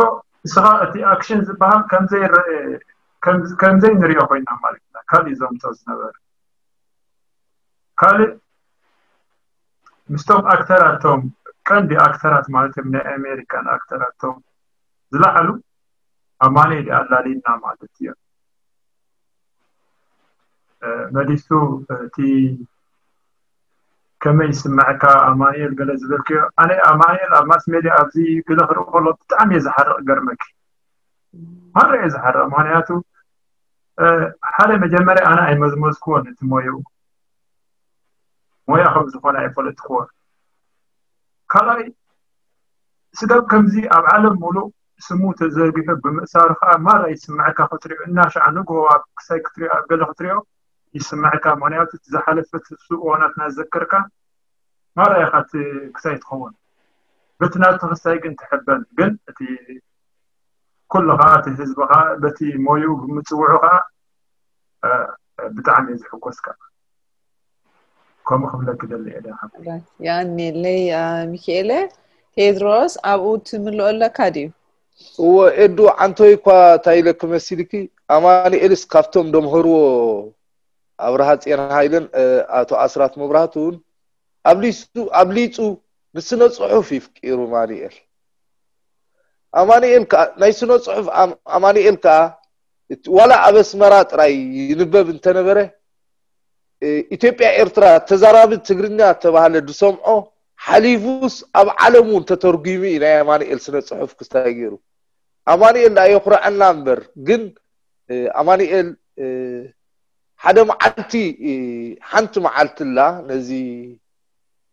እስኻ እቲ ኣክሽን ዝበሃል ከምዘይ ንሪኦ ኮይና ማለት ኢና ካልእ ዘምፅኦ ዝነበረ ካልእ ምስቶም ኣክተራቶም ቀንዲ ኣክተራት ማለት እዮም ናይ ኣሜሪካን ኣክተራቶም ዝለዓሉ ኣማኑኤል ኣላሊና ማለት እዮም መሊሱ እቲ ከመይ ይስምዐካ ኣማኑኤል ገለ ዝበልክዮ ኣነ ኣማኑኤል ኣብ ማስ ሜድያ ኣብዚ ገለ ክርኢ ከሎ ብጣዕሚ እየ ዝሓርቕ ገርመኪ ማራ እየ ዝሓርቕ ምክንያቱ ሓደ መጀመርያ ኣነ ኣይመዝመዝክዎን እቲ ሞያኡ፣ ሞያ ከም ዝኾነ ኣይፈለጥክዎን። ካልኣይ ስጋብ ከምዚ ኣብ ዓለም ሙሉእ ስሙ ተዘርጊሑ ብምእሳሩ ከዓ ማራ ይስምዐካ ክትሪኦ፣ እናሻዕ ንግሆ ኣብ ክሳይ ክትሪኦ ኣብ ገለ ክትሪኦ ይስምዐካ። ምክንያቱ እቲ ዝሓለፈ ትሱ እዋናት እናዘከርካ ማራ ኢኻ እቲ ክሳይ ትኸውን። በቲ ናቱ ክሳይ ግን ትሕበን። ግን እቲ ኩሉ ከዓ እቲ ህዝቢ ከዓ በቲ ሞይኡ ብምፅውዑ ከዓ ብጣዕሚ እዩ ዝሕጎስ ከዓ። ከምኡ ክብለኪ ደሊ እየ ደሓ። ያኔለይ ሚኪኤለ። ቴድሮስ፣ ኣብኡ ትምልኦ ኣለካ ድዩ? እወ ኤዱ፣ ዓንቶይ እኳ እንታይ ኢለኪ መሲልኪ፣ ኣማኑኤልስ ካብቶም ደምህርዎ ኣብርሃ ጽዮን ሃይለን ኣቶ ኣስራት መብራህቱን ኣብሊጹ ኣብሊጹ ንስነ ጽሑፍ ይፍቂሩ ኣማኑኤል። ኣማኑኤል ከኣ ናይ ስነ ጽሑፍ ኣማኑኤል ከኣ ዋላ ኣብ ኣስመራ ጥራይ ይንበብ እንተነበረ፣ ኢትዮጵያ ኤርትራ ተዛራቢ ትግርኛ ተባህለ ዝሰምዖ ሓሊፉስ ኣብ ዓለም እውን ተተርጒሙ እዩ ናይ ኣማኑኤል ስነ ጽሑፍ ክስታይ ገይሩ። ኣማኑኤል ደኣ የኹርዐና እምበር፣ ግን ኣማኑኤል ሓደ መዓልቲ፣ ሓንቲ መዓልቲ ኣላ ነዚ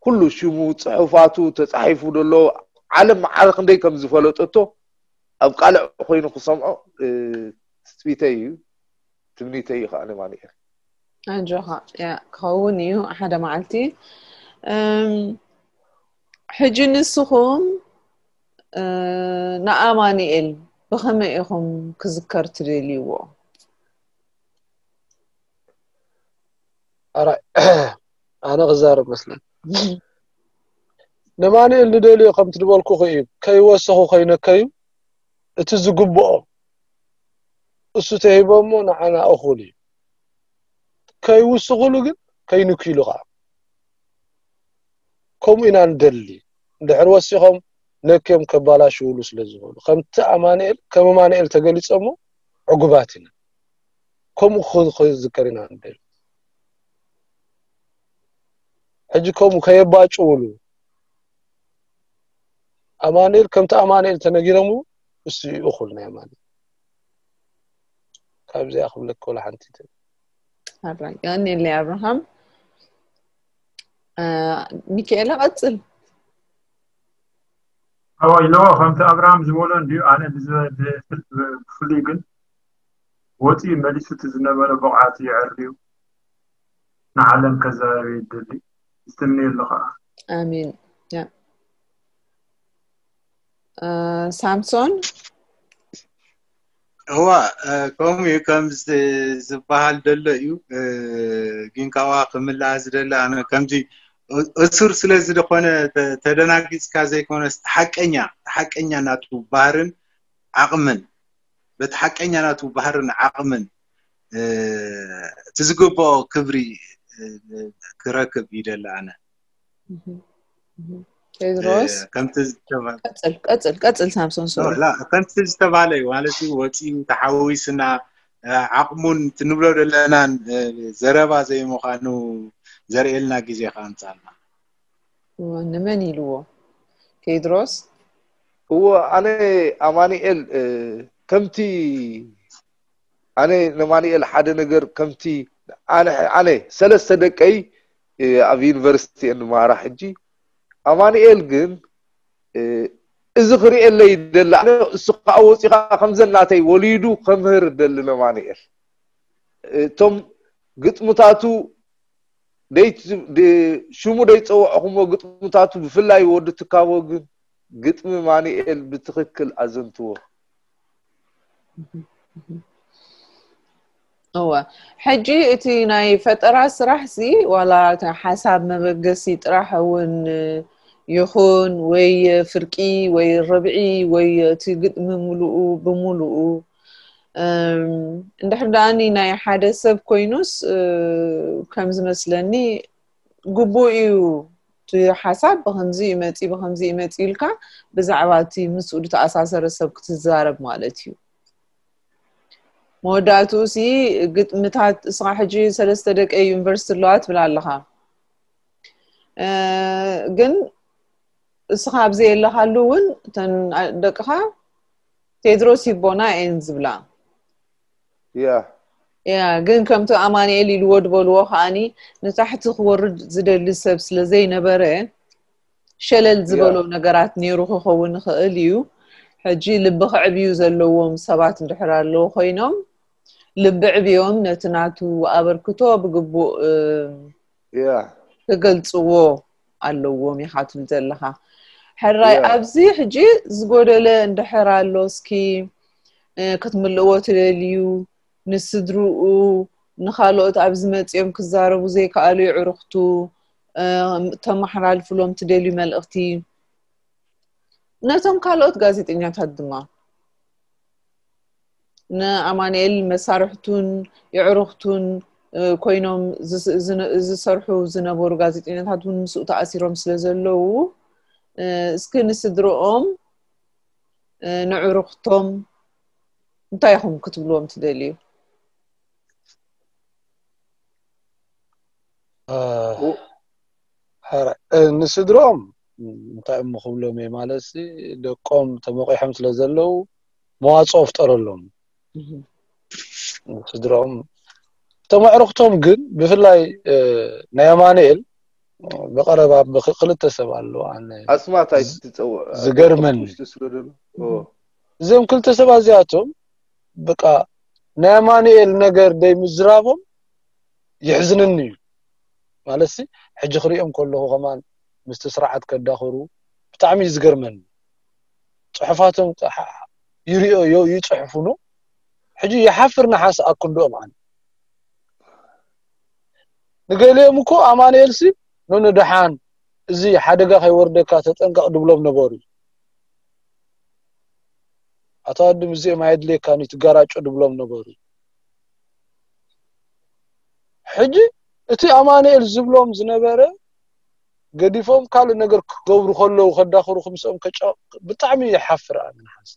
ኩሉ ሽሙ ጽሑፋቱ ተጻሒፉ ዘሎ ዓለም መዓረ ክንደይ ከም ዝፈለጠቶ ኣብ ቃልዕ ኮይኑ ክሰምዖ ትጽቢተይ እዩ፣ ትምኒተይ እዩ ከዓ ንማንኤል። ኣጆኻ፣ ያ ክኸውን እዩ ሓደ መዓልቲ። ሕጂ ንስኹም ንኣማንኤል ብኸመይ ኢኹም ክዝከር ትደልይዎ? ኣነ ክዛረብ መስለን። ንማንኤል ንደልዮ ከም ትድበልኩ እዩ፣ ከይወሰኹ ከይነከዩ እቲ ዝግብኦ እሱ ተሂቦሞ ንዓና እኹል እዩ። ከይውስኹሉ ግን ከይንክሉ ከዓ ከምኡ ኢና ንደሊ። እንድሕር ወሲኾም ነክዮም ከባላሽውሉ ስለ ዝኽእሉ ከምቲ ኣማንኤል ከም ኣማንኤል ተገሊጾሞ ዕጉባት ኢና። ከምኡ ክዝከር ኢና ንደሊ። ሕጂ ከምኡ ከየባጭውሉ ኣማንኤል ከምቲ ኣማንኤል ተነጊሮም እሱ እዩ እኹል ናይ ኣማንኤል። ካብዚኣ ክብለካ ወላ ሓንቲ ኣራይ ያኔለይ ኣብርሃም። ሚካኤል ቀጽል። ኣዋይ ለዋ ከምቲ ኣብርሃም ዝበሎ እንዲዩ። ኣነ ብፍሉይ ግን ወፂኡ መሊሱ እቲ ዝነበረ ብቕዓት የዕርዩ ንዓለም ከዘራርብ ይደሊ። ዝትምነየሉ ከዓ። ኣሜን። ሳምሶን። እዋ፣ ከምኡ እዩ። ከም ዝበሃል ደሎ እዩ። ግን ካብኣ ክምልኣ ዝደሊ ኣነ ከምዚ እሱር ስለ ዝኾነ ተደናጊፅካ ዘይኮነስ ሓቀኛ ሓቀኛ ናቱ ባህርን ዓቕምን በቲ ሓቀኛ ናቱ ባህርን ዓቕምን እቲ ዝግብኦ ክብሪ ክረክብ ይደሊ ኣነ። ቴድሮስ ከምቲ ዝተባለ ቀጽል ቀጽል ቀጽል ሳምሶን ሶሪ። ከምቲ ዝተባለ እዩ ማለት እዩ። ወፂኡ ተሓዊስና ዓቕሙን ትንብሎ ዘለናን ዘረባ ዘይምዃኑ ዘርእየልና ግዜ ከኣምፃልና። ንመን ኢልዎ? ቴድሮስ። እዎ ኣነ ኣማኒኤል ከምቲ ኣነ ንማኒኤል ሓደ ነገር ከምቲ ኣነ ኣነ ሰለስተ ደቀይ ኣብ ዩኒቨርሲቲ እንማራ ሕጂ ኣማኒኤል ግን እዚ ክርእየለይ ይደሊ ኣነ እሱ ከዓ ወፂኻ ከምዘናተይ ወሊዱ ከምህር ደሊ ነማኒኤል እቶም ግጥምታቱ ሽሙ ደይፀወዕኹሞ ግጥምታቱ ብፍላይ ወዲ ትካቦ ግን ግጥሚ ማኒኤል ብትኽክል ኣዘንትዎ። እወ ሕጂ እቲ ናይ ፈጠራ ስራሕ ሲ ዋላ ሓሳብ መበገሲ ጥራሕ እውን ይኹን ወይ ፍርቂ ወይ ርብዒ ወይ እቲ ግጥሚ ሙሉኡ ብሙሉኡ እንድሕር ደኣኒ ናይ ሓደ ሰብ ኮይኑስ ከም ዝመስለኒ ግቡእ እዩ እቲ ሓሳብ ብከምዚ ይመፂ ብከምዚ ይመፂ ኢልካ ብዛዕባ እቲ ምስኡ ዝተኣሳሰረ ሰብ ክትዛረብ ማለት እዩ። መወዳእትኡ ሲ ግጥምታት እስኻ ሕጂ ሰለስተ ደቂ ዩኒቨርሲቲ ኣለዋ ትብል ኣለኻ ግን እስኻ ኣብ ዘየለኻሉ እውን እተን ደቅኻ ቴድሮስ ሂቦና እየን ዝብላ። ያ ያ ግን ከምቲ ኣማንኤል ኢልዎ ዝበልዎ ከዓኒ ንታሕቲ ክወርድ ዝደሊ ሰብ ስለ ዘይነበረ ሸለል ዝበሎ ነገራት ነይሩ ክኸውን ይኽእል እዩ። ሕጂ ልቢ ክዕብዩ ዘለዎም ሰባት እንድሕር ኣለዉ ኮይኖም ልቢ ዕብዮም ነቲ ናቱ ኣበርክቶ ብግቡእ እ፣ ያ ክገልጽዎ ኣለዎም ኢኻ ትብል ዘለኻ። ሕራይ ያ ኣብዚ ሕጂ ዝጎደለ እንድሕር ኣሎ እስኪ እ፣ ክትምልእዎ ትደልዩ ንስድርኡ ንኻልኦት ኣብዚ መጺኦም ክዛረቡ ዘይከኣሉ የዕሩኽቱ እ፣ ተመሓላልፍሎም ትደልዩ መልእኽቲ ነቶም ካልኦት ጋዜጠኛታት ድማ ንኣማንኤል መሳርሕቱን የዕሩኽቱን እ፣ ኮይኖም ዝስ- ዝነ- ዝሰርሑ ዝነበሩ ጋዜጠኛታት እውን ምስኡ ተኣሲሮም ስለ ዘለዉ እ፣ እስኪ ንስድርኦም እ፣ ንዕሩኽቶም እንታይ ኢኹም ክትብልዎም ትደልዩ? እ፣ ው- ሐረ- እ፣ ንስድሮም እንታይ እሞ ክብሎም እየ ማለት ሲ ደቆም ተመቂሖም ስለ ዘለዉ መዋፅኦ ፍጠረሎም እህ፣ ንስድሮም። እቶም ኣዕሩኽቶም ግን ብፍላይ እ፣ ናይ ኣማንኤል ብቐረባ ብክ- ክልተ ሰብ ኣለዉ ኣነ ኣስማት ዝ- ኣይትፀውዕ ዝገርመኒ ውሽጢ ስለ ዘሎ ኦ፣ እዞም ክልተ ሰባት እዚኣቶም በቃ ናይ ኣማንኤል ነገር ደይ ምዝራቦም የሕዝንኒ እዩ ማለት ሲ ሕጂ ክሪኦም ከለኹ ከማን ምስቲ ስርዓት ከዳኽሩ ብጣዕሚ እዩ ዝገርመኒ ፅሑፋቶም ይሪኦ ይፅሕፉ ኖ ሕጂ ይሓፍር ንሓስ ኣክንድኦም ኣነ ንገሊኦም እኮ ኣማንኤል ሲ ኖ ንደሓን እዚ ሓደጋ ከይወርደካ ተጠንቀቕ ድብሎም ነበሩ ኣቶ ኣድም እዚኦም ኣየድልየካን እዩ ትጋራጮ ድብሎም ነበሩ ሕጂ እቲ ኣማንኤል ዝብሎም ዝነበረ ገዲፎም ካልእ ነገር ክገብሩ ከለዉ ከዳኽሩ ክምስኦም ከጫ ብጣዕሚ ይሓፍር ኣነ ንሓስ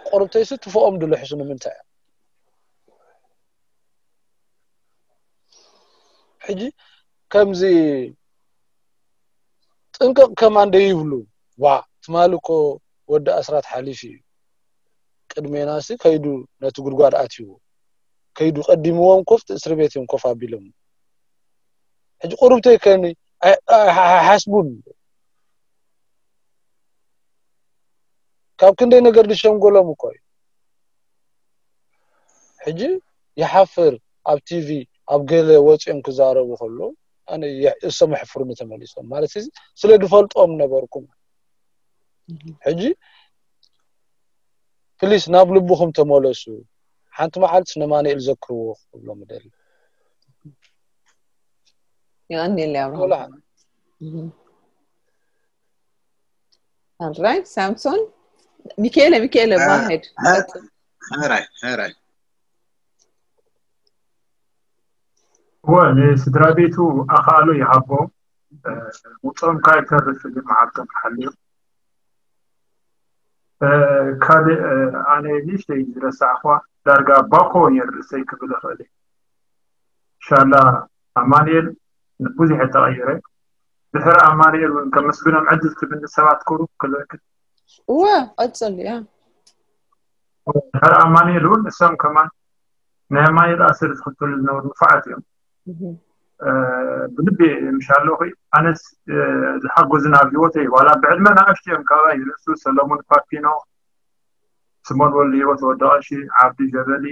ቆርብተይሲ ትፎኦም ድልሕሱ ንምንታይ እዮም ሕጂ ከምዚ ጥንቅቕ ከማን ደይብሉ ዋ ትማሊ እኮ ወዲ ኣስራት ሓሊፍ እዩ ቅድሜናሲ ከይዱ ነቲ ጉድጓድ ኣትይዎ ከይዱ ቀዲምዎም ኮፍ እስሪ ቤት እዮም ኮፍ ኣቢሎም ሕጂ ቁርብተይ ከኒ ሓስቡን ካብ ክንደይ ነገር ዝሸንጎሎም እኮ እዩ ሕጂ ይሓፍር ኣብ ቲቪ ኣብ ገለ ወፂኦም ክዛረቡ ከሎ ኣነ እሶም የሕፍሩኒ ተመሊሶም ማለት እዚ ስለ ዝፈልጦም ነበርኩም ሕጂ ፕሊስ ናብ ልብኹም ተመለሱ ሓንቲ መዓልቲ ነማንኤል ዘክርዎ ክብሎም ደሊ የቀንየለይ ኣብርሃም ኦልራይት ሳምሶን ሚካኤለ ሚካኤለ ባሄድ ሕራይ ሕራይ እወ ንስድራ ቤቱ ኣኻእሎ ይሃቦ ውፅኦም ካብ ይተርፍ ግን መዓልቶም ክሓልዮ ካልእ ኣነ ንእሽተይ ዝረሳዕኳ ዳርጋ ባኮ ነይሩ ርእሰይ ክብል እኽእል እየ ሻላ ኣማንኤል ብዙሕ ተቐይረ ድሕሪ ኣማንኤል እውን ከመስግኖም ዕድል ትብኒ ሰባት ክሩ ክልእክል እወ ቀፅል እያ ድሕሪ ኣማንኤል እውን እሶም ከማን ናይ ኣማንኤል ኣስር ዝኽተሉ ዝነበሩ ንፉዓት እዮም ብልቢ ምሻ ኣለኹ ኣነስ ዝሓጎዝና ኣብ ህይወተይ ዋላ ብዕድመ ንኣሽቱ እዮም ካባይ ንርእሱ ሰለሙን ፓፒኖ ስሞን ወልድ ህይወት ወዲ ቀሺ ዓብዲ ጀበሊ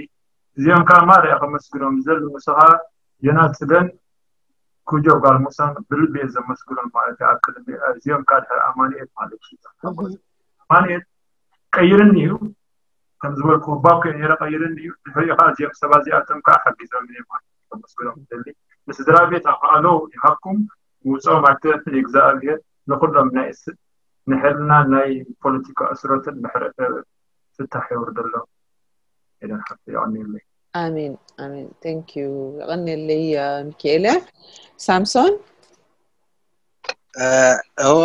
እዚኦም ከዓ ማርያ ከመስግኖም ዝደሊ ንስኻ ዮናስ ፅገን ኩጆ ጓል ሙሳን ብልቢ እየ ዘመስግኖም ማለት እዩ ኣብ ቅድሚ እዚኦም ከዓ ድሕሪ ኣማንኤል ማለት እዩ ኣማንኤል ቀይርኒ እዩ ከም ዝበልኩ ባኮ ነይረ ቀይርኒ እዩ ድሕሪኡ ከዓ እዚኦም ሰባት እዚኣቶም ከዓ ሓጊዞም እየ ማለት እዩ ከመስግኖም ዝደሊ ንስድራ ቤት ኣኽኣሎ ይሃብኩም ውፅኦም ኣክተፍል እግዚኣብሔር ንኩሎም ናይ ንሕልና ናይ ፖለቲካ እስሮትን ምሕረት ፍታሕ የውርደሎም ኤደን ሓፍተይ የቐንየለይ ኣሜን ኣሜን thank you የቐንየለይ ሚካኤለ ሳምሶን እዋ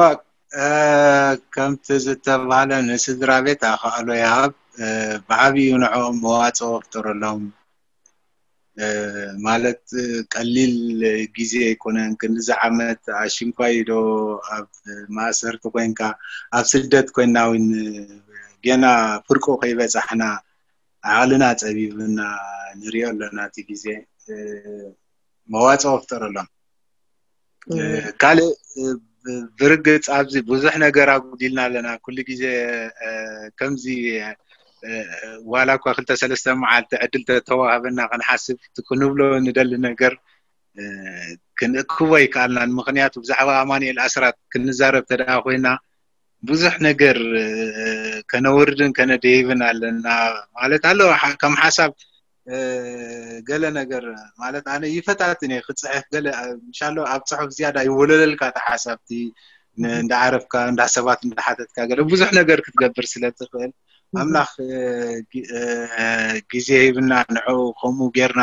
ከምቲ ዝተባህለ ንስድራ ቤት ኣኽኣሎ ይሃብ ብዓብዩ ንዕኦም መዋፅኦ ፍጠረሎም ማለት ቀሊል ግዜ ኣይኮነን ክንዚ ዓመት ኣሽንኳይ ዶ ኣብ ማእሰርቲ ኮንካ ኣብ ስደት ኮይና እውን ገና ፍርቁ ከይበፃሕና ዓቕልና ፀቢብና ንሪኦ ኣለና። እቲ ግዜ መዋፅኦ ፍጠረሎም። ካልእ ብርግፅ ኣብዚ ብዙሕ ነገር ኣጉዲልና ኣለና። ኩሉ ግዜ ከምዚ ዋላ እኳ ክልተ ሰለስተ መዓልቲ ዕድል ተተዋህበና ክንሓስብ ክንብሎ ንደሊ ነገር ክንእክቦ ኣይከኣልናን። ምክንያቱ ብዛዕባ ኣማኑኤል ኣስራት ክንዛረብ ተደኣ ኮይና ብዙሕ ነገር ከነውርድን ከነደይብን ኣለና ማለት ኣሎ። ከም ሓሳብ ገለ ነገር ማለት ኣነ ይፈታትን እየ ክፅሕፍ ገለ ምሻሎ ኣብ ፅሑፍ ዝያዳ ይወለለልካ ተሓሳብቲ እንዳዓረፍካ እንዳ ሰባት እንዳሓተትካ ገለ ብዙሕ ነገር ክትገብር ስለ ትኽእል ኣምላኽ ግዜ ሂብና ንዑ ከምኡ ጌርና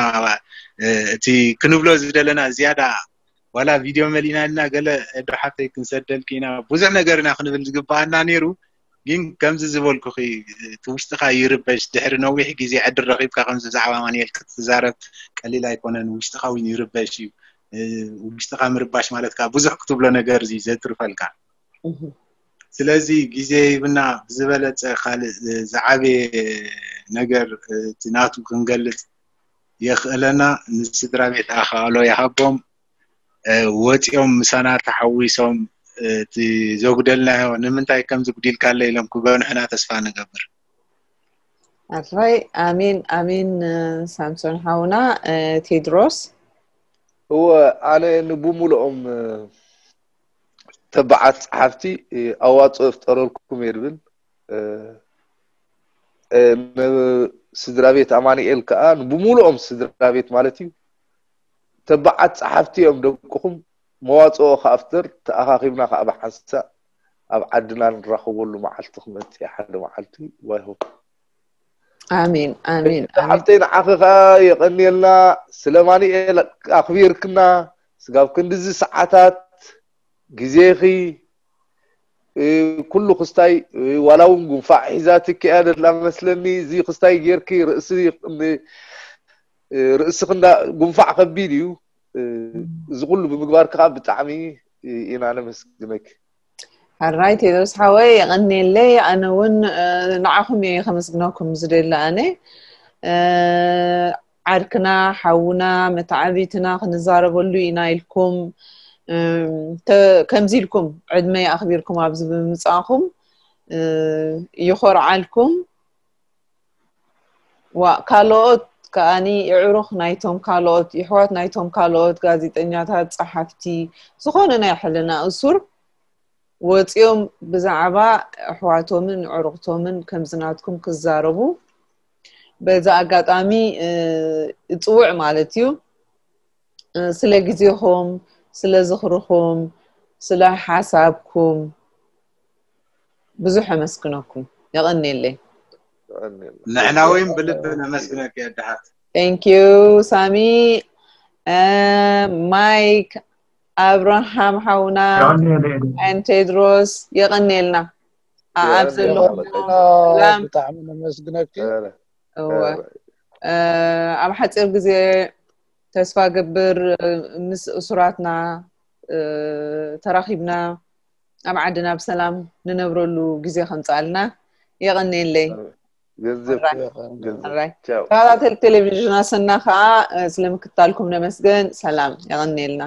እቲ ክንብሎ ዝደለና ዝያዳ ዋላ ቪድዮ መሊእና ኢልና ገለ እዶ ሓፍተይ ክንሰደልኪ ኢና ብዙሕ ነገር ኢና ክንብል ዝግባኣና ነይሩ። ግን ከምዚ ዝበልኩኺ እቲ ውሽጥኻ ይርበሽ ድሕሪ ነዊሕ ግዜ ዕድል ረኺብካ ከምዚ ብዛዕባ ኣማኑኤል ክትዛረብ ቀሊል ኣይኮነን። ውሽጥኻ እውን ይርበሽ እዩ። ውሽጥኻ ምርባሽ ማለት ከዓ ብዙሕ ክትብሎ ነገር እዩ ዘትርፈልካ። ስለዚ ግዜ ሂብና ብዝበለፀ ካልእ ዝዓበየ ነገር እቲ ናቱ ክንገልፅ የኽእለና። ንስድራ ቤት ኣኻእሎ ይሃቦም። ወፂኦም ምሳና ተሓዊሶም እቲ ዘጉደልናዮ ንምንታይ ከም ዝጉዲልካለ ኢሎም ክገንሑና ተስፋ ንገብር። ኣራይ ኣሜን ኣሜን። ሳምሶን ሓውና ቴድሮስ እወ ኣነ ንብሙሉኦም ተባዓት ጸሓፍቲ ኣዋፅኦ ይፍጠረልኩም እየ ዝብል። ንስድራ ቤት ኣማኑኤል ከዓ ብሙሉኦም ስድራ ቤት ማለት እዩ። ተባዓት ጸሓፍቲ እዮም ደቅኹም። መዋፅኦ ከኣ ፍጠር ተኣኻኺብና ከዓ ብሓንሳእ ኣብ ዓድና ንራኸበሉ መዓልቲ ክመፅእ ሓደ መዓልቲ ዋይሆ ኣሜን ኣሜን ኣሜን። ሓፍተይ ንዓኺ ከዓ የቐንየልና ስለ ኣማኑኤል ኣኽቢርክና ስጋብ ክንድዚ ሰዓታት ግዜኺ ኩሉ ክስታይ ዋላ እውን ጉንፋዕ ሒዛትኪ እያ ደላ መስለኒ። እዚ ክስታይ ጌርኪ ርእሲ ርእስኺ እንዳ ጉንፋዕ ከቢድ እዩ። እዚ ኩሉ ብምግባር ከዓ ብጣዕሚ ኢና ነመስግነኪ። ሕራይ ቴድሮስ ሓወይ የቐንየለይ። ኣነ እውን ንዓኹም እየ ከመስግነኩም ዝደሊ ኣነ ዓርክና ሓውና መተዓቢትና ክንዛረበሉ ኢና ኢልኩም ከምዚ ኢልኩም ዕድመይ ኣኽቢርኩም ኣብዚ ብምምፃእኹም ይኾርዓልኩም። ዋ ካልኦት ከኣኒ የዕሩኽ ናይቶም ካልኦት የሕዋት ናይቶም ካልኦት ጋዜጠኛታት፣ ጸሓፍቲ፣ ዝኾነ ናይ ሕልና እሱር ወጺኦም ብዛዕባ ኣሕዋቶምን ኣዕሩኽቶምን ከምዚ ናትኩም ክዛረቡ በዚ ኣጋጣሚ እጽውዕ ማለት እዩ። ስለ ግዜኹም፣ ስለ ዝኽርኹም፣ ስለ ሓሳብኩም ብዙሕ ኣመስግነኩም። የቐንየለይ። ንሕና እውን ብልቢ ነመስግነኪ ኣድሓት። Thank you ሳሚ። ማይክ ኣብርሃም ሓውና ን ቴድሮስ የቐንየልና። ኣብ ዘለኹም ብጣዕሚ ነመስግነኪ። ኣብ ሓፂር ግዜ ተስፋ ገብር ምስ እሱራትና ተራኺብና ኣብ ዓድና ብሰላም ንነብረሉ ግዜ ከምፅኣልና። የቐንየለይ። ተኸታተል ቴሌቪዥን ኣሰና ከዓ ስለ ምክታልኩም ነመስገን። ሰላም። የቐንየልና።